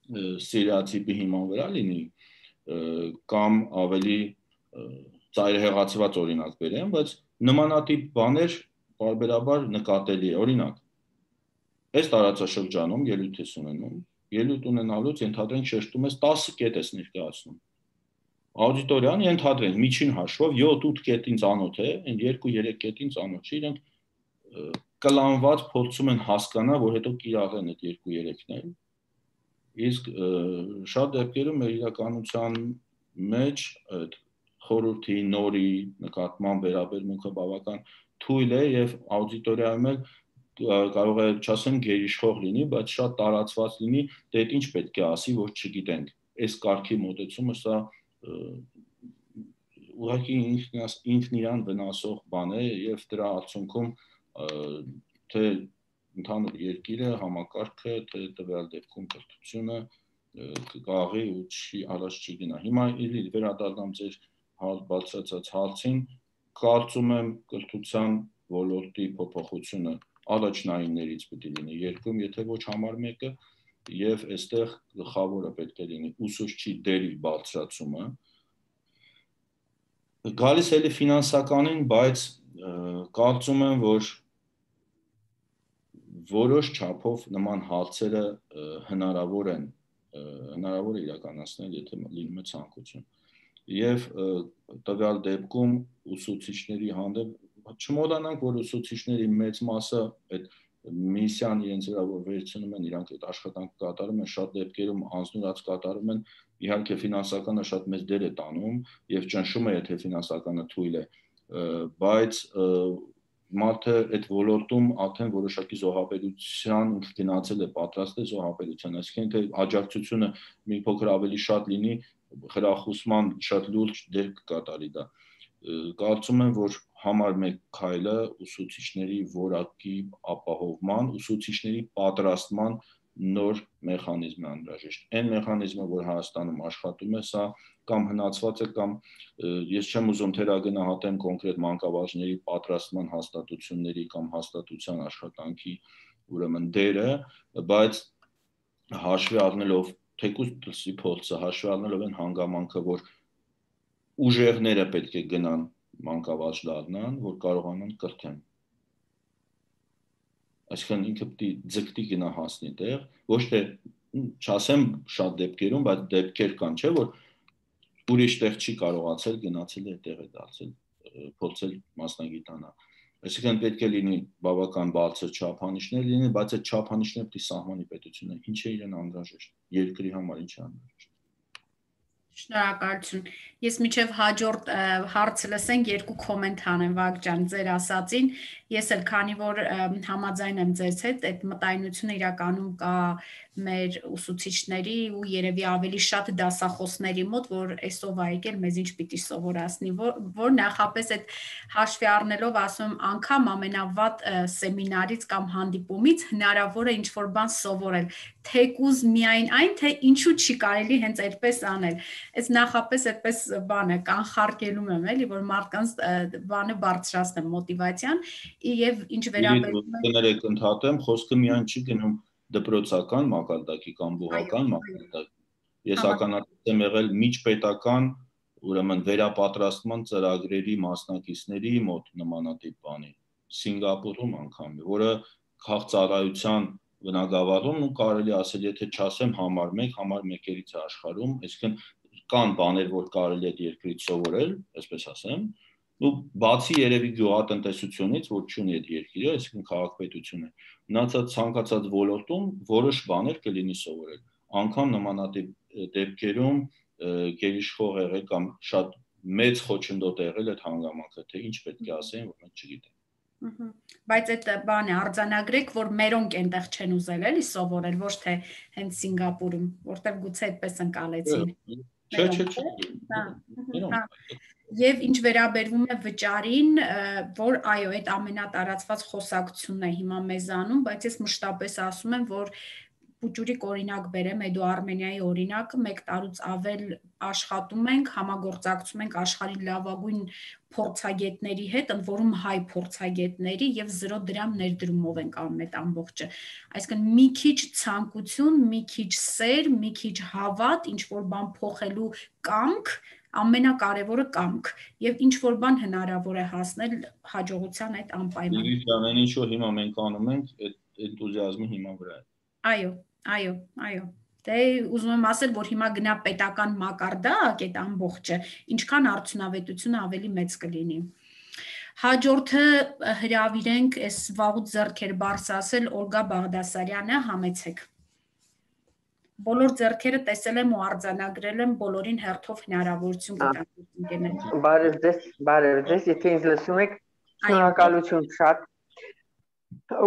ստերեոտիպի հիման վրա լինի, կամ ավելի ծայրահեղացված օրինակ բերեմ, բայց նմանատիպ բաներ բարբերաբար նկատելի է, օրինակ, այս տարածաշրջանում ելույթ ես ունենում, ելույթ ունենալուց ենթադրենք շեշտում ես տասը կետ ես ներկայացնում, աուդիտորիան ենթադրենք միջին հաշվով յոթ-ութ կետին ծանոթ է, այն երկու-երեք կետին ծանոթ չի, իրենք կլանված փորձում են հասկանալ, որ հետո կիրառեն այդ երկու-երեքն էլ, իսկ շատ դեպքերում մեր իրականության մեջ այդ խորհրդի նորի նկատմամբ վերաբերմունքը բավական թույլ է եւ աուդիտորիայում էլ կարող է չասեմ գերիշխող լինի, բայց շատ տարածված լինի, դե ինչ պետք է ասի, որ չգիտենք։ Այս կարգի մոտեցումը սա ուղղակի ինքն իրան վնասող բան է եւ դրա արդյունքում թե ընդհանուր երկիրը, համակարգը, թե տվյալ դեպքում կրթությունը կգաղի ու չի առաջ չի գնա։ Հիմա իլի վերադառնամ ձեր բացրացած հարցին, կարծում եմ կրթության ոլորտի փոփոխությունը առաջնայիններից պետք է լինի երկրում, եթե ոչ համար մեկը, եւ այստեղ գլխավորը պետք է լինի ուսուցչի դերի բարձրացումը։ Գալիս էլի ֆինանսականին, բայց կարծում եմ, որ որոշ չափով նման հարցերը հնարավոր են, հնարավոր է իրականացնել, եթե լինում է ցանկություն։ Եվ տվյալ դեպքում ուսուցիչների հանդեպ չմոռանանք, որ ուսուցիչների մեծ մասը այդ միսիան իրենց վրա որ վերցնում են, իրանք այդ աշխատանքը կատարում են, շատ դեպքերում անձնուրաց կատարում են, իհարկե ֆինանսականը շատ մեծ դեր է տանում եւ ճնշում է, եթե ֆինանսականը թույլ է, բայց մարդը այդ ոլորտում արդեն որոշակի զոհաբերության գնացել է, պատրաստ է զոհաբերության, այսինքն թե աջակցությունը մի փոքր ավելի շատ լինի, խրախուսման շատ լուրջ դեր կկատարի դա։ Կարծում եմ, որ համար մեկ քայլը ուսուցիչների որակի ապահովման, ուսուցիչների պատրաստման նոր մեխանիզմ է անհրաժեշտ։ Այն մեխանիզմը, որ Հայաստանում աշխատում է, սա կամ հնացված է, կամ ես չեմ ուզում թերագնահատեմ կոնկրետ մանկավարժների պատրաստման հաստատությունների կամ հաստատության աշխատանքի ուրեմն դերը, բայց հաշվի առնելով թեկուզ դրսի փորձը, հաշվի առնելով այն հանգամանքը, որ ուժեղները պետք է գնան մանկավարժ դառնան, որ կարողանան կրթեն։ Այսինքն ինքը պետք է ձգտի գնա հասնի տեղ, ոչ թե չասեմ շատ դեպքերում, բայց դեպքեր կան, չէ՞ որ ուրիշ տեղ չի կարողացել գնացել է տեղ է դարձել, փորձել մասնագիտանալ։ Այսինքն պետք է լինի բավական բարձր չափանիշներ լինի, բայց այդ չափանիշները պետք է սահմանի պետությունը, ինչ է իրեն անհրաժեշտ, երկրի համար ինչ է անհրաժեշտ։ Շնորհակալություն։ Ես միջև հաջորդ հարցը լսենք երկու կոմենտ անեմ Վագջան ձեր ասածին։ Ես էլ քանի որ համաձայն եմ ձեզ հետ, այդ մտայնությունը իրականում կա մեր ուսուցիչների ու երևի ավելի շատ դասախոսների մոտ, որ այսով է եկել մեզ ինչ պիտի սովորացնի, որ, որ նախապես այդ հաշվի առնելով ասում եմ անգամ ամենավատ սեմինարից կամ հանդիպումից հնարավոր է ինչ-որ բան սովորել, թեկուզ միայն այն, թե ինչու չի կարելի հենց այդպես անել։ Այս նախապես այդպես բանը կանխարգելում եմ էլի, որ մարդկանց բանը բարձրացնեմ մոտիվացիան եւ ինչ վերաբերում է կներեք ընդհատեմ, խոսքը միայն չի գնում դպրոցական մակարդակի կամ բուհական մակարդակի։ Ես ականատես եմ եղել միջպետական, ուրեմն վերապատրաստման ծրագրերի մասնակիցների մոտ նմանատիպ բանի, Սինգապուրում անգամ, որը քաղցարայության բնագավառում ու կարելի ասել, եթե չասեմ համար մեկ, համար մեկերից է աշխարհում, այսինքն կան բաներ, որ կարելի է երկրից սովորել, այսպես ասեմ, ու բացի երևի գյուղատնտեսությունից, որ չունի այդ երկիրը, այսինքն քաղաքապետությունը, մնացած ցանկացած ոլորտում որոշ բաներ կլինի սովորել։ Անկամ նմանատիպ դեպքերում գերիշխող եղել կամ շատ մեծ խոչընդոտ եղել այդ հանգամանքը, թե ինչ պետք է ասեն, որ մենք չգիտենք։ Բայց այդ բանը արձանագրեք, որ մերոնք այնտեղ չեն ուզել էլի սովորել, ոչ թե հենց Սինգապուրում, որտեղ գուցե այդպես ընկալեցին։ Չէ, չէ, չէ։ Եվ ինչ վերաբերվում է վճարին, որ այո, այդ ամենատարածված խոսակցությունն է հիմա մեզանում, բայց ես մշտապես ասում եմ, որ Պուճուրիկ օրինակ բերեմ, Էդու Արմենիայի օրինակը, մեկ տարուց ավել աշխատում ենք, համագործակցում ենք աշխարհի լավագույն փորձագետների հետ, ընդ որում հայ փորձագետների եւ զրո դրամ ներդրումով ենք անում այդ ամբողջը։ Այսինքն մի քիչ ցանկություն, մի քիչ սեր, մի քիչ հավատ, ինչ որ բան փոխելու կամք, ամենակարևորը կամք եւ ինչ որ բան հնարավոր է հասնել հաջողության այդ անպայման։ Ամեն ինչ որ հիմա մենք անում ենք, այդ էնտուզիազմի հիման վրա է։ Այո, այո, այո։ Դե ուզում եմ ասել, որ հիմա գնա պետական մակարդակ այդ ամբողջը, ինչքան արդյունավետությունը ավելի մեծ կլինի։ Հաջորդը հրավիրենք, այս վաղուց ձեռքեր բարձ ասել, Օլգա Բաղդասարյանը, համեցեք։ Բոլոր ձեռքերը տեսել եմ ու արձանագրել եմ, բոլորին հերթով հնարավորություն կտամ։ Բարև ձեզ, բարև ձեզ, եթե ինձ լսում եք, շնորհակալություն շատ։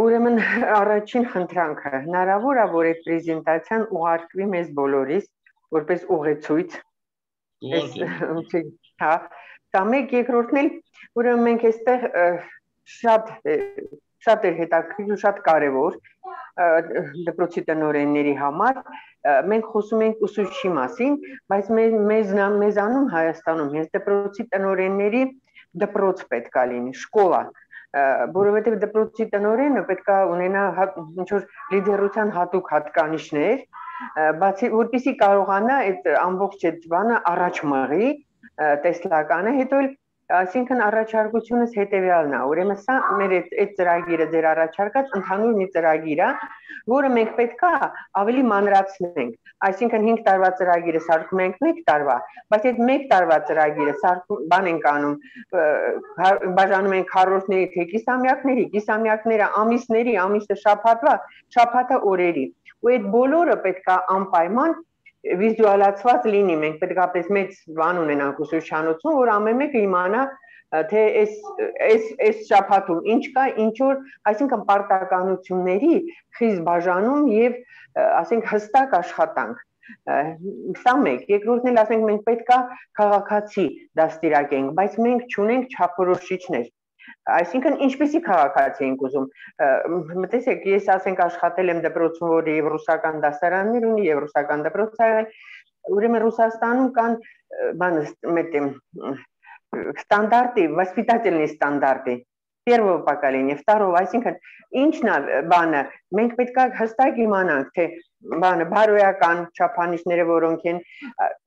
Ուրեմն առաջին խնդրանքը հնարավոր է, որ այդ պրեզենտացիան ուղարկվի մեզ բոլորիս, որպես ուղեցույց։ Հա, դա մեկ երկրորդն էլ, ուրեմն մենք այստեղ շատ շատ է հետաքրքիր ու շատ կարևոր դպրոցի տնօրենների համար, մենք խոսում ենք ուսուցչի մասին, բայց մեզ մեզանում Հայաստանում հենց դպրոցի տնօրենների դպրոց պետք է լինի, շկոլա, որովհետև դպրոցի տնօրենը պետք է ունենա ինչ-որ լիդերության հատուկ հատկանիշներ, բացի որպեսզի կարողանա այդ ամբողջ այդ բանը առաջ մղի տեսլականը, հետո էլ Այսինքն առաջարկությունս հետևյալն է, ուրեմն սա մեր այդ ծրագիրը ձեր առաջարկած ընդհանուր մի ծրագիր է, որը մենք պետք է ավելի մանրացնենք, այսինքն հինգ տարվա ծրագիրը սարքում ենք մեկ տարվա, բայց այդ մեկ տարվա ծրագիրը սարքում բան ենք անում, բաժանում ենք քառորդների թե կիսամյակների, կիսամյակները ամիսների, ամիսը շաբաթվա, շաբաթը օրերի, ու այդ բոլորը պետք է անպայման վիզուալացված լինի, մենք պետքապես մեծ բան ունենանք ուսուցչանոցում, որ ամեն մեկը իմանա, թե այս շաբաթում ինչ կա, ինչ որ, այսինքն պարտականությունների խիստ բաժանում եւ ասենք հստակ աշխատանք։ Սա մեկ, երկրորդն էլ ասենք մենք պետք է քաղաքացի դաստիարակենք, բայց մենք չունենք չափորոշիչներ։ Այսինքն ինչպեսի քաղաքացի ենք ուզում, մտածեք, ես ասենք աշխատել եմ դպրոցում, որը եւ ռուսական դասարաններ ունի, եւ ռուսական դպրոց ա եղել, ուրեմն Ռուսաստանում կան բանը ստանդարտի, վասպիտательные стандарты, первого поколения, второго, այսինքն ինչն է բանը, մենք պետք է հստակ իմանանք, թե բանը բարոյական չափանիշները որոնք են,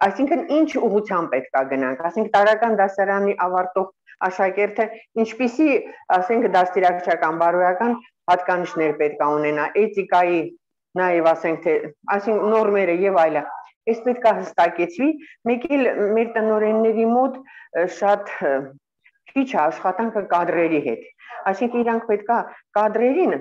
այսինքն ինչ ուղղությամբ պետք է գնանք, ասենք տարական դասարանի ավարտող աշակերտը ինչպիսի, ասենք դաստիարակչական բարոյական հատկանիշներ պետք է ունենա, էթիկայի, նաև ասենք թե, այսինքն նորմերը եւ այլը։ Այս պետք է հստակեցվի, մեկ էլ մեր տնօրենների մոտ շատ քիչ է աշխատանքը կադրերի հետ։ Այսինքն իրանք պետք է կադրերին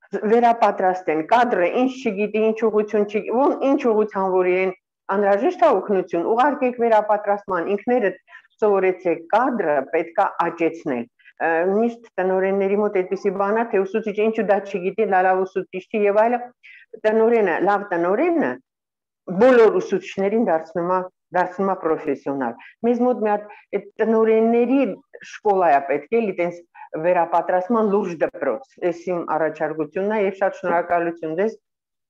վերապատրաստեն, կադրը ինչ չգիտի, ինչ ուղղություն չգիտի, ինչ ուղղության որ իրեն անհրաժեշտ է օգնություն, ուղարկեք վերապատրաստման, ինքներդ սովորեցեք, կադրը պետք է աճեցնել։ Միշտ տնօրենների մոտ այդպիսի բան է, թե ուսուցիչը ինչու դա չգիտի, լավ ուսուցիչ չի եւ այլը, տնօրենը, լավ տնօրենը բոլոր ուսուցիչներին դարձնում է դարձնում է պրոֆեսիոնալ։ Մեզ մոտ մի հատ այդ տնօրենների շկոլա է պետք է, այտենց վերապատրաստման լուրջ դպրոց։ Այս իմ առաջարկությունն է եւ շատ շնորհակալություն ձեզ,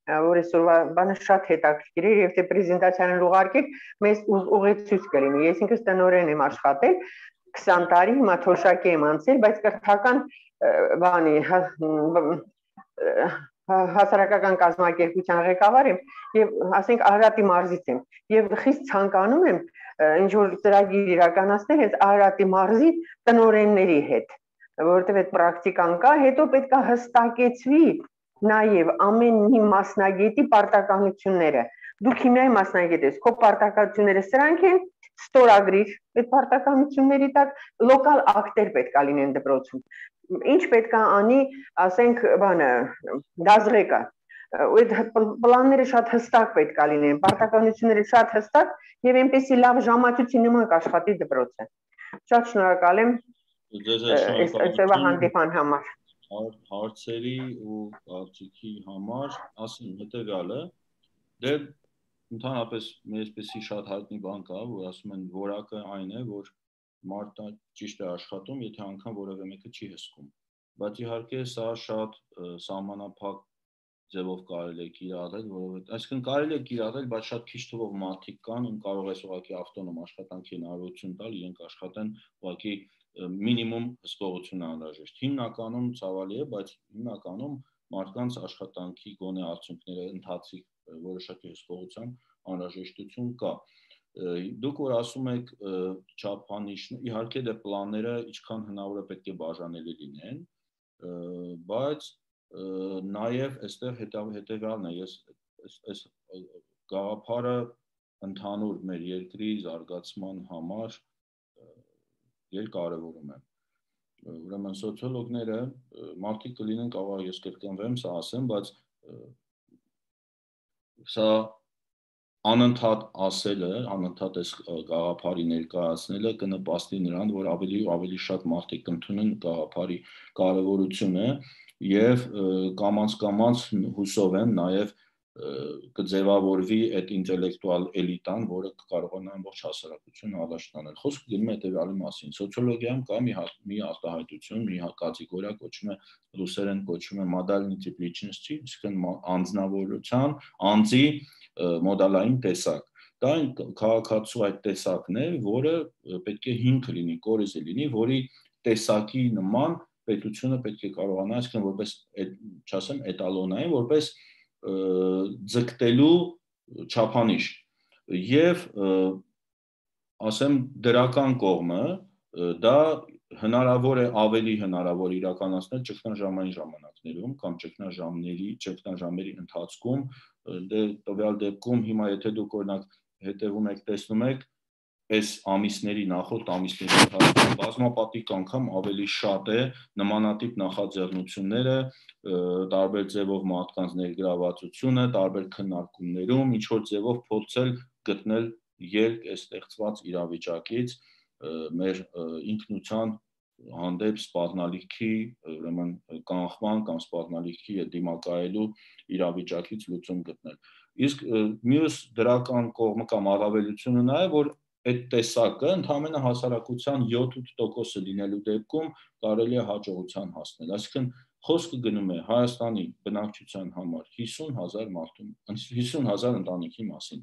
որ այսօրվա բանը շատ հետաքրքիր է եւ թե պրեզենտացիան ուղարկեք, մեզ ուղեցույց կլինի։ Ես ինքս տնօրեն եմ աշխատել քսան տարի, հիմա թոշակի եմ անցել, բայց կրթական բանի հասարակական կազմակերպության ղեկավար եմ եւ ասենք Արարատի մարզից եմ եւ խիստ ցանկանում եմ ինչ որ ծրագիր իրականացնել հենց Արարատի մարզի տնօրենների հետ, որովհետեւ այդ պրակտիկան կա, հետո պետք է հստակեցվի նաեւ ամեն մի մասնագետի պարտականությունները։ Դուք հիմնայի մասնագետ ես, քո պարտականությունները սրանք են, ստորագրիր այդ պարտականությունների տակ, լոկալ ակտեր պետք է լինեն դպրոցում։ Ինչ պետք է անի, ասենք, բանը, դազղեկը, այդ պլանները շատ հստակ պետք է լինեն, պարտականությունները շատ հստակ եւ այնպեսի լավ ժամացույցի նման կաշխատի դպրոցը։ Շատ շնորհակալ եմ այսօրվա հանդիպման համար։ Հարցերի ու կարծիքի համար ասեմ հետեւյալը, դե ընդհանրապես այսպեսի շատ հայտնի բան կա, որ ասում են որակը այն է, որ մարդը ճիշտ է աշխատում, եթե անգամ որևէ մեկը չի հսկում։ Բայց իհարկե սա շատ սահմանափակ ձևով կարելի է կիրառել, որովհետեւ այսինքն կարելի է կիրառել, բայց շատ քիչ թվով մարդիկ կան, ում կարող է ուղղակի ավտոնոմ աշխատանքի հնարավորություն տալ, իրենք աշխատեն ուղղակի մինիմում հսկողություն անհրաժեշտ։ Հիմնականում ցավալի է, բայց հիմնականում մարդկանց աշխատանքի գոնե արդյունքները ընթացիկ որոշակի հսկողության անհրաժեշտություն կա։ Դուք որ ասում եք չափանիշ, իհարկե դե պլանները ինչքան հնարավոր է պետք է բաժանելի լինեն, բայց նաև այստեղ հետևյալն է, ես այս գաղափարը ընդհանուր մեր երկրի զարգացման համար երկարևորում եմ։ Ուրեմն սոցիոլոգները մարդիկ կլինեն, կարող ես կրկնվեմ, սա ասեմ, բայց սա անընդհատ ասելը, անընդհատ այս գաղափարի ներկայացնելը կնպաստի նրան, որ ավելի ու ավելի շատ մարդիկ կընդունեն գաղափարի կարևորությունը եւ կամաց-կամաց հուսով եմ նաեւ կձևավորվի այդ ինտելեկտուալ էլիտան, որը կկարողանա ամբողջ հասարակությունը առաջ տանել։ Խոսքը գնում է հետևյալի մասին։ Սոցիոլոգիայում կա մի մի արտահայտություն, մի կատեգորիա կոչվում է ռուսերեն կոչվում է modality type lичности, այսինքն անձնավորության, անձի մոդալային տեսակ։ Դա քաղաքացու այդ տեսակն է, որը պետք է հիմք լինի, կորիզը լինի, որի տեսակի նման պետությունը պետք է կարողանա, այսինքն որպես, չասեմ, էտալոնային, որպես ձգտելու չափանիշ եւ ասեմ դրական կողմը դա հնարավոր է ավելի հնարավոր իրականացնել ճգնաժամային ժամանակներում կամ ճգնաժամերի ճգնաժամերի ընթացքում դե տվյալ դեպքում հիմա եթե դուք օրինակ հետևում եք տեսնում եք այս ամիսների նախորդ ամիսների ընթացքում բազմապատիկ անգամ ավելի շատ է նմանատիպ նախաձեռնությունները տարբեր ձևով մարդկանց ներգրավվածությունը, տարբեր քննարկումներում ինչ որ ձևով փորձել գտնել ելք այս ստեղծված իրավիճակից մեր ինքնության հանդեպ սպառնալիքի, ուրեմն կանխման կամ սպառնալիքի դիմակայելու իրավիճակից լուծում գտնել։ Իսկ մյուս դրական կողմը կամ առավելությունը նա է, որ այդ տեսակը ընդհանրապես հասարակության յոթ-ութ տոկոսը լինելու դեպքում կարելի է հաջողության հասնել։ Այսինքն խոսքը գնում է Հայաստանի բնակչության համար հիսուն հազար մարդու, հիսուն հազար ընտանիքի մասին։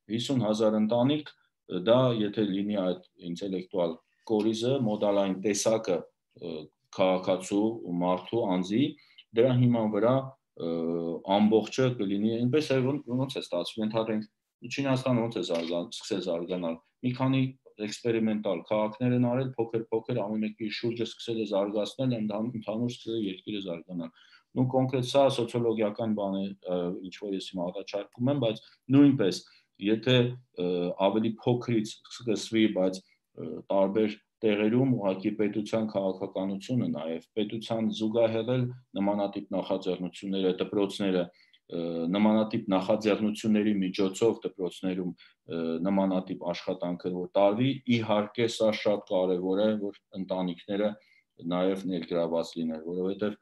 հիսուն հազար ընտանիք, դա եթե լինի այդ ինտելեկտուալ կորիզը, մոդալային տեսակը քաղաքացու ու մարդու անձի, դրա հիման վրա ամբողջը կլինի, այնպես է ոնց է ստացվում, ընդհանրենք Չինաստանը ոնց է սկսել զարգանալ, մի քանի էքսպերիմենտալ քաղաքներ են արել, փոքր-փոքր ամեն մեկի շուրջը սկսել է զարգացնել, ընդհանուր սկսել է երկիրը զարգանալ։ ու կոնկրետ սա սոցիոլոգիական բան է, ինչ որ ես հիմա առաջարկում եմ, բայց նույնպես եթե ավելի փոքրից սկսվի, բայց տարբեր տեղերում ուղղակի պետության քաղաքականությունը նաև պետության զուգահեռ էլ նմանատիպ նախաձեռնությունները, դպրոցները նմանատիպ նախաձեռնությունների միջոցով դպրոցներում նմանատիպ աշխատանքը որ տարվի, իհարկե սա շատ կարևոր է, որ ընտանիքները նաև ներգրաված լինեն, որովհետև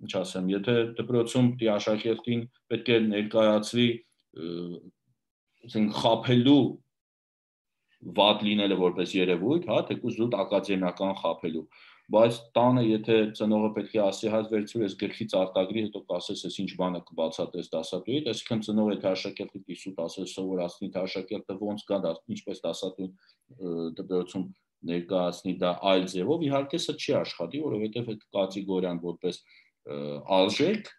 ինչ ասեմ, եթե դպրոցում դի աշակերտին պետք է ներկայացվի ասենք խափելու վատ լինելը որպես երևույթ, հա, թեկուզ զուտ ակադեմիական խափելու, բայց տանը եթե ծնողը պետք է ասի հայց վերցրու ես գլխից արտագրի, հետո կասես ես ինչ բանը կբացատրես դասատուիդ, այսինքն ծնողը եթե աշակերտի դիսուտ ասես սովորացնի, թե աշակերտը ոնց կա դա, ինչպես դասատուն դպրոցում ներկայացնի դա այլ ձևով, իհարկե սա չի աշխատի, որովհետև այդ կատեգորիան որպես արժեք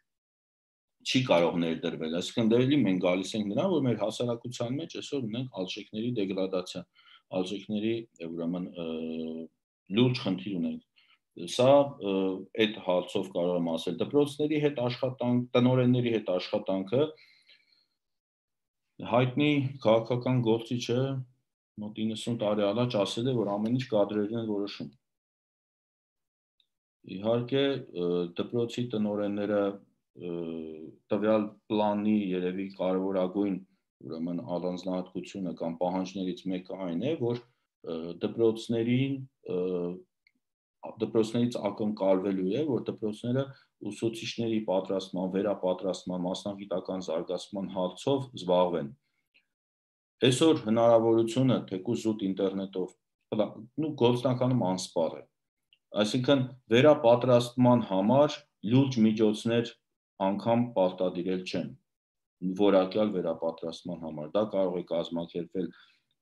չի կարող ներդրվել, այսինքն դեպի մենք գալիս ենք նրան, որ մեր հասարակության մեջ այսօր ունենք արժեքների դեգրադացիա, արժեքների ուրեմն լուրջ խնդիր ունենք։ Սա այդ հարցով կարող եմ ասել, դպրոցների հետ աշխատանք, տնօրենների հետ աշխատանքը հայտնի քաղաքական գործիչը մոտ իննսուն տարի առաջ ասել է, որ ամեն ինչ կադրերն են որոշում։ Իհարկե դպրոցի տնօրենները տվյալ պլանի երևի կարևորագույն ուրեմն առանձնահատկությունը կամ պահանջներից մեկը այն է, որ դպրոցներին դպրոցներից ակնկալվելու է, որ դպրոցները ուսուցիչների պատրաստման, վերապատրաստման, մասնագիտական զարգացման հարցով զբաղվեն։ Այսօր հնարավորությունը թեկուզ զուտ ինտերնետով, նու գործնականում անսպառ է։ Այսինքն վերապատրաստման համար լուրջ միջոցներ անգամ պարտադիրել չեն, որակյալ վերապատրաստման համար, դա կարող է կազմակերպվել,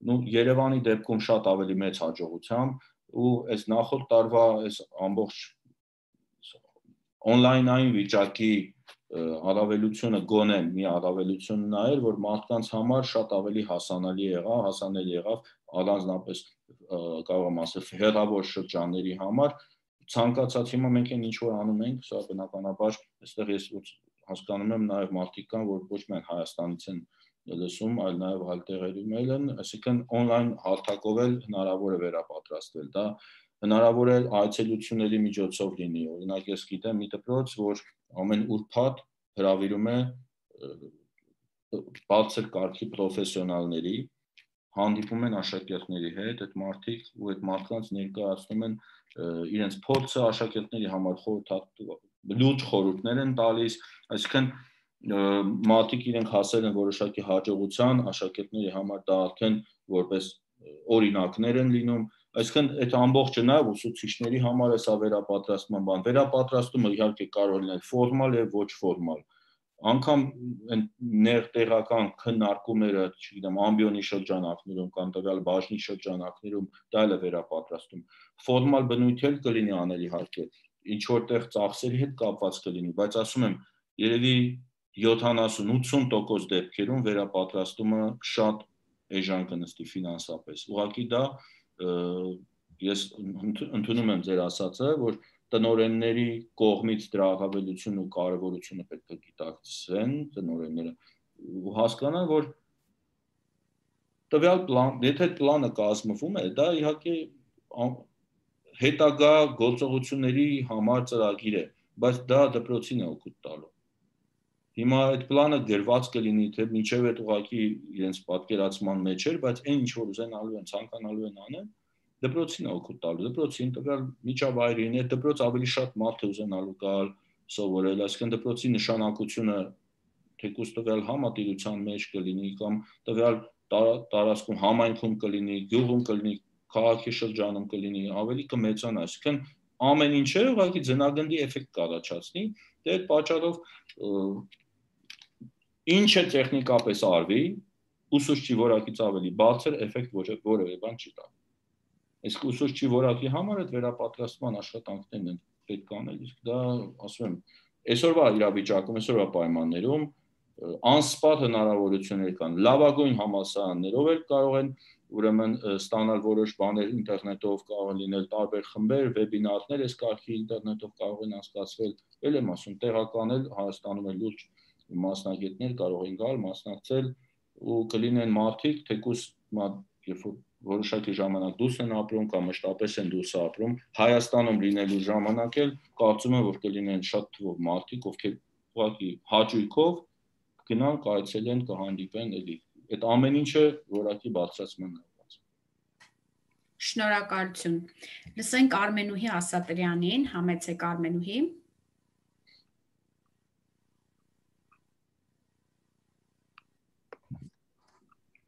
նու Երևանի դեպքում շատ ավելի մեծ հաջողությամբ ու այս նախորդ տարվա այս ամբողջ օնլայնային վիճակի առավելությունը գոնե մի առավելություն նա էր, որ մարդկանց համար շատ ավելի հասանելի եղավ, հասանելի եղավ առանձնապես կարող եմ ասել հեռավոր շրջանների համար, ցանկացած հիմա մենք այն ինչ որ անում ենք, սա բնականաբար այստեղ ես հասկանում եմ նաև մարդիկ կան, որ ոչ միայն Հայաստանից են լսում, այլ նաև այլ տեղերում են, այսինքն օնլայն հարթակով էլ հնարավոր է վերապատրաստվել, դա հնարավոր է այցելությունների միջոցով լինի, օրինակ ես գիտեմ մի դպրոց, որ ամեն ուրբաթ հրավիրում է բարձր կարգի պրոֆեսիոնալների, հանդիպում են աշակերտների հետ, այդ մարդիկ ու այդ մարդկանց ներկայացնում են իրենց փորձը աշակերտների համար լուրջ խորհուրդներ են տալիս, այսինքն մարդիկ իրենք հասել են որոշակի հաջողության, աշակերտների համար դա արդեն որպես օրինակներ են լինում, այսինքն այդ ամբողջը նաև ուսուցիչների համար է սա վերապատրաստման բան, վերապատրաստումը իհարկե կարող լինել ֆորմալ եւ ոչ ֆորմալ, անգամ ներտեղական քննարկումները, չգիտեմ, ամբիոնի շրջանակներում կամ տվյալ բաժնի շրջանակներում դա էլ է վերապատրաստում, ֆորմալ բնույթ էլ կլինի անել իհարկե, ինչ որտեղ ծախսերի հետ կապված կլինի, բայց ասում եմ, երևի յոթանասուն-ութսուն տոկոս դեպքերում վերապատրաստումը շատ էժան կնստի ֆինանսապես, ուղղակի դա ես ընդունում եմ ձեր ասածը, որ տնօրենների կողմից դրա առավելությունը ու կարևորությունը պետք է գիտակցվեն տնօրենները ու հասկանան, որ տվյալ պլան, եթե այդ պլանը կազմվում է, դա իհարկե հետագա գործողությունների համար ծրագիր է, բայց դա դպրոցին է օգուտ տալու։ Հիմա այդ պլանը գրված կլինի, թե մինչև այդ ուղղակի իրենց պատկերացման մեջ էր, բայց այն ինչ որ ուզենալու են, ցանկանալու են անեն, դպրոցին է օգուտ տալու, դպրոցին տվյալ միջավայրին, այդ դպրոց ավելի շատ մարդ է ուզենալու գալ, սովորել, այսինքն դպրոցի նշանակությունը թեկուզ տվյալ համատիրության մեջ կլինի կամ տվյալ տարածքում համայնքում կլինի, գյուղում կլինի, քաղաքի շրջանում կլինի, ավելի կմեծանա, այսինքն ամեն ինչը ուղղակի ձնագնդի էֆեկտ կառաջացնի, դե այդ պատճառով ինչը տեխնիկապես արվի, ուսուցչի որակից ավելի բարձր էֆեկտ որևէ բան չի տա։ Իսկ ուսուցչի որակի համար այդ վերապատրաստման աշխատանքներն են պետք անել, իսկ դա ասում եմ, այսօրվա իրավիճակում, այսօրվա պայմաններում անսպառ հնարավորություններ կան, լավագույն համալսարաններով էլ կարող են ուրեմն ստանալ որոշ բաներ ինտերնետով կարող են լինել տարբեր խմբեր, վեբինարներ, այս կարգի ինտերնետով կարող են անցկացվել, ել եմ ասում, տեղական էլ Հայաստանում էլ լուրջ մասնագետներ կարող են գալ, մասնակցել ու կլինեն մարդիկ, թեկուզ երբ որ որոշակի ժամանակ դուրս են ապրում կամ մշտապես են դուրս ապրում, Հայաստանում լինելու ժամանակ էլ կարծում եմ, որ կլինեն շատ թվով մարդիկ, ովքեր ուղղակի հաճույքով գնան, կայցելեն, կհանդիպեն, էլի այդ ամեն ինչը որակի բարձրացման նպատակով։ Շնորհակալություն։ Լսենք Արմենուհի Ասատրյանին, համեցեք Արմենուհի։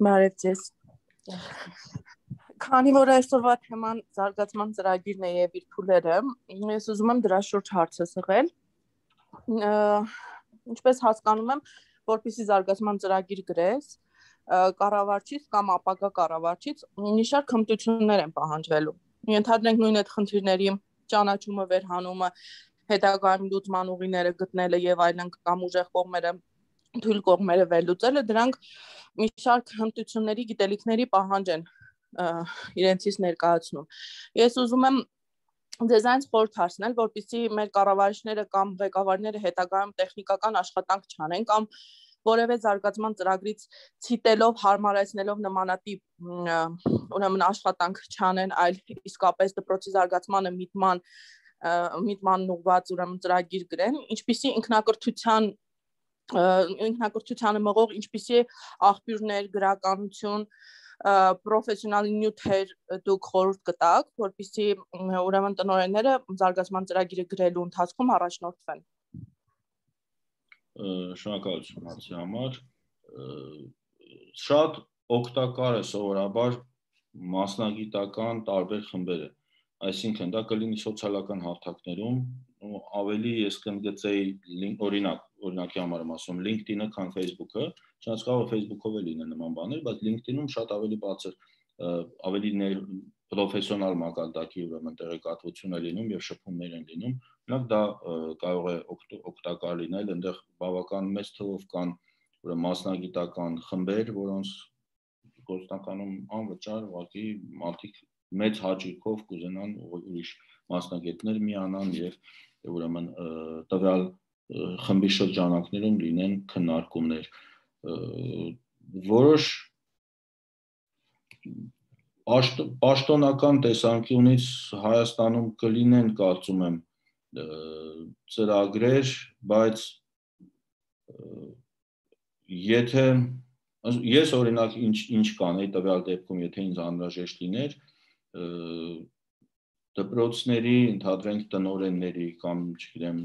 Բարև ձեզ։ Քանի որ այսօրվա թեման զարգացման ծրագիրն է եւ իր փուլերը, ես ուզում եմ դրա շուրջ հարց ասել։ Ինչպես հասկանում եմ, որպեսզի զարգացման ծրագիր գրես, կառավարչից կամ ապագա կառավարչից մի շարք հմտություններ են պահանջվելու։ Ենթադրենք նույն այդ խնդիրների ճանաչումը, վերհանումը, հետագայում լուծման ուղիները գտնելը եւ այլն կամ ուժեղ կողմերը, թույլ կողմերը վերլուծելը, դրանք մի շարք հմտությունների, գիտելիքների պահանջ են իրենցից ներկայացնում։ Ես ուզում եմ ձեզանից խորհուրդ հասնել, որպեսզի մեր կառավարիչները կամ ղեկավարները հետագայում տեխնիկական աշխատանք չանեն կամ որևէ զարգացման ծրագրից ցիտելով, հարմարեցնելով նմանատիպ ուրեմն աշխատանք չանեն, այլ իսկապես դպրոցի զարգացմանը միտման միտման ուղղված ուրեմն ծրագիր գրեն, ինչպիսի ինքնակրթության ինքնակրթությանը մղող ինչպիսի աղբյուրներ, գրականություն, պրոֆեսիոնալ նյութեր դուք խորհուրդ կտաք, որպեսզի ուրեմն տնօրենները զարգացման ծրագիրը գրելու ընթացքում առաջնորդվեն։ Շնորհակալություն հարցի համար։ Շատ օգտակար է սովորաբար մասնագիտական տարբեր խմբերը, այսինքն դա կլինի սոցիալական հարթակներում, ավելի ես կընդգծեի օրինակ, օրինակի համար եմ ասում LinkedIn-ը, քան Facebook-ը, չնայած կարող է Facebook-ով էլ լինեն նման բաներ, բայց LinkedIn-ում շատ ավելի բարձր, ավելի պրոֆեսիոնալ մակարդակի ուրեմն տեղեկատվություն է լինում եւ շփումներ են լինում, օրինակ դա կարող է օգտակար լինել, այնտեղ բավական մեծ թվով կան ուրեմն մասնագիտական խմբեր, որոնց գործնականում անվճար ուղղակի մարդիկ մեծ հաճույքով կուզենան ուրիշ մասնագետներ միանան եւ ուրեմն տվյալ խմբի շրջանակներում լինեն քննարկումներ, որոշ պաշտոնական տեսանկյունից Հայաստանում կլինեն, կարծում եմ, ծրագրեր, բայց եթե ես օրինակ ինչ ինչ կանեի տվյալ դեպքում, եթե ինձ անհրաժեշտ լիներ, դպրոցների, ընդհանրենք տնօրենների կամ, չգիտեմ,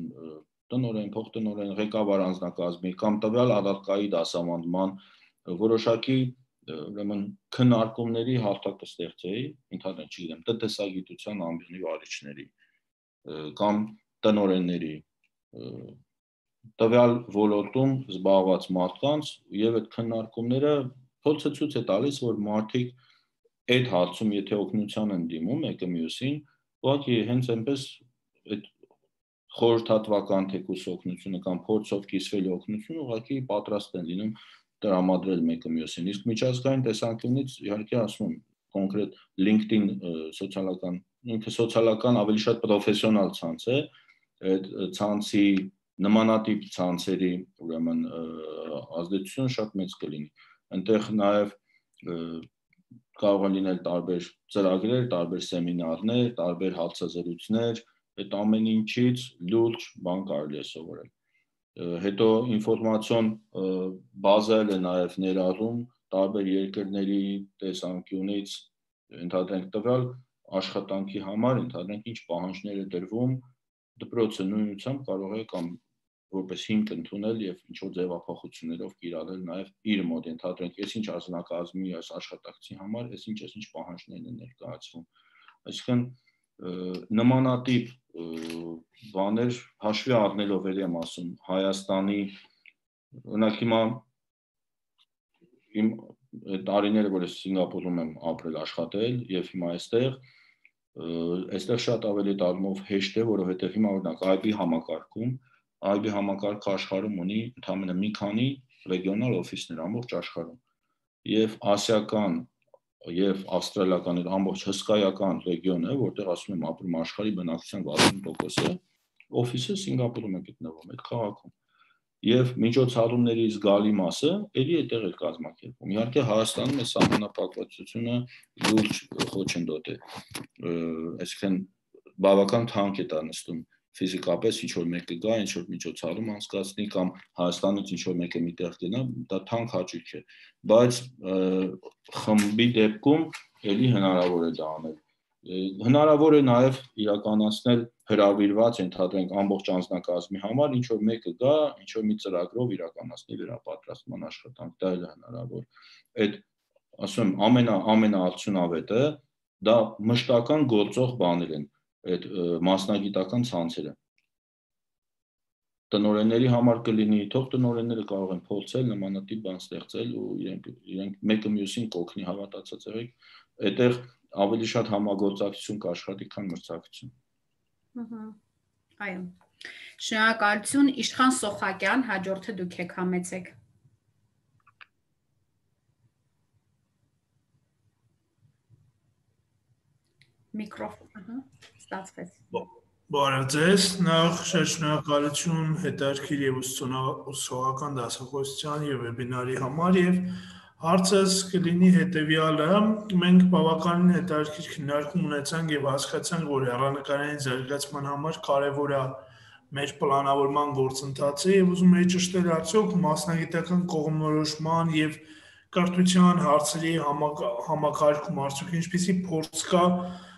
տնօրեն, փոխտնօրեն, ղեկավար անձնակազմի կամ տվյալ առարկայի դասավանդման որոշակի ուրեմն քննարկումների հարթակ կստեղծեի, ընդհանրեն, չգիտեմ, տնտեսագիտության ամբիոնի վարիչների կամ տնօրենների տվյալ ոլորտում զբաղված մարդկանց եւ այդ քննարկումները փորձը ցույց է տալիս, որ մարդիկ այդ հարցում եթե օգնության են դիմում մեկը մյուսին, ուղղակի հենց այնպես այդ խորհրդատվական թեկուս օգնությունը կամ փորձով կիսվելու օգնությունը ուղղակի պատրաստ են լինում տրամադրել մեկը մյուսին։ Իսկ միջազգային տեսանկյունից իհարկե ասում եմ կոնկրետ LinkedIn սոցիալական, ինքը սոցիալական ավելի շատ պրոֆեսիոնալ ցանց է, այդ ցանցի նմանատիպ ցանցերի ուրեմն ազդեցությունը շատ մեծ կլինի։ Այնտեղ նաև կարող են լինել տարբեր ծրագրեր, տարբեր սեմինարներ, տարբեր հարցազրույցներ, այդ ամեն ինչից լուրջ բան կարելի է սովորել։ Հետո ինֆորմացիոն բազայել է նաև ներառում տարբեր երկրների տեսանկյունից, ընդհանրենք տվյալ աշխատանքի համար, ընդհանրենք ինչ պահանջներ է դրվում, դպրոցը նույնությամբ կարող է կամ որպես հիմք ընդունել եւ ինչ որ ձևափոխություններով կիրառել նաեւ իր մոտ, ընդհանրենք այս ինչ ազգնակազմի այս աշխատակցի համար, այս ինչ այս ինչ պահանջներն են ներկայացվում։ Այսինքն նմանատիպ բաներ հաշվի առնելով էլ եմ ասում Հայաստանի օրինակ հիմա իմ տարիները որ ես Սինգապուրում եմ ապրել աշխատել եւ հիմա այստեղ այստեղ շատ ավելի դառնով հեշտ է, որովհետեւ հիմա օրինակ այ բի համակարգում, այ բի համակարգը աշխարհում ունի ընդամենը մի քանի ռեգիոնալ օֆիսներ ամբողջ աշխարհում։ Եվ ասիական եւ ավստրալիական այդ ամբողջ հսկայական ռեգիոնը, որտեղ ասում եմ ապրում աշխարհի բնակչության վաթսուն տոկոսը, օֆիսը Սինգապուրում է գտնվում, այդ քաղաքում։ Եվ միջոցառումների զգալի մասը ելի այդտեղ է կազմակերպվում։ Իհարկե Հայաստանում է սահմանափակվածությունը լուրջ խոչընդոտ է։ Այսինքն բավական թանկ է դա նստում ֆիզիկապես ինչ որ մեկը գա, ինչ որ միջոցառում անցկացնի կամ Հայաստանից ինչ որ մեկը միտեղ գնա, դա թանկ հաճույք է, բայց խմբի դեպքում ելի հնարավոր է դա անել։ Հնարավոր է նաև իրականացնել հրավիրված ընդհանրենք ամբողջ անձնակազմի համար ինչ որ մեկը գա, ինչ որ մի ծրագրով իրականացնի վերապատրաստման աշխատանք, դա էլ է հնարավոր։ Այդ ասում եմ ամենա ամենաարդյունավետը դա մշտական գործող բաներ են, այդ մասնագիտական ցանցերը։ Տնօրենների համար կլինի, թող տնօրենները կարող են փորձել նմանատիպ բան ստեղծել ու իրենք իրենք մեկը մյուսին կօգնի, հավատացած եղեք, այդտեղ ավելի շատ համագործակցություն կաշխատի, քան մրցակցություն։ Ահա։ Այո։ Շնորհակալություն, Իշխան Սոխակյան, հաջորդը դուք եք համեցեք։ Միկրոֆոն, ահա, ստացվեց։ Բարև ձեզ, նախ շնորհակալություն հետաքրքիր եւ ուսուցողական դասախոսության եւ վեբինարի համար եւ հարցս կլինի հետեւյալը, մենք բավականին հետաքրքիր քննարկում ունեցանք եւ հասկացանք, որ հեռանկարային զարգացման համար կարեւոր է մեր պլանավորման գործընթացը եւ ուզում եի ճշտել արդյոք մասնագիտական կողմնորոշման եւ կրթության հարցերի համակարգում արդյոք ինչպիսի փորձ կա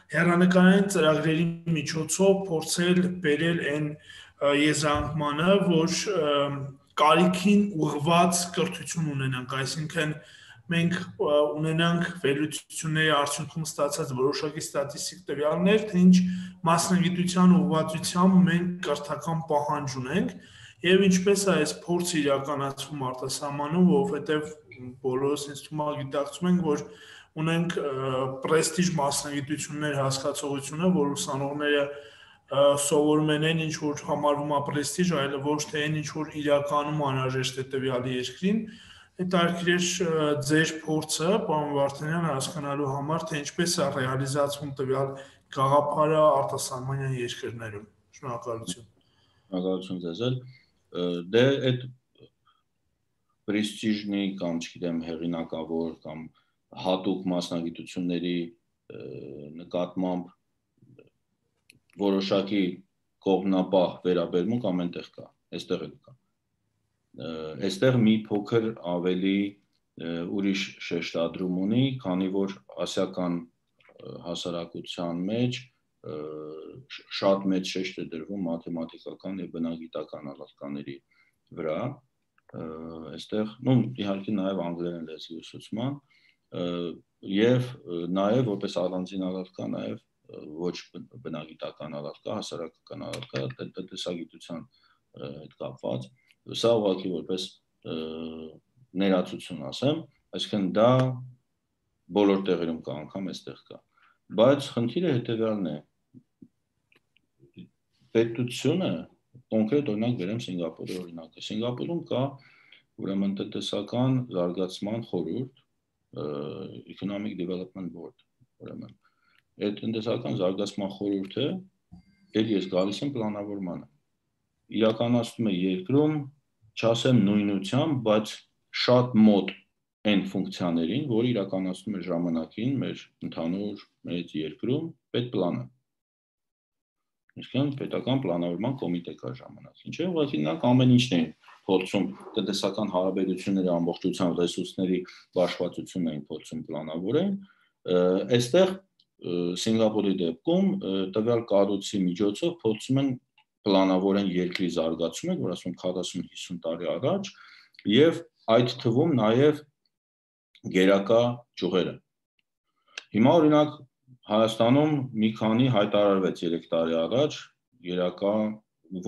հեռանկարային ծրագրերի միջոցով փորձել բերել այն եզրանկմանը, որ կարիքին ուղղված կրթություն ունենանք, այսինքն մենք ունենանք վերլուծությունների արդյունքում ստացած որոշակի ստատիստիկ տվյալներ, թե ինչ մասնագիտության ուղղվածությամբ մենք կրթական պահանջ ունենք եւ ինչպես է այս փորձը իրականացվում արտասահմանում, որովհետեւ բոլորս ինձ թվում է գիտակցում ենք, որ ունենք պրեստիժ մասնագիտություններ հասկացողությունը, որ ուսանողները սովորում են այն, ինչ որ համարվում է պրեստիժ, այլ ոչ թե այն, ինչ որ իրականում անհրաժեշտ է տվյալի երկրին։ Հետաքրքիր է ձեր փորձը, պարոն Վարդանյան, հասկանալու համար, թե ինչպես է ռեալիզացվում տվյալ գաղափարը արտասահմանյան երկրներում։ Շնորհակալություն։ Շնորհակալություն ձեզ էլ։ Դե այդ պրեստիժնի կամ, չգիտեմ, հեղինակավոր կամ հատուկ մասնագիտությունների նկատմամբ որոշակի կողմնապահ վերաբերմունք ամենտեղ կա, այստեղ էլ կա։ Այստեղ մի փոքր ավելի ուրիշ շեշտադրում ունի, քանի որ ասիական հասարակության մեջ շատ մեծ շեշտ է դրվում մաթեմատիկական եւ բնագիտական առարկաների վրա, այստեղ, ну, իհարկե նաեւ անգլերեն լեզվի ուսուցման եւ նաեւ որպես առանձին առարկա նաեւ ոչ բնագիտական առարկա, հասարակական առարկա, տնտեսագիտության հետ կապված, սա ուղղակի որպես ներածություն ասեմ, այսինքն դա բոլոր տեղերում կա, անգամ այստեղ կա, բայց խնդիրը հետեւյալն է, պետությունը կոնկրետ օրինակ վերեմ Սինգապուրի օրինակը, Սինգապուրում կա ուրեմն տնտեսական զարգացման խորհուրդ, Economic Development Board, ուրեմն այդ տնտեսական զարգացման խորհուրդը էլ ես գալիս եմ պլանավորմանը, իրականացնում է երկրում, չասեմ նույնությամբ, բայց շատ մոտ այն ֆունկցիաներին, որ իրականացնում է ժամանակին մեր ընդհանուր մեծ երկրում պետպլանը։ Այսինքն պետական պլանավորման կոմիտե կա ժամանակ։ Ինչը ուղղակի նրանք ամեն ինչն են փորձում տնտեսական հարաբերությունների ամբողջությամբ ռեսուրսների բաշխվածությունն էին փորձում պլանավորել։ Այստեղ Սինգապուրի դեպքում տվյալ կառույցի միջոցով փորձում են պլանավորեն երկրի զարգացումը, որ ասում քառասուն հիսուն տարի առաջ, եւ այդ թվում նաեւ գերակա ճյուղերը։ Հիմա օրինակ Հայաստանում մի քանի հայտարարվեց երեք տարի առաջ, գերակա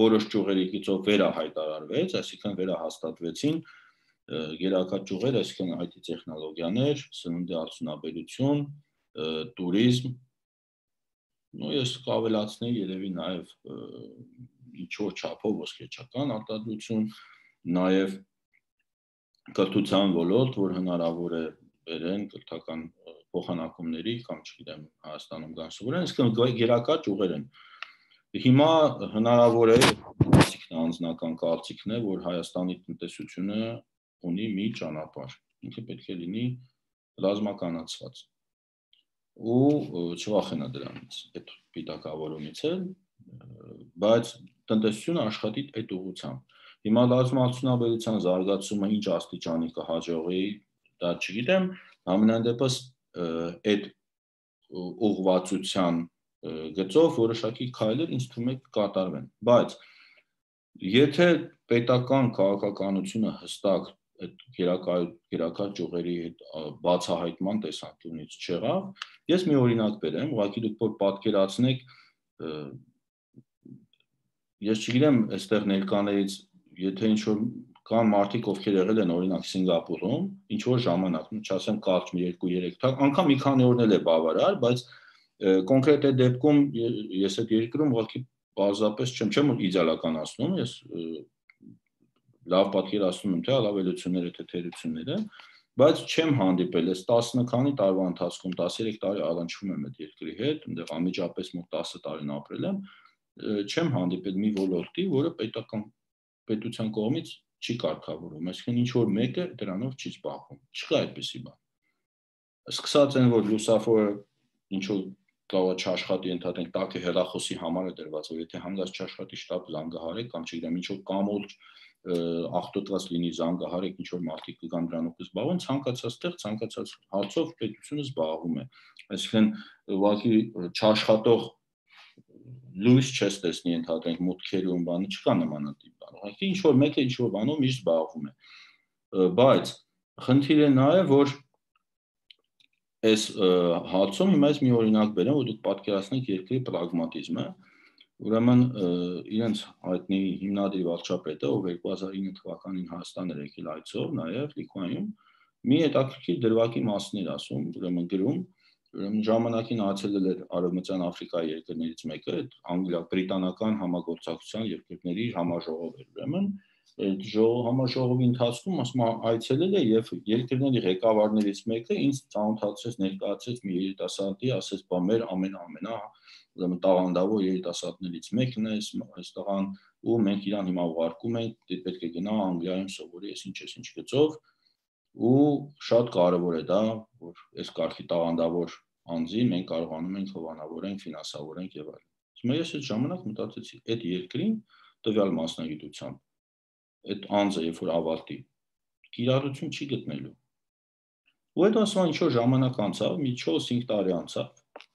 որոշ ճյուղերի գծով վերահայտարարվեց, այսինքն վերահաստատվեցին գերակա ճյուղեր, այսինքն այ թի տեխնոլոգիաներ, սննդի արդյունաբերություն, տուրիզմ, նույն ես կավելացնեի երևի նաև ինչ որ չափով ոսկեչական արտադրություն, նաև կրթության ոլորտ, որ հնարավոր է բերեն կրթական փոխանակումների կամ չգիտեմ Հայաստանում կան սովորեն, իսկ գերակա ճյուղեր են։ Հիմա հնարավոր է, այսինքն անձնական կարծիքն է, որ Հայաստանի տնտեսությունը ունի մի ճանապարհ, ինքը պետք է լինի ռազմականացված ու չվախենա դրանից, այդ պիտակավորումից էլ, բայց տնտեսությունը աշխատի այդ ուղղությամբ։ Հիմա ռազմարտությունաբերության զարգացումը ինչ աստիճանի կհաջողի, դա չգիտեմ, ամենայն դեպս այդ ուղղվածության գծով որոշակի քայլեր ինձ թվում է կկատարվեն, բայց եթե պետական քաղաքականությունը հստակ այդ գերակա ճյուղերի հետ բացահայտման տեսանկյունից չեղավ, ես մի օրինակ բերեմ, ուղղակի դուք որ պատկերացնեք, ես չգիտեմ, այստեղ ներկաներից, եթե ինչ-որ կան մարդիկ, ովքեր եղել են օրինակ Սինգապուրում, ինչ-որ ժամանակ, չասեմ կարճ մի երկու երեք թվական, անգամ մի քանի օրն էլ է բավարար, բայց կոնկրետ այդ դեպքում ես այդ երկրում ուղղակի պարզապես չեմ, չեմ իդեալականացնում, ես լավ պատկերացնում եմ թե առավելությունները, թե թերությունները, բայց չեմ հանդիպել, ես տասը քանի տարվա ընթացքում տասներեք տարի առնչվում եմ այդ երկրի հետ, այնտեղ անմիջապես մոտ տասը տարին ապրել եմ, չեմ հանդիպել մի ոլորտի, որը պետական պետության կողմից չի կարգավորվում, այսինքն ինչ որ մեկը դրանով չի զբաղվում, չկա այդպիսի բան։ Սկսած են, որ լուսավորը ինչ որ կարող է չաշխատի, ընդհանրենք տակը հեռախոսի համար է դրված, որ եթե հանգած չաշխատի շտապ զանգահարեք կամ չգիտեմ ինչ որ կամոլ աղտոտված լինի զանգահարեք, ինչ որ մարդիկ կգան դրանով կզբաղվեն, ցանկացած տեղ, ցանկացած հարցով պետությունը զբաղվում է։ Այսինքն ուղղակի չաշխատող լույս չես տեսնի ընդհանրենք մուտքերում բանը չկա նմանատիպ բան։ Ուղղակի ինչ որ մեկը ինչ որ բանով միշտ զբաղվում է։ Բայց խնդիրը նա է, որ այս հարցում հիմա ես մի օրինակ բերեմ, որ դուք պատկերացնեք երկրի պրագմատիզմը, ուրեմն իրենց հայտնի հիմնադիր վարչապետը, ով երկու հազար ինը թվականին Հայաստան էր եկել այցով, նաև Լիտվայիայում, մի հետաքրքիր դրվագի մասին էր ասում, ուրեմն գրում, ուրեմն ժամանակին այցելել էր Արևմտյան Աֆրիկայի երկրներից մեկը, այդ անգլիա բրիտանական համագործակցության երկրների համաժողով էր, ուրեմն այդ համաժողովի ընթացքում ասում այցելել է եւ երկրների ղեկավարներից մեկը ինձ ծանոթացրեց, ներկայացրեց մի երիտասարդի, ասեց, բա մեր ամենա-ամենա ուրեմն տաղանդավոր երիտասարդներից մեկն է, այս տղան ու մենք իրան հիմա ուղարկում ենք, պետք է գնա Անգլիայում սովորի, այս ինչ էս ինչ գծով ու շատ կարևոր է դա, որ այս կարգի տաղանդավոր անձին մենք կարողանում ենք հովանավորենք, ֆինանսավորենք եւ այլն։ Հիմա ես այդ ժամանակ մտածեցի, այդ երկրին տվյալ մասնագիտությամբ այդ անձը երբ որ ավարտի, կիրառություն չի գտնելու։ Ու այդ ասում ինչ որ ժամանակ անցավ, մի չորս-հինգ տարի անցավ,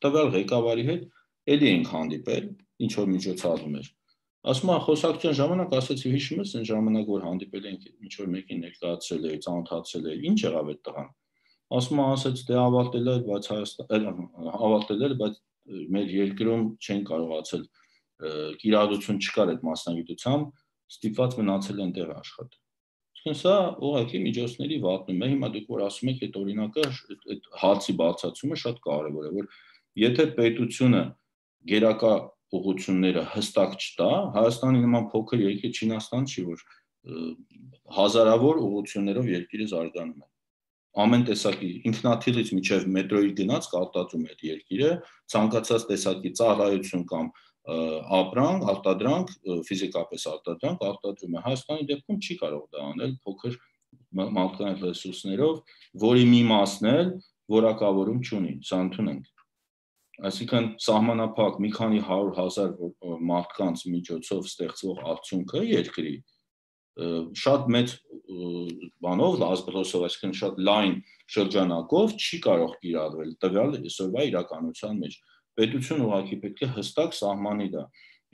տվյալ ղեկավարի հետ էլի ենք հանդիպել, ինչ որ միջոցառում էր։ Ասում է խոսակցության ժամանակ ասեցի, հիշում ես այն ժամանակ որ հանդիպել ենք, ինչ որ մեկին ներկայացրել էի, ծանոթացրել էի, ինչ եղավ այդ տղան։ Ասում է, ասեց, դե ավարտել էր, բայց Հայաստան ավարտել էր, բայց մեր երկրում չեն կարողացել կիրառություն չկար այդ մասնագիտությամբ, ստիպված մնացել են տեղ աշխատել։ Իսկ սա ուղղակի միջոցների վատնում է, հիմա դուք որ ասում եք այդ օրինակը, այդ հացի բարձրացումը շատ կարևոր է, որ եթե պետությունը գերակա ուղղությունները հստակ չտա, Հայաստանի նման փոքր երկիր Չինաստան չի, որ հազարավոր ուղղություններով երկիրը զարգանում է։ Ամեն տեսակի ինքնաթիռից միջև մետրոյի գնաց կարտադրում է այդ երկիրը, ցանկացած տեսակի ծառայություն կամ ապրանք, արտադրանք, ֆիզիկապես արտադրանք արտադրում է։ Հայաստանի դեպքում չի կարող դա անել փոքր մարդկային ռեսուրսներով, որի մի մասն էլ որակավորում չունի, սա ընդունենք։ Այսինքն սահմանափակ մի քանի հարյուր հազար մարդկանց միջոցով ստեղծվող արդյունքը երկրի շատ մեծ բանով, ազգրոսով, այսինքն շատ լայն շրջանակով չի կարող կիրառվել տվյալ այսօրվա իրականության մեջ։ Պետությունը ուղղակի պետք է հստակ սահմանի դա։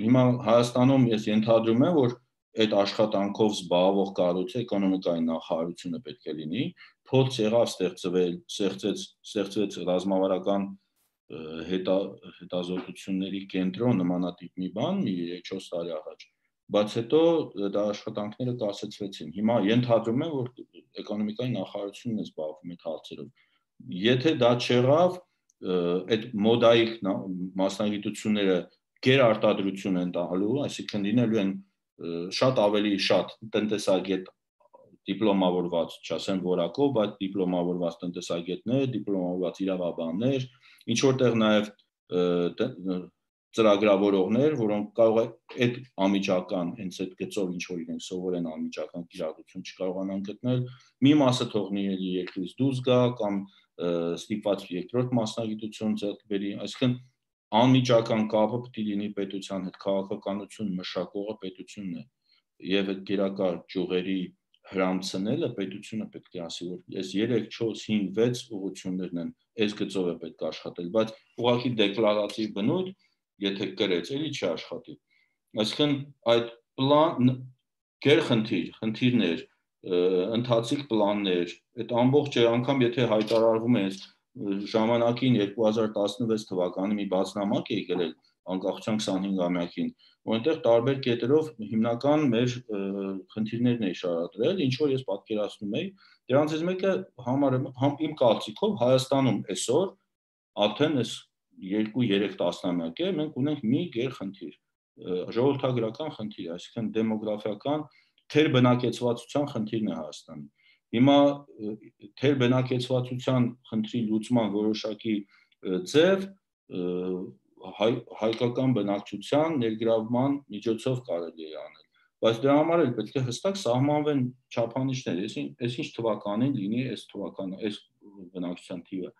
Հիմա Հայաստանում ես ենթադրում եմ, որ այդ աշխատանքով զբաղվող կառույցը էկոնոմիկայի նախարարությունը պետք է լինի, փորձ եղավ ստեղծվել, ստեղծեց, ստեղծվեց ռազմավարական հետազոտությունների կենտրոն նմանատիպ մի բան, մի երեք-չորս տարի առաջ, բայց հետո դա աշխատանքները կասեցվեցին։ Հիմա ենթադրում եմ, որ էկոնոմիկայի նախարարությունն է զբաղվում այդ հարցերով։ Եթե դա չեղավ, այդ մոդայիկ մասնագիտությունները գերարտադրություն են տալու, այսինքն լինելու են շատ ավելի շատ տնտեսագետ դիպլոմավորված, չասեմ որակով, բայց դիպլոմավորված տնտեսագետներ, դիպլոմավորված իրավաբաններ, ինչ որտեղ նաև ծրագրավորողներ, որոնք կարող է այդ անմիջական, հենց այդ գծով ինչ որ իրենք սովորեն անմիջական կիրառություն չկարողանան գտնել, մի մասը թողնի երկրից դուրս գա կամ ստիպված երկրորդ մասնագիտություն ձեռք բերի, այսինքն անմիջական կապը պետք է լինի պետության հետ, քաղաքականություն մշակողը պետությունն է, եւ այդ գերակա ճյուղերի հրամցնելը պետությունը պետք է ասի, որ այս երեք, չորս, հինգ, վեց ուղղություններն են, այս գծով է պետք աշխատել, բայց ուղղակի դեկլարատիվ բնույթ, եթե կրեց, էլի չի աշխատի։ Այսինքն այդ պլան գերխնդիր, խնդիրներ, ընթացիկ պլաններ, այդ ամբողջը անգամ եթե հայտարարվում է ժամանակին երկու հազար տասնվեց թվականի մի բացնամակ է եկել անկախության քսանհինգամյակին, որտեղ տարբեր կետերով հիմնական մեր խնդիրներն է շարադրել, ինչ որ ես պատկերացնում եի, դրանցից մեկը համարը իմ կարծիքով Հայաստանում այսօր արդեն այս երկու երեք տասնամյակ է, մենք ունենք մի գերխնդիր, ժողովրդագրական խնդիր, այսինքն դեմոգրաֆիական թերբնակեցվածության խնդիրն է Հայաստանում։ Հիմա թերբնակեցվածության խնդրի լուծման որոշակի ձև հայկական բնակչության ներգրավման միջոցով կարելի է անել, բայց դրա համար էլ պետք է հստակ սահմանվեն չափանիշներ, այս ինչ թվականին լինի այս թվականը, այս բնակչության թիվը,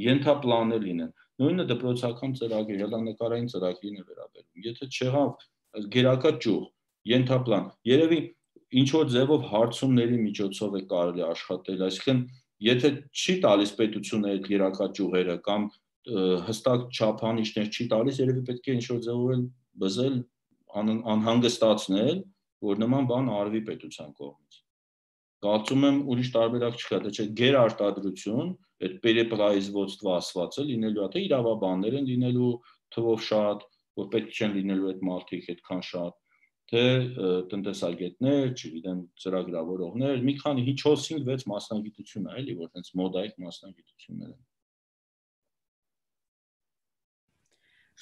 ենթապլաններ լինեն, նույնը դպրոցական ծրագիր, հեռանկարային ծրագրին է վերաբերում, եթե չեղավ գերակա ճյուղ, ենթապլան, երևի ինչ որ ձևով հարցումների միջոցով է կարելի աշխատել, այսինքն եթե չի տալիս պետությունը այդ գերակա ճյուղերը կամ հստակ չափանիշներ չի տալիս, երևի պետք է ինչ որ ձևով բզել, անհանգստացնել, որ նման բան արվի պետության կողմից։ Կարծում եմ ուրիշ տարբերակ չկա, դա չէ գերարտադրություն, այդ պերեպրայզվոցտվա ասվածը լինելու է, թե իրավաբաններ են լինելու թվով շատ, որ պետք չեն լինելու այդ մարդիկ այդքան շատ, թե տնտեսագետներ, չգիտեմ, ծրագրավորողներ, մի քանի չորս հինգ վեց մասնագիտություն է, էլի, որ հենց մոդայիկ մասնագիտություններ են։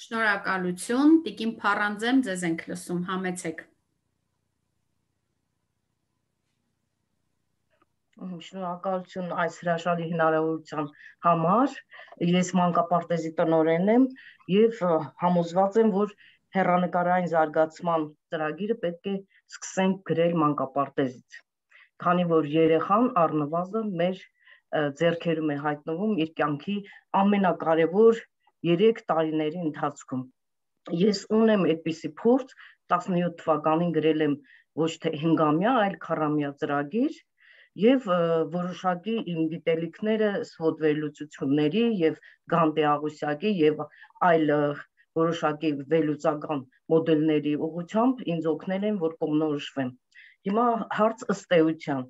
Շնորհակալություն, Տիկին Փառանձեմ, ձեզ ենք լսում, համեցեք։ Շնորհակալություն այս հրաշալի հնարավորության համար, ես մանկապարտեզի տնօրենն եմ եւ համոզված եմ, որ հեռանկարային զարգացման ծրագիրը պետք է սկսենք գրել մանկապարտեզից, քանի որ երեխան առնվազն մեր ձեռքերում է հայտնվում իր կյանքի ամենակարևոր երեք տարիների ընթացքում։ Ես ունեմ այդպիսի փորձ, տասնյոթ թվականին գրել եմ ոչ թե հինգամյա, այլ քառամյա ծրագիր եւ որոշակի իմ գիտելիքները սվոտ վերլուծությունների եւ Գանտե Աղուսյակի եւ այլ որոշակի վերլուծական մոդելների ուղղությամբ ինձ օգնել են, որ կողմնորոշվեմ։ Հիմա հարց ըստ էության,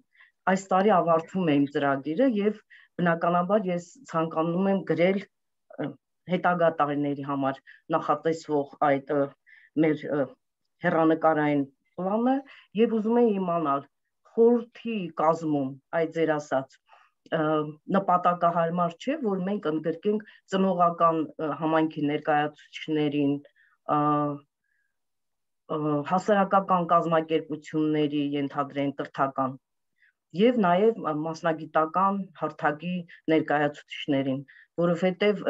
այս տարի ավարտվում է իմ ծրագիրը եւ բնականաբար ես ցանկանում եմ գրել հետագա տարիների համար նախատեսվող այդ մեր հեռանկարային պլանը եւ ուզում եմ իմանալ խորհրդի կազմում այդ ձեր ասած նպատակահարմար չէ, որ մենք ընդգրկենք ծնողական համայնքի ներկայացուցիչներին, հասարակական կազմակերպությունների ենթադրեն կրթական եւ նաեւ մասնագիտական հարթակի ներկայացուցիչներին, որովհետեւ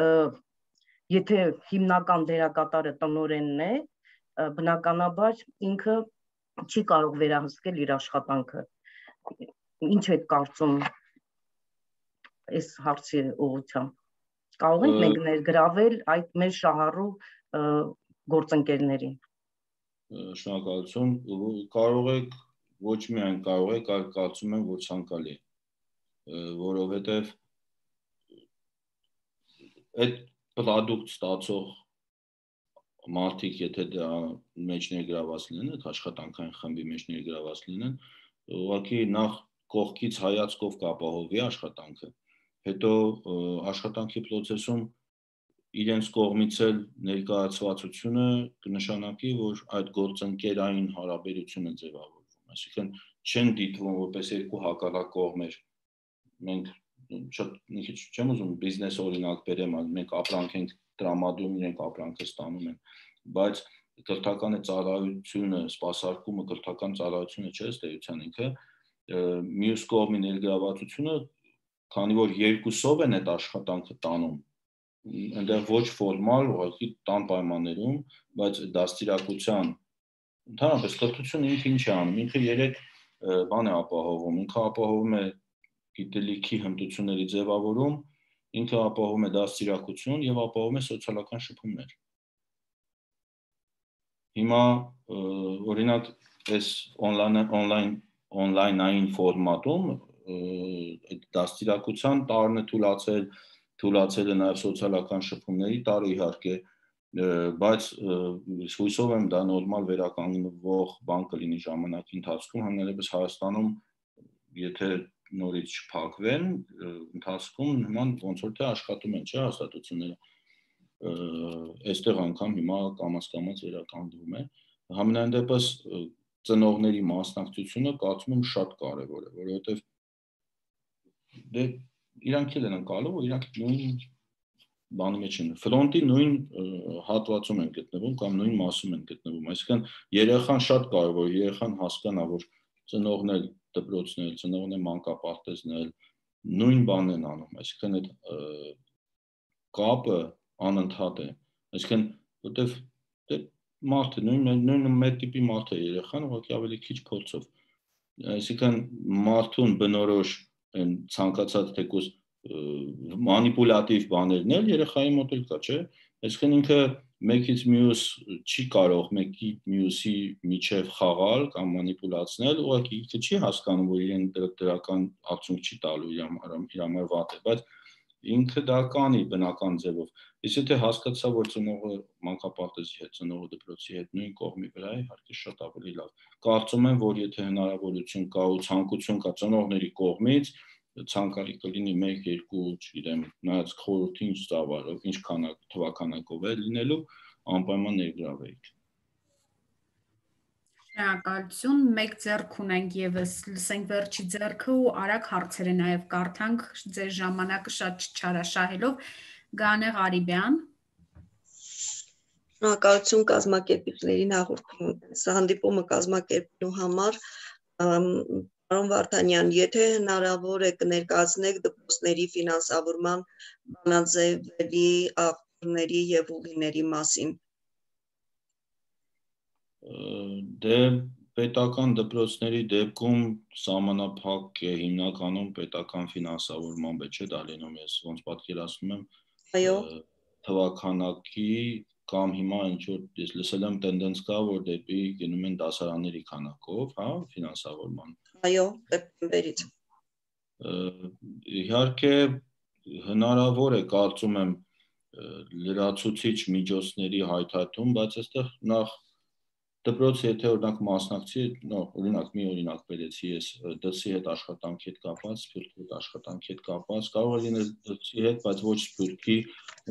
եթե հիմնական դերակատարը տնօրենն է, բնականաբար ինքը չի կարող վերահսկել իր աշխատանքը։ Ինչ եք կարծում այս հարցի ուղղությամբ, կարող ենք մենք ներգրավել այդ մեր շահառու գործընկերներին։ Շնորհակալություն, կարող եք, ոչ միայն կարող եք, այլ կարծում եմ, որ ցանկալի է, որովհետև այդ պրոդուկտ ստացող մարդիկ, եթե դա մեջ ներգրաված լինեն, այդ աշխատանքային խմբի մեջ ներգրաված լինեն, ուղղակի նախ կողքից հայացքով կապահովի աշխատանքը, հետո աշխատանքի process-ում իրենց կողմից էլ ներկայացվածությունը կնշանակի, որ այդ գործընկերային հարաբերությունը ձևավորվում, այսինքն չեն դիտվում որպես երկու հակառակ կողմեր, մենք շատ մի քիչ չեմ ուզում բիզնես օրինակ բերեմ, մենք ապրանք ենք տրամադրում, իրենք ապրանքը ստանում են, բայց կրթական ծառայությունը, սպասարկումը, կրթական ծառայությունը չէ, ըստ էության ինքը մյուս կողմի ներգրավվածությունը, քանի որ երկուսով են այդ աշխատանքը տանում, այնտեղ ոչ ֆորմալ, ուղղակի տան պայմաններում, բայց դաստիարակության ընդհանրապես կրթությունը ինքը ինչ է անում, ինքը երեք բան է ապահովում, ինքը ապահովում է գիտելիքի հմտությունների ձևավորում, ինքը ապահովում է դաստիարակություն եւ ապահովում է սոցիալական շփումներ։ Հիմա օրինակ այս on-line on-line-ային ֆորմատում այդ դաստիարակության տարն է թույլացել, թույլացել է նաեւ սոցիալական շփումների տարը իհարկե, բայց հույսով եմ դա նորմալ վերականգնվող բան կլինի ժամանակի ընթացքում, հանրապես Հայաստանում, եթե նորից չփակվեն, ընթացքում նման ոնց որ թե աշխատում են, չէ՞, հաստատությունները, այստեղ անգամ հիմա կամաց-կամաց վերականգնվում է, համենայն դեպս ծնողների մասնակցությունը կարծում եմ շատ կարևոր է, որովհետև դե իրանք էլ են անցալու, իրանք նույն բանի մեջ են, ֆրոնտի նույն հատվածում են գտնվում կամ նույն մասում են գտնվում, այսինքն երեխան շատ կարևոր, երեխան հասկանա, որ ծնողն էլ դպրոցն էլ, ծնողն էլ մանկապարտեզն էլ նույն բանն են անում, այսինքն այդ կապը անընդհատ է, այսինքն որտեվ դե մարդը նույն նույն մեր տիպի մարդ է երեխան, ուղղակի ավելի քիչ փորձով, այսինքն մարդուն բնորոշ են ցանկացած թեկուզ մանիպուլատիվ բաներն էլ երեխայի մոտ էլ կա, չէ՞, այսինքն ինքը մեկից մյուս չի կարող մեկի մյուսի միջև խաղալ կամ մանիպուլացնել, ուղղակի ինքը չի հասկանում, որ իրեն դրական արդյունք չի տալու իր համար վատ է, բայց ինքը դա կանի բնական ձևով, իսկ եթե հասկացա, որ ծնողը մանկապարտեզի հետ, ծնողը դպրոցի հետ նույն կողմի վրա է, իհարկե շատ ավելի լավ, կարծում եմ, որ եթե հնարավորություն կա ու ցանկություն կա ծնողների կողմից, ցանկալի կլինի մեկ երկու, չգիտեմ, նայած խորհրդի ինչ ծավալով, ինչ քանակ թվականակով է լինելու, անպայման ներգրավեիք։ Շնորհակալություն, մեկ ձեռք ունենք եւս, լսենք վերջի ձեռքը ու արագ հարցերը նաեւ կարդանք, ձեր ժամանակը շատ չչարաշահելով, Գանե Ղարիբյան։ Շնորհակալություն կազմակերպիչներին հանդիպումը կազմակերպելու համար, Պարոն Վարդանյան, եթե հնարավոր է կներկայացնեք դպրոցների ֆինանսավորման բանաձևերի, աղբյուրների եւ ուղիների մասին։ Դե պետական դպրոցների դեպքում սահմանափակ է հիմնականում պետական ֆինանսավորման մեջ է դա լինում, ես ոնց պատկերացնում եմ, այո, թվականակի կամ հիմա ինչ որ ես լսել եմ տենդենց կա, որ դեպի գնում են դասարանների քանակով, հա, ֆինանսավորման։ Այո, դեպքերից։ Իհարկե հնարավոր է, կարծում եմ, լրացուցիչ միջոցների հայթայթում, բայց այստեղ նախ դպրոցը եթե օրինակ մասնակցի, օրինակ մի օրինակ բերեցի ես դրսի հետ աշխատանքի հետ կապված, սփյուռքի հետ աշխատանքի հետ կապված, կարող է լինել դրսի հետ, բայց ոչ սփյուռքի,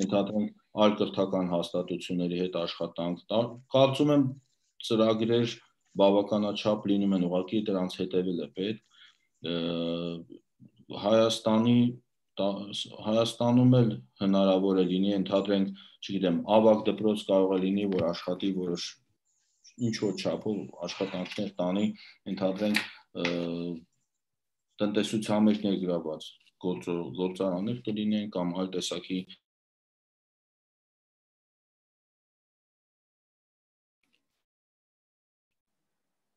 ընդհանրենք այլ կրթական հաստատությունների հետ աշխատանք, կարծում եմ ծրագրեր բավականաչափ լինում են, ուղղակի դրանց հետևել է պետք, Հայաստանի Հայաստանում էլ հնարավոր է լինի, ընդհանրենք, չգիտեմ, ավագ դպրոց կարող է լինի, որ աշխատի որոշ ինչ որ չափով աշխատանքներ տանի, ընդհանրենք տնտեսության մեջ ներգրավված գործարաններ կլինեն կամ այլ տեսակի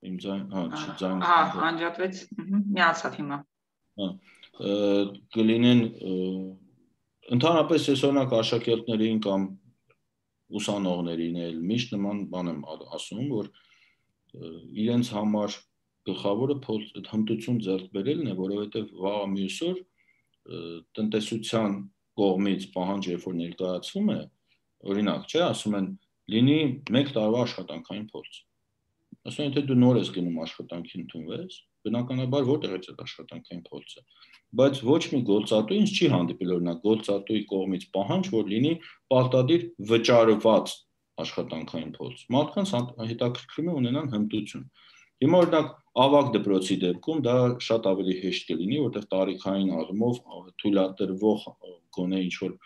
Իմ ձայն, հա, չձայն, հա, անջատվեց, միացավ հիմա։ Կլինեն ընդհանրապես ես օրինակ աշակերտներին կամ ուսանողներին էլ միշտ նման բան եմ ասում, որ իրենց համար գլխավորը հմտություն ձեռք բերելն է, որովհետև վաղը մյուս օր տնտեսության կողմից պահանջ երբ որ ներկայացվում է, օրինակ, չէ, ասում են, լինի մեկ տարվա աշխատանքային փորձ։ Ասում են, եթե դու նոր ես գնում աշխատանքի ընդունվես, բնականաբար որտեղ է այդ աշխատանքային փորձը, բայց ոչ մի գործատու ինձ չի հանդիպել, օրինակ, գործատուի կողմից պահանջ, որ լինի պարտադիր վճարված աշխատանքային փորձ։ Մարդկանց հետաքրքրում է ունենան հմտություն։ Հիմա օրինակ ավագ դպրոցի դեպքում դա շատ ավելի հեշտ կլինի, որտեղ տարիքային առումով թույլատրվող գոնե ինչ որ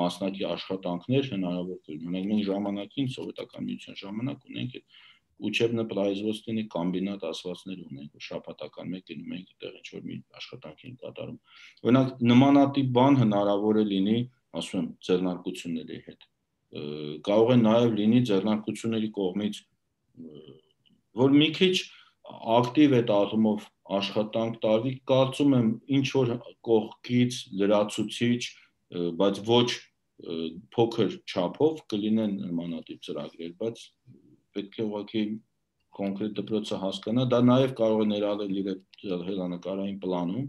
մասնակի աշխատանքներ հնարավոր կլինի։ Ունենք մենք ժամանակին սովետական միության ժամանակ ունենք Учебно производственный комбинат ասվածներ ունենք, շաբաթական մեկ գնում ենք այդտեղ ինչ որ մի աշխատանք են կատարում։ Օրինակ նմանատիպ բան հնարավոր է լինի, ասում եմ, ձեռնարկությունների հետ։ Կարող է նաև լինի ձեռնարկությունների կողմից, որ մի քիչ ակտիվ է առումով աշխատանք տարվի, կարծում եմ ինչ որ կողքից լրացուցիչ, բայց ոչ փոքր չափով կլինեն նմանատիպ ծրագրեր, բայց պետք է ուղղակի կոնկրետ դպրոցը հասկանա, դա նաև կարող է ներառել իր հեռանկարային պլանում,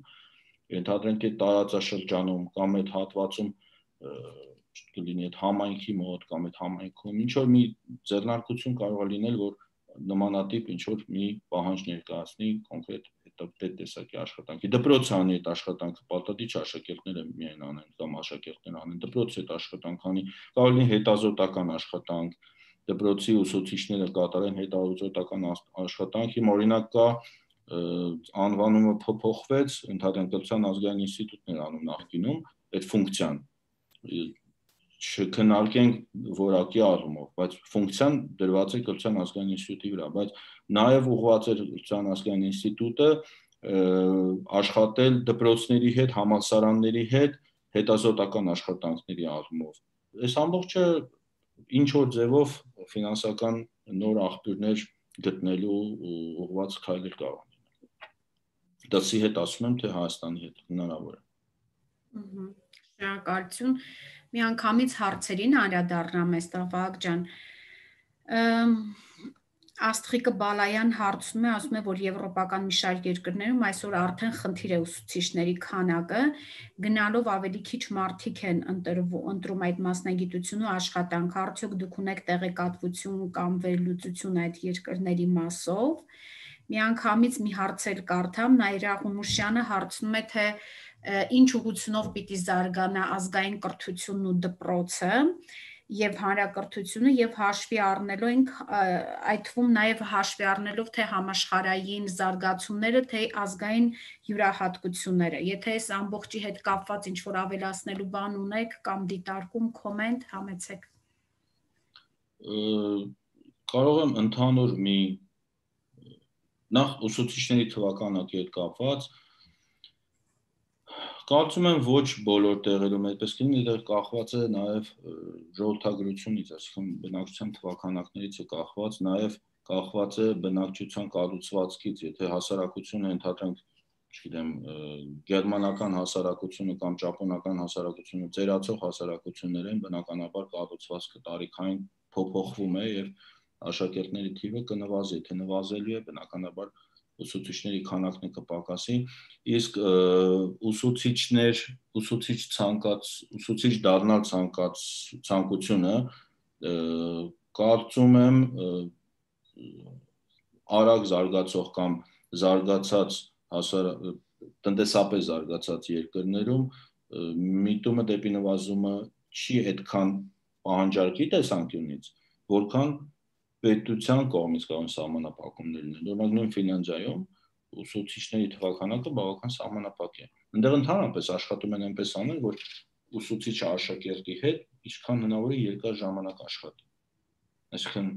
ենթադրենք այդ տարածաշրջանում կամ այդ հատվածում կլինի այդ համայնքի մոտ կամ այդ համայնքում ինչ որ մի ձեռնարկություն կարող է լինել, որ նմանատիպ ինչ որ մի պահանջ ներկայացնի կոնկրետ այդ տեսակի աշխատանքի։ Դպրոցը անի այդ աշխատանքը, պարտադիր աշակերտները միայն անեն կամ աշակերտները անեն, դպրոցը այդ աշխատանք անի, կարող լինի հետազոտական աշխատանք, դպրոցի ուսուցիչները կատարեն հետազոտական աշխատանք, հիմա օրինակ կա անվանումը փոփոխվեց, ընդհանրեն կրթության ազգային ինստիտուտն էր անում նախկինում այդ ֆունկցիան, չքննարկենք որակի առումով, բայց ֆունկցիան դրված է կրթության ազգային ինստիտուտի վրա, բայց նաև ուղղված էր կրթության ազգային ինստիտուտը աշխատել դպրոցների հետ, համալսարանների հետ հետազոտական աշխատանքների առումով։ Այս ամբողջը ինչ որ ձևով ֆինանսական նոր աղբյուրներ գտնելու ուղղված քայլեր կարող են լինել։ Դասի հետ ասում եմ, թե Հայաստանի հետ հնարավոր է։ Շնորհակալություն։ Միանգամից հարցերին անդրադառնամ այստեղ Վահագ ջան։ Աստղիկը Բալայան հարցում է, ասում է, որ եվրոպական մի շարք երկրներում այսօր արդեն խնդիր է ուսուցիչների քանակը, գնալով ավելի քիչ մարդիկ են ընտրում այդ մասնագիտությունը ու աշխատանքը, արդյոք դուք ունեք տեղեկատվություն կամ վերլուծություն այդ երկրների մասով։ Միանգամից մի հարց էլ կարդամ, Նաիրա Ղունուշյանը հարցնում է, թե ինչ ուղղությունով պիտի զարգանա ազգային կրթությունն ու դպրոցը եւ հանրակրթությունը եւ հաշվի առնելով այդ թվում նաեւ հաշվի առնելով թե համաշխարհային զարգացումները, թե ազգային յուրահատկությունները։ Եթե այս ամբողջի հետ կապված ինչ որ ավելացնելու բան ունեք կամ դիտարկում, կոմենտ համեցեք։ Կարող եմ ընդհանուր մի նախ ուսուցիչների թվականակի հետ կապված Կարծում եմ ոչ բոլոր տեղերում այդպես կլինի, դեռ կախված է նաև ժողովրդագրությունից, այսինքն բնակչության թվականակներից է կախված, նաև կախված է բնակչության կառուցվածքից, եթե հասարակությունը ընդհանրենք, չգիտեմ, գերմանական հասարակությունը կամ ճապոնական հասարակությունը ծերացող հասարակություններ են, բնականաբար կառուցվածքը տարիքային փոփոխվում է եւ աշակերտների թիվը կնվազի, եթե նվազելու է, բնականաբար ուսուցիչների քանակն է կպակասի, իսկ ուսուցիչներ, ուսուցիչ ցանկաց, ուսուցիչ դառնալ ցանկաց ցանկությունը կարծում եմ արագ զարգացող կամ զարգացած տնտեսապես զարգացած երկրներում միտումը դեպի նվազումը չի այդքան պահանջարկի տեսանկյունից, որքան պետության կողմից կարող են սահմանափակումներ լինել։ Օրինակ նույն Ֆինլանդիայում ուսուցիչների թվականակը բավական սահմանափակ է։ Այնտեղ ընդհանրապես աշխատում են այնպես անել, որ ուսուցիչը աշակերտի հետ ինչքան հնարավոր է երկար ժամանակ աշխատի։ Այսինքն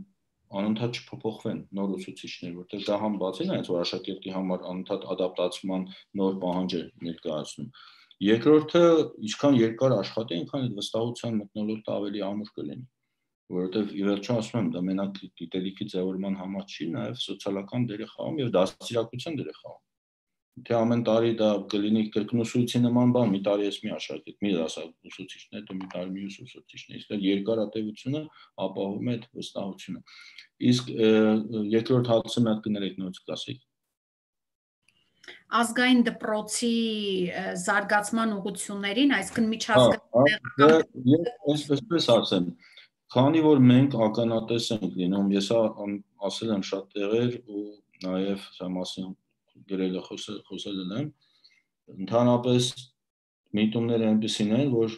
անընդհատ չփոփոխվեն նոր ուսուցիչներ, որտեղ դա համ բացի նայած, որ աշակերտի համար անընդհատ ադապտացման նոր պահանջ է ներկայացնում։ Երկրորդը, ինչքան երկար աշխատի, այնքան այդ վստահության մթնոլորտը ավելի ամուր կլինի, որովհետև ի վերջո ասում եմ, դա մենակ գիտելիքի ձևավորման համար չի, նաև սոցիալական դեր է խաղում եւ դաստիարակության դեր է խաղում։ Թե ամեն տարի դա կլինի կրկնուսույցի նման բան, մի տարի ես մի աշակերտ, մի դասակ ուսուցիչներ, դե մի տարի մյուս ուսուցիչներ, իսկ երկարատևությունը ապահովում է այդ վստահությունը։ Իսկ երկրորդ հարցը մի հատ կներեք նույնիսկ կասեք։ Ազգային դպրոցի զարգացման ուղղություններին, այսինքն միջազգային այսպես ասեմ, քանի որ մենք ականատես ենք լինում, ես ասել եմ շատ տեղեր ու նաև սա մասին գրել խոսել եմ, ընդհանրապես միտումները այնպեսին են, որ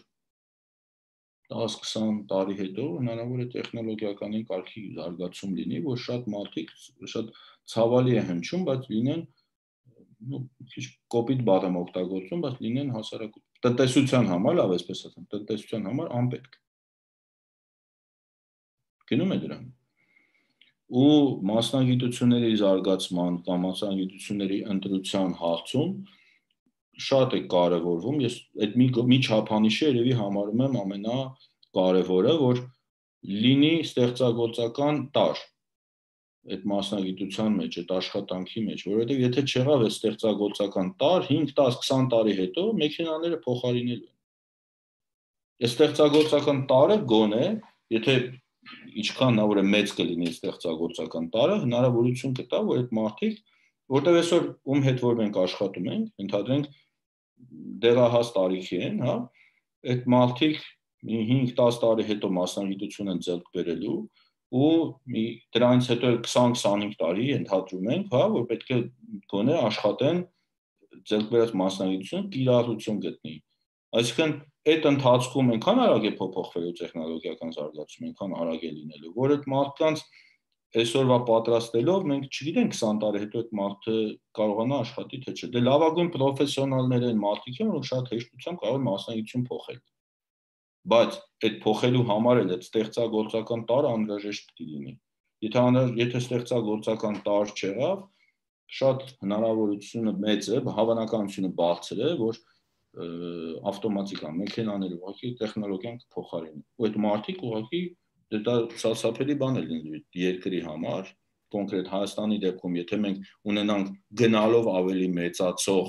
տասը-քսան տարի հետո հնարավոր է տեխնոլոգիական կարգի զարգացում լինի, որ շատ մարդիկ շատ ցավալի է հնչում, բայց լինեն քիչ կոպիտ բառ եմ օգտագործում, բայց լինեն հասարակ տնտեսության համար, լավ այսպես ասեմ, տնտեսության համար անպետք։ Գնում է դրան։ ու մասնագիտությունների զարգացման կամ մասնագիտությունների ընտրության հարցում շատ է կարևորվում, ես այդ մի, մի չափանիշը երևի համարում եմ ամենակարևորը, որ լինի ստեղծագործական տարր այդ մասնագիտության մեջ, այդ աշխատանքի մեջ, որովհետև եթե չեղավ այդ ստեղծագործական տարր, հինգ, դես, քսան տարի հետո մեքենաները փոխարինելու են։ Այս ստեղծագործական տարը գոնե, եթե ինչքան նա որ մեծ կլինի ստեղծագործական տարը, հնարավորություն կտա, որ այդ մարդիկ, որտեղ այսօր ում հետ որ մենք աշխատում ենք, ընդհանրենք դեղահաս տարիքի են, հա, այդ մարդիկ հինգ, դես տարի հետո մասնագիտություն են ձեռք բերելու ու մի դրանից հետո քսան, քսանհինգ տարի ընդհանրում ենք, հա, որ պետք է գոնե աշխատեն ձեռք բերած մասնագիտությունը կիրառություն գտնի։ Այսինքն այդ ընթացքում այնքան արագ է փոփոխվելու տեխնոլոգիական զարգացումը, այնքան արագ է լինելու, որ այդ մարդկանց այսօրվա պատրաստելով մենք չգիտենք քսան տարի հետո այդ մարդը կարողանա աշխատի թե չէ։ Դե լավագույն պրոֆեսիոնալներ են մարդիկ են, որ շատ հեշտությամբ կարող են մասնագիտություն փոխել։ Բայց այդ փոխելու համար էլ այդ ստեղծագործական տարը անհրաժեշտ կլինի։ Եթե եթե ստեղծագործական տար չեղավ, շատ հնարավորությունը մեծ է, հավանականությունը բարձր է, որ ավտոմատիկան մեքենաները ուղղակի տեխնոլոգիան կփոխարինի։ Ու այդ մարդիկ ուղղակի դա սարսափելի բան է լինի երկրի համար, կոնկրետ Հայաստանի դեպքում, եթե մենք ունենանք գնալով ավելի մեծացող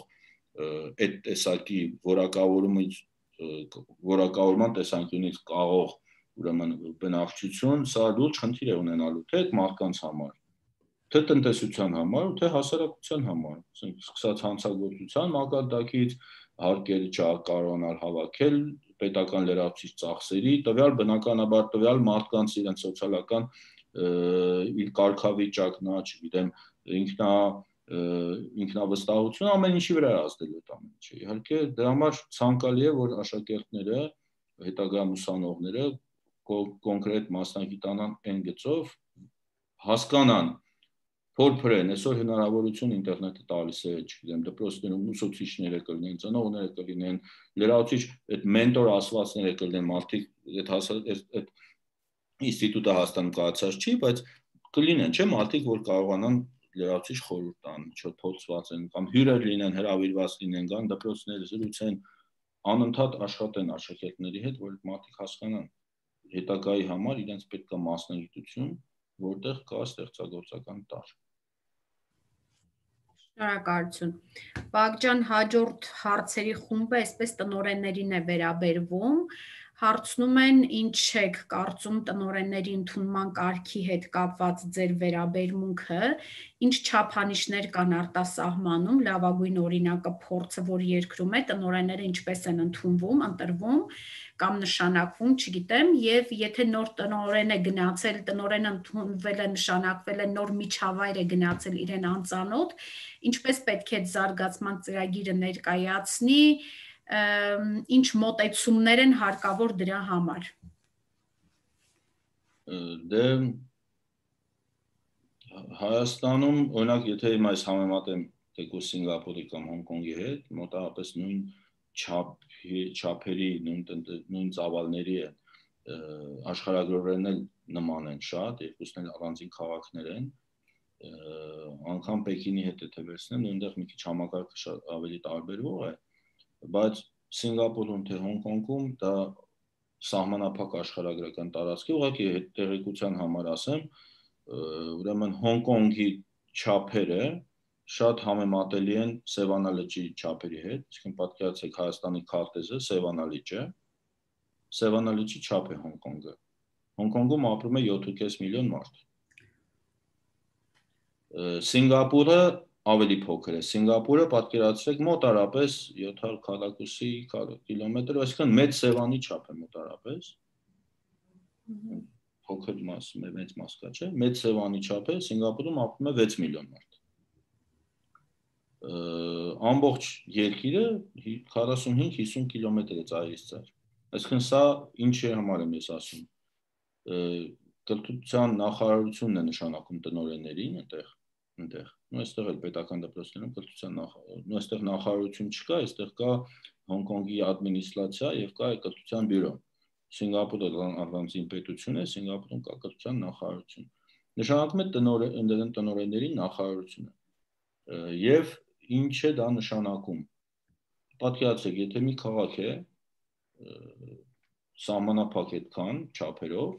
այդ տեսակի որակավորումից որակավորման տեսանկյունից կարող ուրեմն բնակչություն, սա լուրջ խնդիր է ունենալու թե այդ մարդկանց համար, թե տնտեսության համար, թե հասարակության համար, սկսած հանցագործության մակարդակից, հարկեր չկարողանալ հավաքել, պետական լրացուցիչ ծախսերի, տվյալ բնականաբար տվյալ մարդկանց իրենց սոցիալական իր կարգավիճակն, չգիտեմ, ինքնա ինքնավստահություն ամեն ինչի վրա ազդելու այդ ամեն ինչը։ Իհարկե դրա համար ցանկալի է, որ աշակերտները, հետագա ուսանողները կոնկրետ մասնագիտանան այն գծով, հասկանան, փորփրեն, այսօր հնարավորություն ինտերնետը տալիս է, չգիտեմ, դպրոցներում ուսուցիչները կլինեն, ծնողները կլինեն, լրացուցիչ այդ մենտոր ասվածները կլինեն, մարդիկ այդ ինստիտուտը հաստատում կայացած չի, բայց կլինեն, չէ՞, մարդիկ, որ կարողանան լրացուցիչ խորհուրդ տան, չփորձված են կամ հյուրեր լինեն, հրավիրված լինեն, կան դպրոցները զրուցեն, անընդհատ աշխատեն աշակերտների հետ, որ այդ մարդիկ հասկանան հետագայի համար իրենց պետք է մասնագիտություն, որտեղ կա ստեղծագործական տար։ Շնորհակալություն։ Բաղջան, հաջորդ հարցերի խումբը այսպես տնօրեններին է վերաբերվում։ Հարցնում են ինչ եք կարծում տնօրենների ընդունման կարգի հետ կապված ձեր վերաբերմունքը, ինչ չափանիշներ կան արտասահմանում, լավագույն օրինակը փորձը, որ երկրում է, տնօրենները ինչպես են ընդունվում, ընտրվում կամ նշանակվում, չգիտեմ, եւ եթե նոր տնօրեն է գնացել, տնօրենը ընդունվել է, նշանակվել է, նոր միջավայր է գնացել իրեն անծանոթ, ինչպես պետք է զարգացման ծրագիրը ներկայացնի, ինչ մոտեցումներ են հարկավոր դրա համար։ Դե Հայաստանում, օրինակ, եթե հիմա այս համեմատեմ թեկուզ Սինգապուրի կամ Հոնկոնգի հետ, մոտավորապես նույն չափերի, նույն ծավալների է, աշխարհագրորեն էլ նման են շատ, երկուսն էլ առանձին քաղաքներ են, անգամ Պեկինի հետ եթե վերցնեմ, նույնտեղ մի քիչ համակարգը ավելի տարբերվող է, բայց Սինգապուրում թե Հոնկոնգում դա սահմանափակ աշխարհագրական տարածքի, ուղղակի տեղեկության համար ասեմ, ուրեմն Հոնկոնգի չափերը շատ համեմատելի են Սևանա լճի չափերի հետ, այսինքն պատկերացրեք Հայաստանի քարտեզը Սևանա լիճը, Սևանա լճի չափ է Հոնկոնգը։ Հոնկոնգում ապրում է յոթ կես միլիոն մարդ։ Սինգապուրը ավելի փոքր է։ Սինգապուրը պատկերացրեք մոտարապես յոթ հարյուր քառակուսի կիլոմետր, այսինքն մեծ Սևանի չափ է մոտարապես։ Փոքր մաս, մեծ մաս կա, չէ՞։ Մեծ Սևանի չափ է, Սինգապուրում ապրում է վեց միլիոն մարդ։ Ամբողջ երկիրը քառասունհինգ հիսուն կիլոմետր է ծայրից ծայր։ Այսինքն սա ինչի համար եմ ես ասում։ Կրթության նախարարությունն է նշանակում տնօրեններին այնտեղ, այնտեղ։ Ու այստեղ էլ պետական դպրոցներում կրթության նախարարություն, ու այստեղ նախարարություն չկա, այստեղ կա Հոնկոնգի ադմինիստրացիա եւ կա կրթության բյուրո։ Սինգապուրը առանձին պետություն է, Սինգապուրում կա կրթության նախարարություն։ նշանակում է տնօրենների նախարարությունը։ Եվ ինչ է դա նշանակում։ Պատկերացրեք, եթե մի քաղաք է սահմանափակ այդքան չափերով,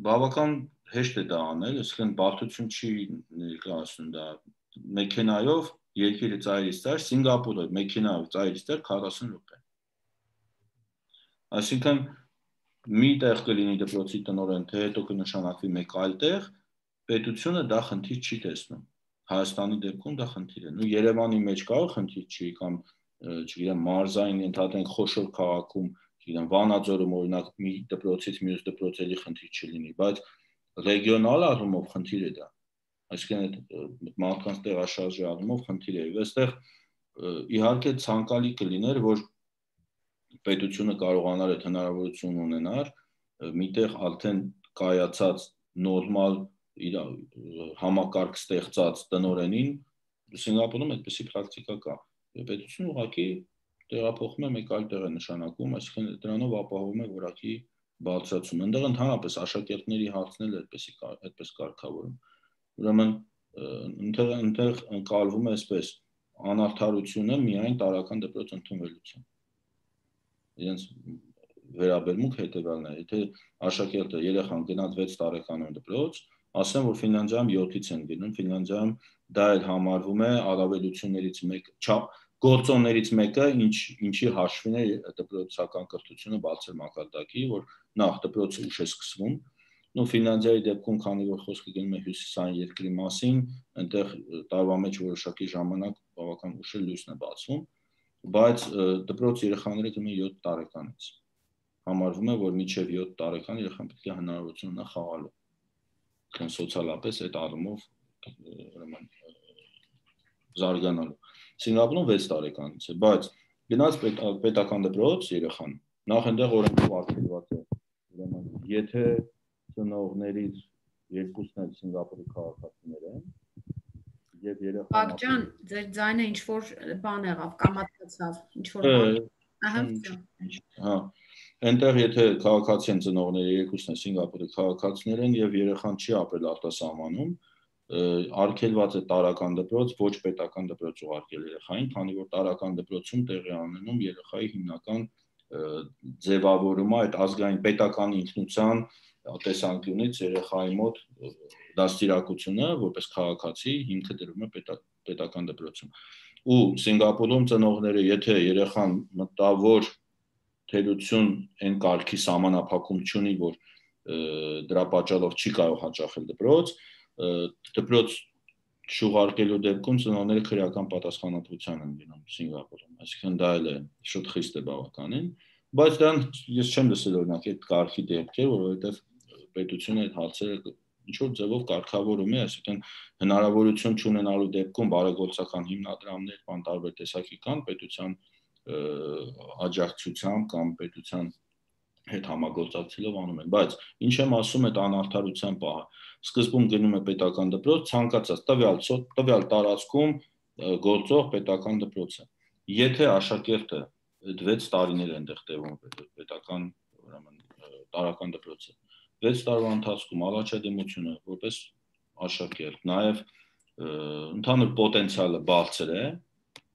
բավական հեշտ է դա անել, այսինքն բարդություն չի ներկայացնում դա մեքենայով երկիրը ծայրից ծայր, Սինգապուրը մեքենայով ծայրից ծայր քառասուն րոպե։ Այսինքն մի տեղ կլինի դպրոցի տնօրեն, թե հետո կնշանակվի մեկ այլ տեղ, պետությունը դա խնդիր չի տեսնում։ Հայաստանի դեպքում դա խնդիր է։ Ու Երևանի մեջ կարող խնդիր չի կամ չգիտեմ մարզային ընդհանրեն խոշոր քաղաքում, չգիտեմ Վանաձորում օրինակ մի դպրոցից մյուս դպրոց էլի խնդիր չլինի, բայց ռեգիոնալ առումով խնդիր է դա։ Այսինքն մարդկանց տեղաշարժի առումով խնդիր է։ Եվ այստեղ իհարկե ցանկալի կլիներ, որ պետությունը կարողանար այդ հնարավորություն ունենար միտեղ արդեն կայացած նորմալ իր համակարգ ստեղծած տնօրենին Սինգապուրում այդպիսի պրակտիկա կա։ Պետությունը ուղղակի տեղափոխում է մեկ այլ տեղ է նշանակում, այսինքն դրանով ապահովում է որակի բարձրացում։ Այնտեղ ընդհանրապես աշակերտների հարցն էլ այդպեսի այդպես կարգավորում։ Ուրեմն այնտեղ այնտեղ ընկալվում է այսպես անարդարությունը միայն տարրական դպրոց ընդունվելուց։ Իրենց վերաբերմունք հետևյալն է, եթե աշակերտը երեխան գնաց վեց տարեկանում դպրոց, ասեմ, որ Ֆինլանդիայում յոթից են գնում, Ֆինլանդիայում դա էլ համարվում է առավելություններից մեկը, գործոններից մեկը, ինչ ինչի հաշվին է դպրոցական կրթությունը բարձր մակարդակի, որ նախ դպրոցը ուշ է սկսվում, ու Ֆինլանդիայի դեպքում, քանի որ խոսքը գնում է հյուսիսային երկրի մասին, այնտեղ տարվա մեջ որոշակի ժամանակ բավական ուշ է լույսն է բացվում, բայց դպրոց երեխաները գնում են յոթ տարեկանից։ Համարվում է, որ մինչև յոթ տարեկան երեխան պետք է հնարավորություն ունենա խաղալու։ Քան սոցիալապես այդ առումով ուրեմն զարգանալու։ Սինգապուրում վեց տարեկանից է, բայց գնաց պետական դպրոց երեխան, նախ այնտեղ օրենքով արգելված է, ուրեմն եթե ծնողներից երկուսն էլ Սինգապուրի քաղաքացիներ են, եւ երեխան Բակջան, ձեր ձայնը ինչ որ բան եղավ, կամացավ, ինչ որ բան։ Ահա, հա, այնտեղ եթե քաղաքացի են ծնողները երկուսն են Սինգապուրի քաղաքացիներ են եւ երեխան չի ապրել արտասահմանում, արգելված է տարրական դպրոց, ոչ պետական դպրոց ուղարկել երեխային, քանի որ տարրական դպրոցում տեղի ունենում երեխայի հիմնական ձևավորումը այդ ազգային պետական ինքնության տեսանկյունից երեխայի մոտ դաստիարակությունը որպես քաղաքացի հիմքը դրվում է պետական դպրոցում։ Ու Սինգապուրում ծնողները, եթե երեխան մտավոր թերություն այն կարգի սահմանափակում չունի, որ դրա պատճառով չի կարող հաճախել դպրոց, դպրոց շուղարկելու դեպքում ծնողները քրեական պատասխանատվության են լինում Սինգապուրում, այսինքն դա էլ է շուտ խիստ է բավականին, բայց դրան ես չեմ լսել օրինակ այդ կարգի դեպքեր, որովհետև պետությունը այդ հարցերը ինչ որ ձևով կարգավորում է, այսինքն հնարավորություն չունենալու դեպքում բարեգործական հիմնադրամներ կամ տարբեր տեսակի կան պետության աջակցությամբ կամ պետության հետ համագործակցելով անում են, բայց ինչ եմ ասում այդ անարդարության պահը, սկզբում գնում է պետական դպրոց, ցանկացած տվյալ տվյալ տարածքում գործող պետական դպրոցը, եթե աշակերտը վեց տարիներ են այնտեղ տևում պետական ուրեմն տարրական դպրոցը, վեց տարվա ընթացքում առաջադիմությունը որպես աշակերտ, նաև ընդհանուր պոտենցիալը բարձր է,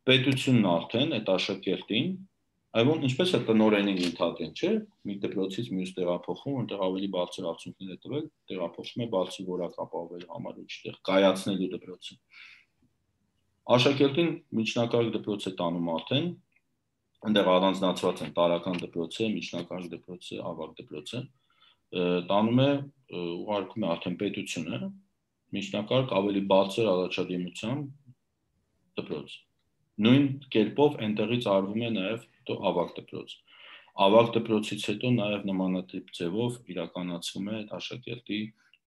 պետությունն արդեն այդ աշակերտին, այլոն ինչպես է տնօրենին ընդհանրեն, չէ, մի դպրոցից մյուս տեղափոխում, որտեղ ավելի բարձր արդյունքներ է տվել, տեղափոխում է բարձր որակ ապահովելու համար ու չտեղ կայացնելու դպրոցը։ Աշակերտին միջնակարգ դպրոց է տանում արդեն, այնտեղ առանձնացված են տարրական դպրոցը, միջնակարգ դպրոցը, ավագ դպրոցը, տանում է ուղարկում է արդեն պետությունը, միջնակարգ ավելի բարձր առաջադիմության դպրոց։ Նույն կերպով այնտեղից արվում է նաև ավագ դպրոց։ Ավագ դպրոցից հետո նաև նմանատիպ ձևով իրականացվում է աշակերտի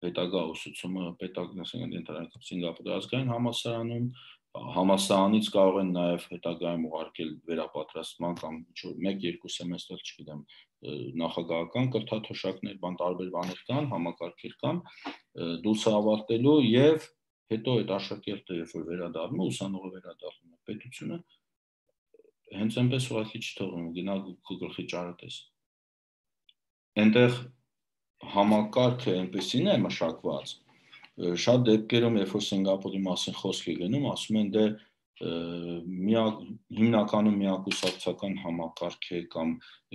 հետագա ուսուցումը պետական Սինգապուրի ազգային համալսարանում, համալսարանից կարող են նաև հետագայում ուղարկել վերապատրաստման կամ ինչ-որ մեկ-երկու սեմեստր, չգիտեմ, նախագահական կրթաթոշակներ, բան տարբեր բաներ կան, համակարգեր կան, դուրս ավարտելու եւ հետո այդ աշակերտը երբ որ վերադառնում է, ուսանողը վերադառնում է, պետությունը հենց այնպես ուղղակի չթողնում, գնա գլխի ճարը տես։ Այնտեղ համակարգը այնպեսին է մշակված, շատ դեպքերում, երբ որ Սինգապուրի մասին խոսք է գնում, ասում են դե հիմնականում միակուսակցական համակարգ է կամ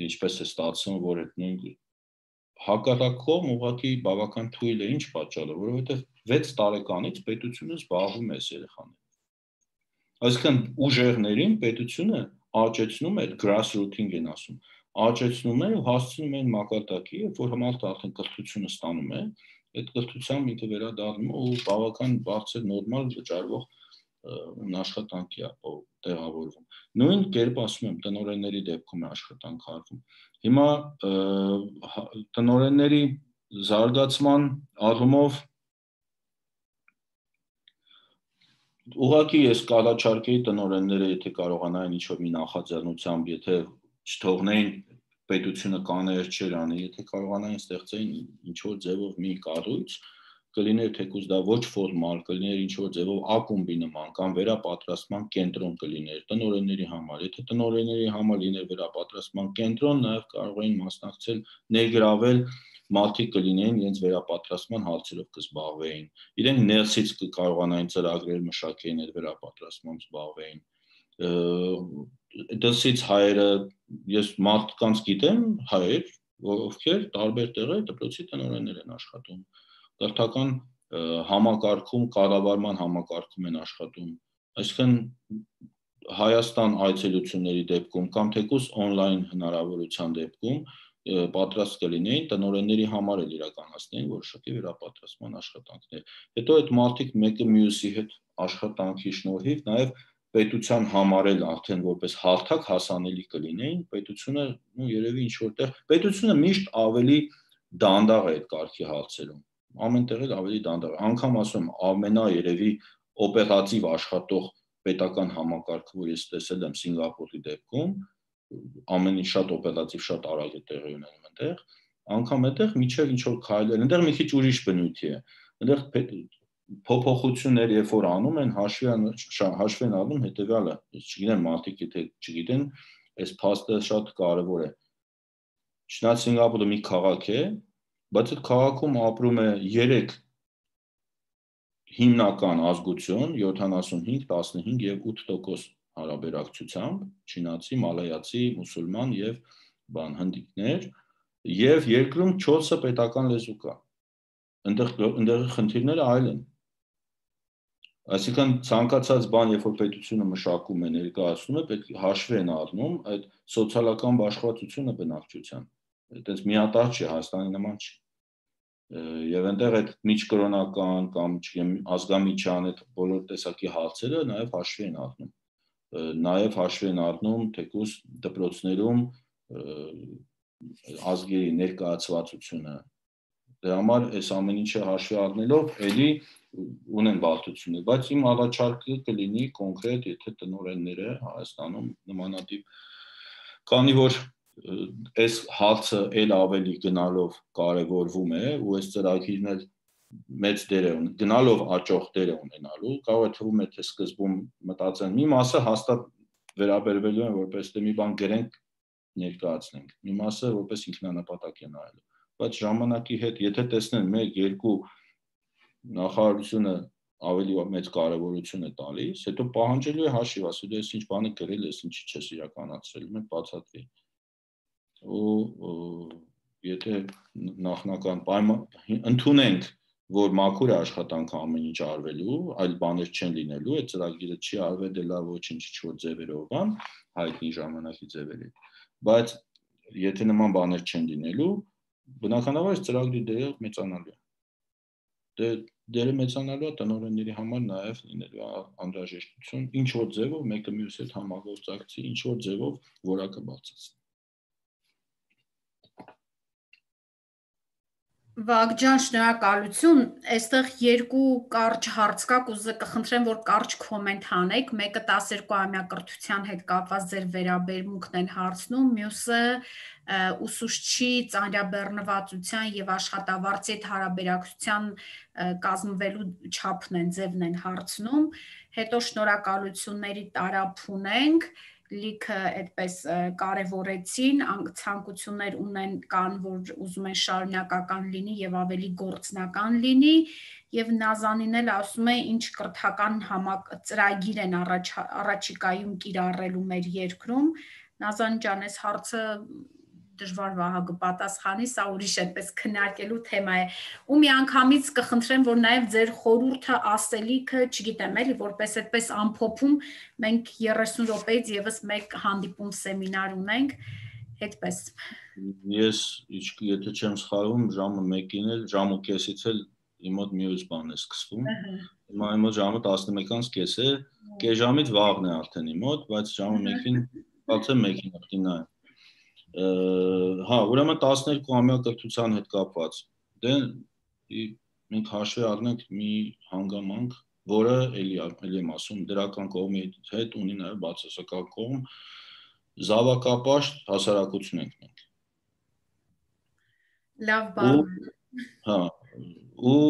ինչպես է ստացվում, որ այդ նույն հակառակողմ ուղղակի բավական թույլ է, ինչ պատճառով, որովհետև վեց տարեկանից պետությունը զբաղվում է այս երեխաներով։ Այսինքն ուժեղներին պետությունը աճեցնում է, grassrooting են ասում, աճեցնում է ու հասցնում են մակարդակի, երբ որ մարդը արդեն կրթությունը ստանում է, այդ կրթությամբ ինքը վերադառնում է ու բավական բարձր նորմալ վճարվող աշխատանքի է տեղավորվում։ Նույն կերպ ասում եմ, տնօրենների դեպքում է աշխատանք արվում։ Հիմա տնօրենների զարգացման առումով ուղղակի ես կառաջարկեի տնօրենները, եթե կարողանային ինչ-որ մի նախաձեռնությամբ, եթե չթողնեին պետությունը կաներ չեր անի, եթե կարողանային ստեղծեին ինչ-որ ձևով մի կառույց, կլիներ թեկուզ դա ոչ ֆորմալ, կլիներ ինչ-որ ձևով ակումբի նման կամ վերապատրաստման կենտրոն կլիներ տնօրենների համար, եթե տնօրենների համար լիներ վերապատրաստման կենտրոն, նաև կարող էին մասնակցել, ներգրավել մարդիկ կլինեին իրենց վերապատրաստման հարցերով կզբաղվեին, իրենք ներսից կկարողանային ծրագրեր մշակեին այդ վերապատրաստմամբ զբաղվեին, դրսից հայերը, ես մարդկանց գիտեմ, հայեր, ովքեր տարբեր տեղեր դպրոցի տնօրեններ են աշխատում, կրթական համակարգում, կառավարման համակարգում են աշխատում, այսինքն Հայաստան այցելությունների դեպքում կամ թեկուզ on-line հնարավորության դեպքում պատրաստ կլինեին տնօրենների համար էլ իրականացնեին որոշակի վերապատրաստման աշխատանքներ։ Հետո այդ մարդիկ մեկը մյուսի հետ աշխատանքի շնորհիվ նաև պետության համար էլ արդեն որպես հարթակ հասանելի կլինեին, պետությունը ու երևի ինչ որտեղ պետությունը միշտ ավելի դանդաղ է այդ կարգի հարցերում։ Ամեն տեղ էլ ավելի դանդաղ է։ Անգամ ասում ամենա երևի օպերատիվ աշխատող պետական համակարգը, որ ես տեսել եմ Սինգապուրի դեպքում, ամեն ինչ շատ օպերատիվ, շատ արագ է տեղի ունենում այնտեղ, անգամ այդտեղ միջև ինչ որ քայլեր, այնտեղ մի քիչ ուրիշ բնույթի է։ Այնտեղ փոփոխություններ երբ որ անում են, հաշվի հաշվի են առնում հետեւյալը, ես չգիտեմ մարդիկ եթե չգիտեն, այս փաստը շատ կարևոր է։ Չնայած Սինգապուրը մի քաղաք է, բայց այդ քաղաքում ապրում է երեք հիմնական ազգություն, յոթանասունհինգ, տասնհինգ եւ ութ տոկոս հարաբերակցությամբ, չինացի, մալայացի, մուսուլման եւ բան հնդիկներ, եւ երկրում չորսը պետական լեզու կա։ Այնտեղ այնտեղի խնդիրները այլ են։ Այսինքն ցանկացած բան, երբ որ պետությունը մշակում է, ներկայացնում է, պետք է հաշվի են առնում այդ սոցիալական բաշխվածությունը բնակչության։ Այդպես միատարր չի, Հայաստանի նման չի։ Եվ այնտեղ այդ միջկրոնական կամ չգիտեմ ազգամիջյան այդ բոլոր տեսակի հարցերը նաև հաշվի են առնում, նաև հաշվի են առնում թեկուզ դպրոցներում ազգերի ներկայացվածությունը, դրա համար այս ամեն ինչը հաշվի առնելով էլի ունեն բարդություններ, բայց իմ առաջարկը կլինի կոնկրետ, եթե տնօրենները Հայաստանում նմանատիպ, քանի որ այս հարցը էլ ավելի գնալով կարևորվում է ու այս ծրագիրն էլ մեծ դեր է ունի, գնալով աճող դեր է ունենալու, կարող է թվում է թե սկզբում մտածեն մի մասը հաստատ վերաբերվելու են որպես թե մի բան գրենք ներկայացնենք, մի մասը որպես ինքնանպատակ է նայելու, բայց ժամանակի հետ եթե տեսնեն մեկ երկու նախարարությունը ավելի մեծ կարևորություն է տալիս, հետո պահանջելու է հաշիվ, ասել ես ինչ բան է գրել, ես ինչի չես իրականացրել, մենք բացատրի ու եթե նախնական պայման ընդունենք, որ մաքուր է աշխատանքը ամեն ինչ արվելու, այլ բաներ չեն լինելու, այդ ծրագիրը չի արվել դե լավ ոչինչ ինչ-որ ձևերով բան, հայտնի ժամանակի ձևերի, բայց եթե նման բաներ չեն լինելու, բնականաբար ծրագրի դերը մեծանալու է։ Դե դերը մեծանալու է տնօրենների համար նաև լինելու անհրաժեշտություն, ինչ որ ձևով մեկը մյուսի հետ համագործակցի, ինչ որ ձևով որակը բարձրացնի։ Վագջան, շնորհակալություն, այստեղ երկու կարճ հարց կա, կուզե կխնդրեմ, որ կարճ կոմենտ անեք, մեկը տասներկուամյա կրթության հետ կապված ձեր վերաբերմունքն են հարցնում, մյուսը ուսուցչի ծանրաբեռնվածության եւ աշխատավարձի հետ հարաբերակցության կազմվելու չափն են, ձևն են հարցնում, հետո շնորհակալությունների տարափ ունենք լիքը այդպես կարևորեցին, ցանկություններ ունեն կան, որ ուզում են շարունակական լինի եւ ավելի գործնական լինի, եւ Նազանին էլ ասում է ինչ կրթական համակ ծրագիր են առաջ առաջիկայում կիրառելու մեր երկրում։ Նազան ջան, այս հարցը դժվար Վահագը պատասխանի, սա ուրիշ այդպես քննարկելու թեմա է։ Ու միանգամից կխնդրեմ, որ նաև ձեր խորհուրդը, ասելիքը, չգիտեմ, էլի, որպես այդպես ամփոփում, մենք երեսուն րոպեից եւս մեկ հանդիպում սեմինար ունենք, այդպես։ Ես, եթե չեմ սխալվում, ժամը մեկին էլ, ժամը կեսից էլ իմ մոտ մյուս բան է սկսվում։ Հիմա իմ մոտ ժամը տասնմեկից կես է, կես ժամից վաղն է արդեն իմ մոտ, բայց ժամը մեկին, բացեմ մեկին արդեն նայեմ։ Հա, ուրեմն տասներկու-ամյա կրթության հետ կապված, դե մենք հաշվի առնենք մի հանգամանք, որը էլի եմ ասում, դրական կողմի հետ ունի նաև բացասական կողմ, զավակապաշտ հասարակություն ենք մենք։ Լավ բան։ Հա, ու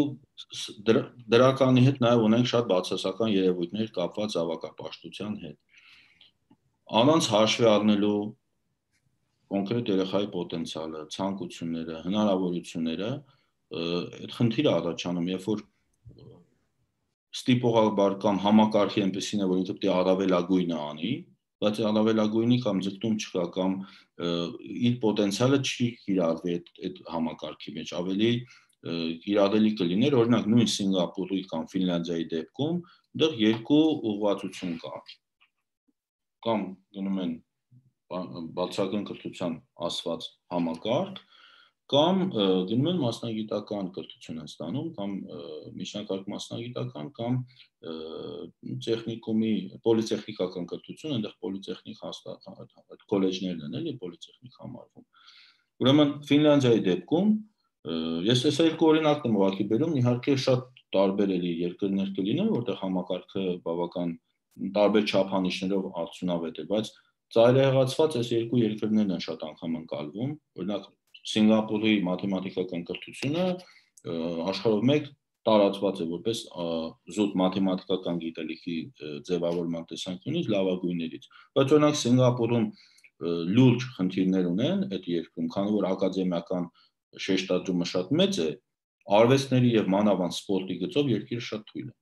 դրականի հետ նաև ունենք շատ բացասական երևույթներ կապված զավակապաշտության հետ։ Անոնց հաշվի առնելու կոնկրետ երեխայի պոտենցիալը, ցանկությունները, հնարավորությունները, այդ խնդիրը առաջանում, երբ որ ստիպողաբար կամ համակարգի այնպեսին է, որ ինքը պետք է առավելագույնը անի, բայց առավելագույնի կամ ձգտում չկա կամ իր պոտենցիալը չի կիրառվի այդ համակարգի մեջ, ավելի կիրառելի կլիներ, օրինակ նույն Սինգապուրի կամ Ֆինլանդիայի դեպքում, դեռ երկու ուղղվածություն կա, կամ գնում են բացական կրթության ասված համակարգ, կամ գնում են մասնագիտական կրթություն են ստանում, կամ միջնակարգ մասնագիտական, կամ տեխնիկումի, պոլիտեխնիկական կրթություն, այնտեղ պոլիտեխնիկ հաստատ քոլեջներն են, էլի պոլիտեխնիկ համարվում։ Ուրեմն Ֆինլանդիայի դեպքում ես այս երկու օրինակն եմ ուղղակի բերում, իհարկե շատ տարբեր էլի երկրներ կլինեն, որտեղ համակարգը բավական տարբեր չափանիշներով արդյունավետ է, բայց ծայրահեղացված այս երկու երկրներն են շատ անգամ ընկալվում, օրինակ Սինգապուրի մաթեմատիկական կրթությունը աշխարհով մեկ տարածված է որպես զուտ մաթեմատիկական գիտելիքի ձևավորման տեսանկյունից լավագույններից, բայց օրինակ Սինգապուրում լուրջ խնդիրներ ունեն այդ երկրում, քանի որ ակադեմիական շեշտադրումը շատ մեծ է, արվեստների եւ մանավանդ սպորտի գծով երկիրը շատ թույլ է,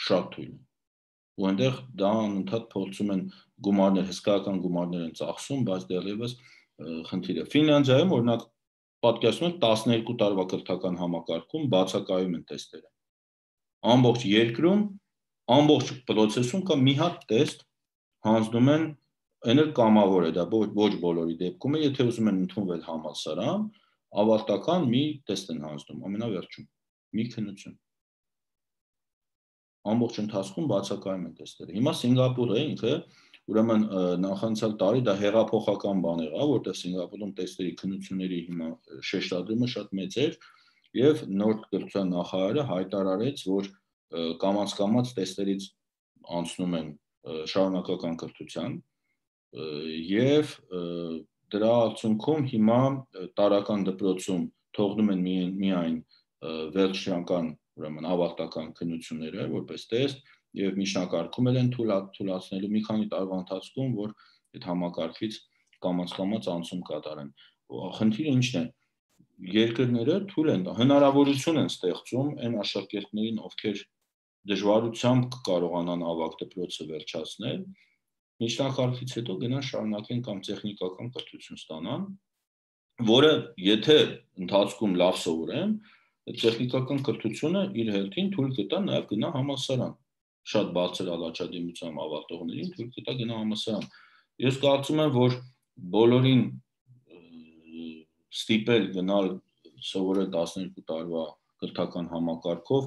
շատ թույլ է։ Ու այնտեղ դա անընդհատ փորձում են գումարներ, հսկայական գումարներ են ծախսում, բայց դեռևս խնդիր է։ Ֆինլանդիայում օրինակ պատկերացնում եք տասներկու տարվա կրթական համակարգում բացակայում են տեստերը։ Ամբողջ երկրում, ամբողջ պրոցեսում կա մի հատ տեստ հանձնում են, այն էլ կամավոր է, դա ոչ բոլորի դեպքում է, եթե ուզում են ընդունվել համալսարան, ավարտական մի տեստ են հանձնում, ամենավերջում, մի քննություն։ Ամբողջ ընթացքում բացակայում են տեստերը։ Հիմա Սինգապուրը ինքը, ուրեմն նախանցյալ տարի դա հեղափոխական բան եղավ, որտեղ Սինգապուրում տեստերի քննությունների հիմա շեշտադրումը շատ մեծ էր, եւ նոր կրթության նախարարը հայտարարեց, որ կամաց-կամաց տեստերից անցնում են շարունակական կրթության, եւ դրա արդյունքում հիմա տարական դպրոցում թողնում են միայն վերջնական, ուրեմն ավարտական քննությունները որպես տեստ եւ միջնակարգում են թույլատնելու մի քանի տարվա ընթացքում, որ այդ համակարգից կամաց-կամաց անցում կատարեն։ Խնդիրը ինչն է։ Երկրները թույլ են, հնարավորություն են ստեղծում այն աշակերտներին, ովքեր դժվարությամբ կկարողանան ավագ դպրոցը վերջացնել, միջնակարգից հետո գնան շարունակեն կամ տեխնիկական կրթություն ստանան, որը եթե ընթացքում լավ սովորեն, տեխնիկական կրթությունը իր հերթին թույլ կտա նաև գնա համալսարան, շատ բարձր առաջադիմությամբ ավարտողներին թույլ կտա գնա համալսարան։ Ես կարծում եմ, որ բոլորին ստիպել գնալ սովորել տասներկու տարվա կրթական համակարգով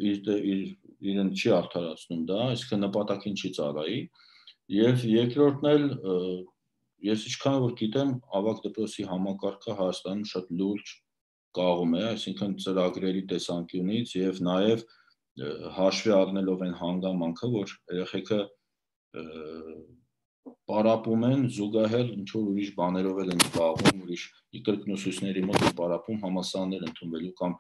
իրեն չի արդարացնում դա, այսինքն նպատակին չի ծառայի, եւ երկրորդն էլ ես ինչքան որ գիտեմ, ավագ դպրոցի համակարգը Հայաստանում շատ լուրջ կաղում է, այսինքն ծրագրերի տեսանկյունից եւ նաեւ հաշվի առնելով այն հանգամանքը, որ երեխեքը պարապում են զուգահեռ ինչ որ ուրիշ բաներով են զբաղվում, ուրիշ կրկնուսույցների մոտ պարապում համալսարաններ ընդունվելու կամ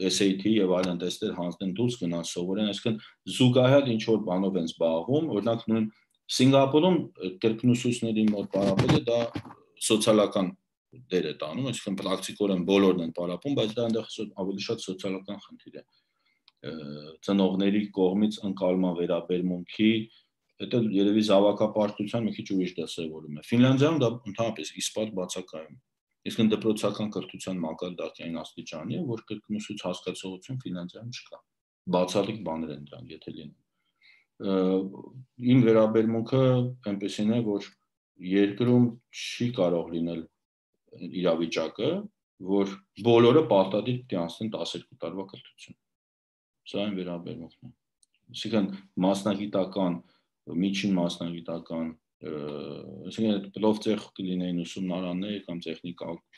S A T եւ այլն տեստեր հանձնեն դուրս գնան սովորեն, այսինքն զուգահեռ ինչ որ բանով են զբաղվում, օրինակ նույն Սինգապուրում կրկնուսուցների մոտ պարապելը դա սոցիալական դեր է տանում, այսինքն պրակտիկորեն բոլորն են պարապում, բայց դա այնտեղ ավելի շատ սոցիալական խնդիր է։ Ծնողների կողմից ընկալման վերաբերմունքի, հետո երևի զավակապարտության մի քիչ ուրիշ դասավորում է։ Ֆինլանդիայում դա ընդհանրապես իսպատ բացակայում է։ Իսկ դպրոցական կրթության մակարդակային աստիճանի է, որ կրկնուսույց հասկացողություն Ֆինլանդիայում չկա։ Բացառիկ բաներ են դրանք, եթե լինեն։ Իմ վերաբերմունքը այնպեսին է, որ երկրում չի կարող լինել իրավիճակը, որ բոլորը պարտադիր պետք է անցնեն տասներկու տարվա կրթություն։ Սա այն վերաբերմունքն է։ Այսինքն մասնագիտական, միջին մասնագիտական, այսինքն պլովտեխ կլինեին ուսումնարաններ կամ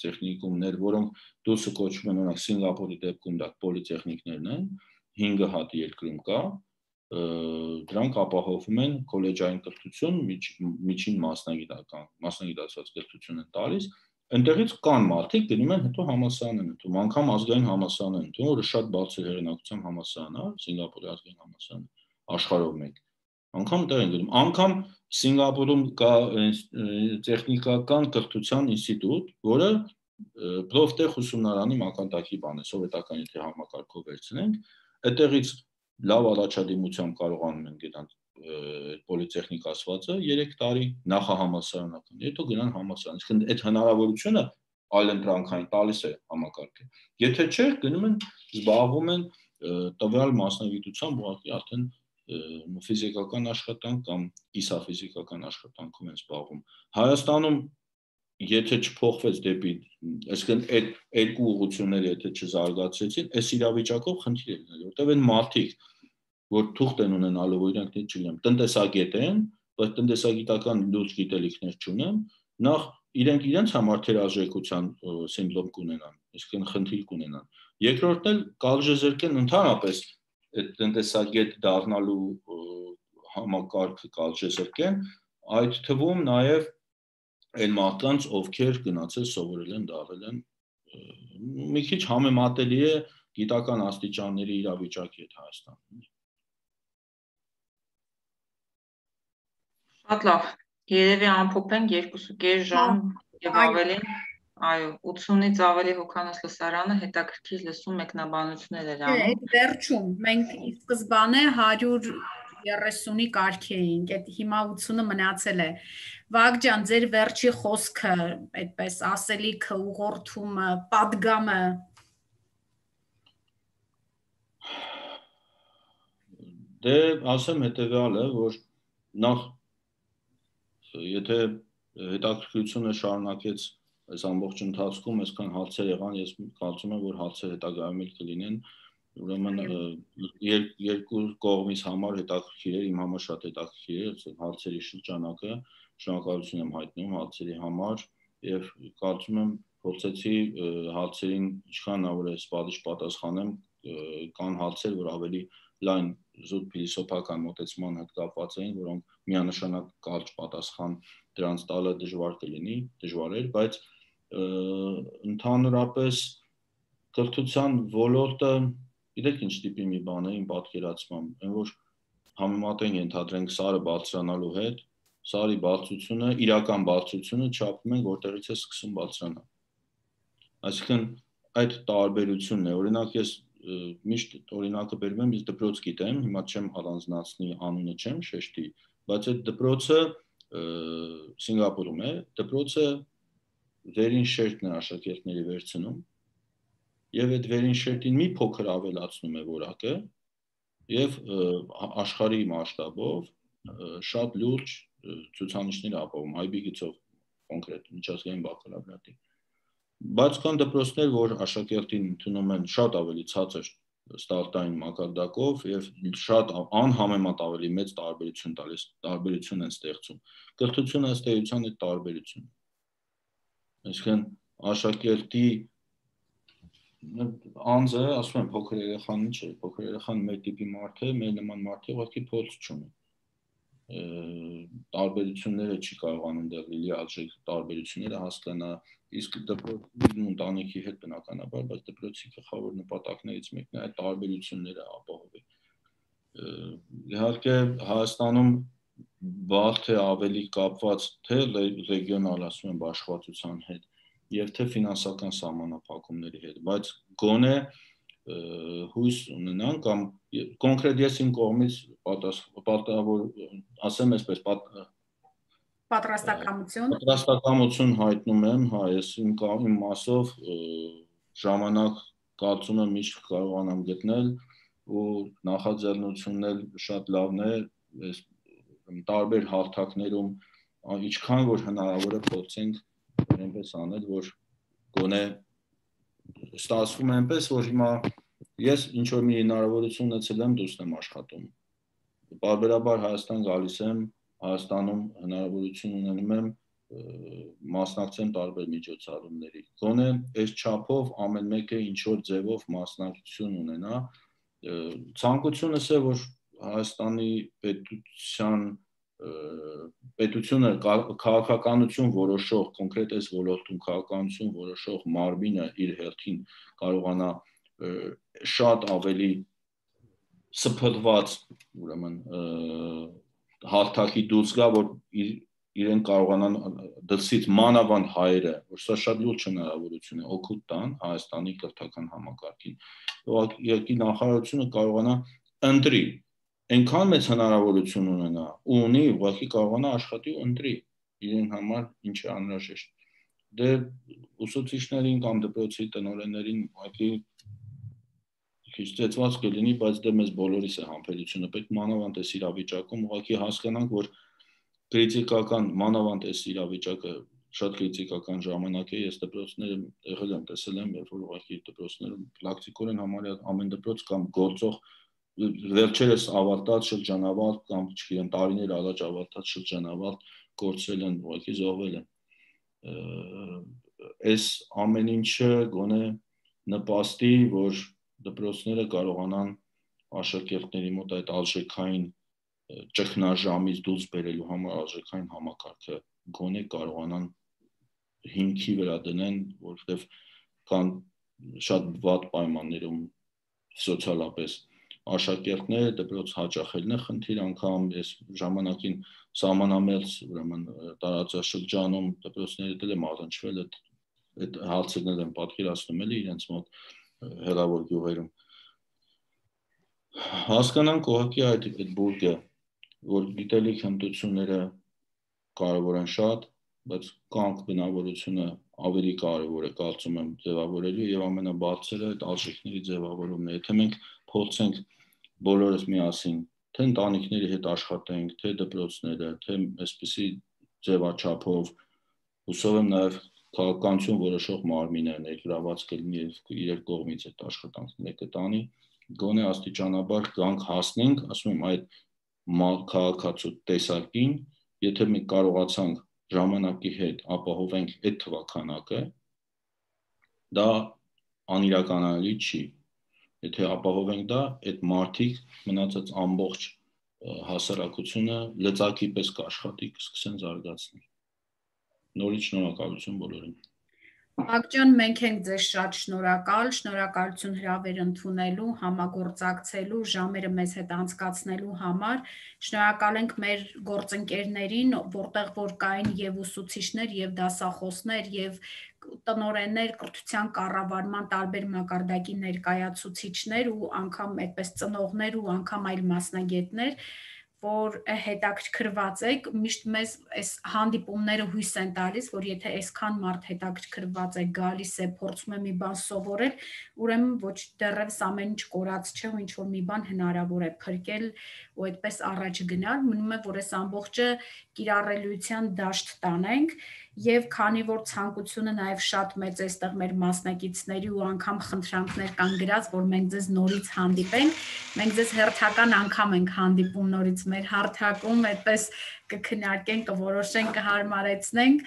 տեխնիկումներ, որոնք դուրսը կոչվում են, օրինակ Սինգապուրի դեպքում դա պոլիտեխնիկներն են, հինգ հատ երկրում կա, դրանք ապահովում են քոլեջային կրթություն, միջին մասնագիտական, մասնագիտացված կրթություն են տալիս, այնտեղից կան մարդիկ գնում են հետո համալսարան են ընդունում, անգամ ազգային համալսարան են ընդունում, որը շատ բարձր հեղինակության համալսարան է, Սինգապուրի ազգային համալսարանը, աշխարհով մեկ։ Անգամ դեռ են գնում, անգամ Սինգապուրում կա տեխնիկական կրթության ինստիտուտ, որը պլովտեխ ուսումնարանի մակարդակի բան է, սովետական եթե համակարգով վերցնենք, այդտեղից լավ առաջադիմությամբ կարողանում են գնալ պոլիտեխնիկ ասվածը երեք տարի նախահամալսարանական, հետո գնան համալսարան, իսկ այդ հնարավորությունը այլընտրանքային տալիս է համակարգը։ Եթե չէ, գնում են զբաղվում են տվյալ մասնագիտությամբ, ուղղակի արդեն ֆիզիկական աշխատանք կամ կիսաֆիզիկական աշխատանքով են զբաղվում։ Հայաստանում եթե չփոխվեց դեպի, այսինքն այդ երկու ուղղությունները եթե չզարգացեցին, այս իրավիճակով խնդիր է լինել, որտեղ են մարդիկ, որ թուղթ են ունենալու, որ իրանք չգիտեմ, տնտեսագետ են, բայց տնտեսագիտական լուրջ գիտելիքներ չունեն, նախ իրենք իրենց համար թերարժեքության սիմպտոմ կունենան, այսինքն խնդիր կունենան։ Երկրորդն էլ կալժեզրկեն ընդհանրապես այդ տնտեսագետ դառնալու համակարգը կալժեզրկեն, այդ թվում նաև այն մարդկանց, ովքեր գնացել սովորել են, դառել են, մի քիչ համեմատելի է գիտական աստիճանների իրավիճակի հետ Հայաստանում։ Շատ լավ, երևի ամփոփենք երկուսուկես ժամ եւ ավելին, այո, ութսունից ավելի հոգանոց լսարանը հետաքրքիր լսում մեկնաբանություններ էր անում։ Այդ վերջում մենք ի սկզբանե հարյուր երեսունի կարգ էինք, այդ հիմա ութսունը մնացել է։ Վագ ջան, ձեր վերջի խոսքը, այդպես ասելիքը, ուղղորդումը, պատգամը։ Դե ասեմ հետեւյալը, որ նախ եթե հետաքրքրությունը շարունակեց այս ամբողջ ընթացքում, այսքան հարցեր եղան, ես կարծում եմ, որ հարցեր հետագայում էլ կլինեն, ուրեմն երկու կողմից համար հետաքրքիր էր, իմ համար շատ հետաքրքիր էր հարցերի շրջանակը, շնորհակալություն եմ հայտնում հարցերի համար եւ կարծում եմ փորձեցի հարցերին ինչքան հնարավոր է սպառիչ պատասխանեմ, կան հարցեր, որ ավելի լայն զուտ փիլիսոփական մոտեցման հետ կապված էին, որոնք միանշանակ կարճ պատասխան դրանց տալը դժվար կլինի, դժվար էր, բայց ընդհանրապես կրթության ոլորտը, գիտեք ինչ տիպի մի բան է իմ պատկերացմամբ, այն որ համեմատենք ենթադրենք սարը բարձրանալու հետ, սարի բարձրությունը, իրական բարձրությունը չափում ենք, որտեղից է սկսում բարձրանալ։ Այսինքն այդ տարբերությունն է, օրինակ ես միշտ օրինակը բերում եմ, ես դպրոց գիտեմ, հիմա չեմ առանձնացնի անունը չեմ շեշտի, բայց այդ դպրոցը Սինգապուրում է, դպրոցը վերին շերտն է աշակերտների վերցնում եւ այդ վերին շերտին մի փոքր ավելացնում է որակը եւ աշխարհի մասշտաբով շատ լուրջ ցուցանիշներ ապահովում, այ բի գծով կոնկրետ միջազգային բակալավրիատի։ Բայց կան դպրոցներ, որ աշակերտին ընդունում են շատ ավելի ցածր ստարտային մակարդակով եւ շատ անհամեմատ ավելի մեծ տարբերություն տալիս, տարբերություն են ստեղծում։ Կրթությունը ըստ էության է տարբերություն։ Այսինքն աշակերտի անձը, ասում եմ, փոքր երեխան ինչ է, փոքր երեխան մեր տիպի մարդ է, մեր նման մարդը ուղղակի փորձ չունի։ Տարբերությունները չի կարողանում դեռ լիարժեք տարբերությունները հասկանա, իսկ դպրոցի ընտանիքի հետ բնականաբար, բայց դպրոցի գլխավոր նպատակներից մեկն է այդ տարբերությունները ապահովել։ Իհարկե Հայաստանում վաղ թե ավելի կապված թե ռեգիոնալ ասում եմ աշխատության հետ եւ թե ֆինանսական սահմանափակումների հետ, բայց գոնե հույս ունենան կամ կոնկրետ ես իմ կողմից պատասխանավոր ասեմ այսպես պատրաստակամություն պատրաստակամություն հայտնում եմ, հա, ես իմ իմ մասով ժամանակ կարծում եմ միշտ կարողանամ գտնել ու նախաձեռնությունն էլ շատ լավն է, այս տարբեր հարթակներում ինչքան որ հնարավոր է փորձենք այնպես անել, որ գոնե ստացվում է այնպես, որ հիմա ես ինչ որ մի հնարավորություն ունեցել եմ դուրս եմ աշխատում։ Բարբերաբար Հայաստան գալիս եմ, Հայաստանում հնարավորություն ունենում եմ մասնակցեմ տարբեր միջոցառումների։ Գոնե այս չափով ամեն մեկը ինչ որ ձևով մասնակցություն ունենա։ Ցանկությունս է, որ Հայաստանի պետության պետությունը քաղաքականություն որոշող, կոնկրետ այս ոլորտում քաղաքականություն որոշող մարմինը իր հերթին կարողանա շատ ավելի սփռված, ուրեմն հարթակի դուրս գա, որ իրեն կարողանան դրսից մանավանդ հայերը, որ սա շատ լուրջ հնարավորություն է, օգուտ տան Հայաստանի կրթական համակարգին։ Ուղղակի նախարարությունը կարողանա ընտրի, այնքան մեծ հնարավորություն ունենա ու ունի, ուղղակի կարողանա աշխատի ու ընտրի իրեն համար ինչ է անհրաժեշտ։ Դե ուսուցիչներին կամ դպրոցի տնօրեններին ուղղակի քիչ ծեծված կլինի, բայց դե մեզ բոլորիս է համբերությունը պետք մանավանդ այս իրավիճակում ուղղակի հասկանանք, որ քրիտիկական մանավանդ այս իրավիճակը շատ քրիտիկական ժամանակ է, ես դպրոցները եղել եմ, տեսել եմ, երբ որ ուղղակի դպրոցներում պրակտիկորեն համարյա ամեն դպրոց կամ գործող վերջերս ավարտած շրջանավարտ կամ չգիտեմ տարիներ առաջ ավարտած շրջանավարտ կորցրել են, ուղղակի զոհվել են։ Այս ամեն ինչը գոնե նպաստի, որ դպրոցները կարողանան աշակերտների մոտ այդ արժեքային ճգնաժամից դուրս բերելու համար արժեքային համակարգը գոնե կարողանան հիմքի վրա դնեն, որովհետև կան շատ վատ պայմաններում սոցիալապես աշակերտները դպրոց հաճախելն է խնդիր, անգամ ես ժամանակին սահմանամերձ ուրեմն տարածաշրջանում դպրոցների դել եմ առնչվել, այդ հարցերն եմ պատկերացնում էլի իրենց մոտ հեռավոր գյուղերում։ Հասկանանք ուղղակի այդ այդ բուրգը, որ գիտելիք հմտությունները կարևոր են շատ, բայց կանք բնավորությունը ավելի կարևոր է կարծում եմ ձևավորելու եւ ամենաբարձրը այդ արժեքների ձևավորումն է։ Եթե մենք փորձենք բոլորս միասին, թե ընտանիքների հետ աշխատենք, թե դպրոցները, թե այսպիսի ձևաչափով, հուսով եմ նաեւ քաղաքականություն որոշող մարմինը ներգրաված կլինի եւ իրեր կողմից այդ աշխատանքները կտանի, գոնե աստիճանաբար կանք հասնենք, ասում եմ, այդ քաղաքացու տեսակին, եթե մենք կարողացանք ժամանակի հետ ապահովենք այդ թվականակը, դա անիրականանալի չի։ Եթե ապահովենք դա, այդ մարդիկ մնացած ամբողջ հասարակությունը լծակի պես կաշխատի, կսկսեն զարգացնել։ Նորից շնորհակալություն բոլորին։ Ակջան, մենք ենք ձեզ շատ շնորհակալ, շնորհակալություն հրավեր ընդունելու, համագործակցելու, ժամերը մեզ հետ անցկացնելու համար, շնորհակալ ենք մեր գործընկերներին, որտեղ որ կային եւ ուսուցիչներ, եւ դասախոսներ, եւ տնօրեններ, կրթության կառավարման տարբեր մակարդակի ներկայացուցիչներ ու անգամ այդպես ծնողներ ու անգամ այլ մասնագետներ, որ հետաքրքրված եք, միշտ մեզ այս հանդիպումները հույս են տալիս, որ եթե այսքան մարդ հետաքրքրված է, գալիս է, փորձում է մի բան սովորել, ուրեմն ոչ դեռևս ամեն ինչ կորած չէ ու ինչ որ մի բան հնարավոր է փրկել ու այդպես առաջ գնալ, մնում է, որ այս ամբողջը կիրառելիության դաշտ տանենք եւ քանի որ ցանկությունը նաեւ շատ մեծ է այստեղ մեր մասնակիցների ու անգամ խնդրանքներ կան գրած, որ մենք ձեզ նորից հանդիպենք, մենք ձեզ հերթական անգամ ենք հանդիպում նորից մեր հարթակում, այդպես կքննարկենք, կորոշենք, կհարմարեցնենք,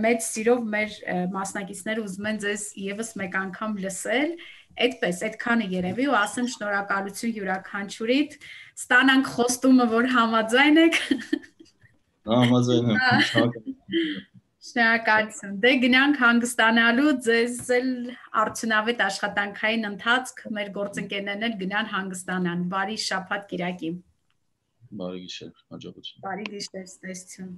մեծ սիրով մեր մասնակիցները ուզում են ձեզ եւս մեկ անգամ լսել, այդպես, այդքանը երևի ու ասեմ շնորհակալություն յուրաքանչյուրիդ, ստանանք խոստումը, որ համաձայն եք։ Համաձայն եմ։ Շնորհակալություն։ Դե գնանք հանգստանալու, ձեզ էլ արդյունավետ աշխատանքային ընթացք, մեր գործընկերներն էլ գնան հանգստանան։ Բարի շաբաթ կիրակի։ բարի գիշեր, հաջողություն։ Բարի գիշեր, տեսություն։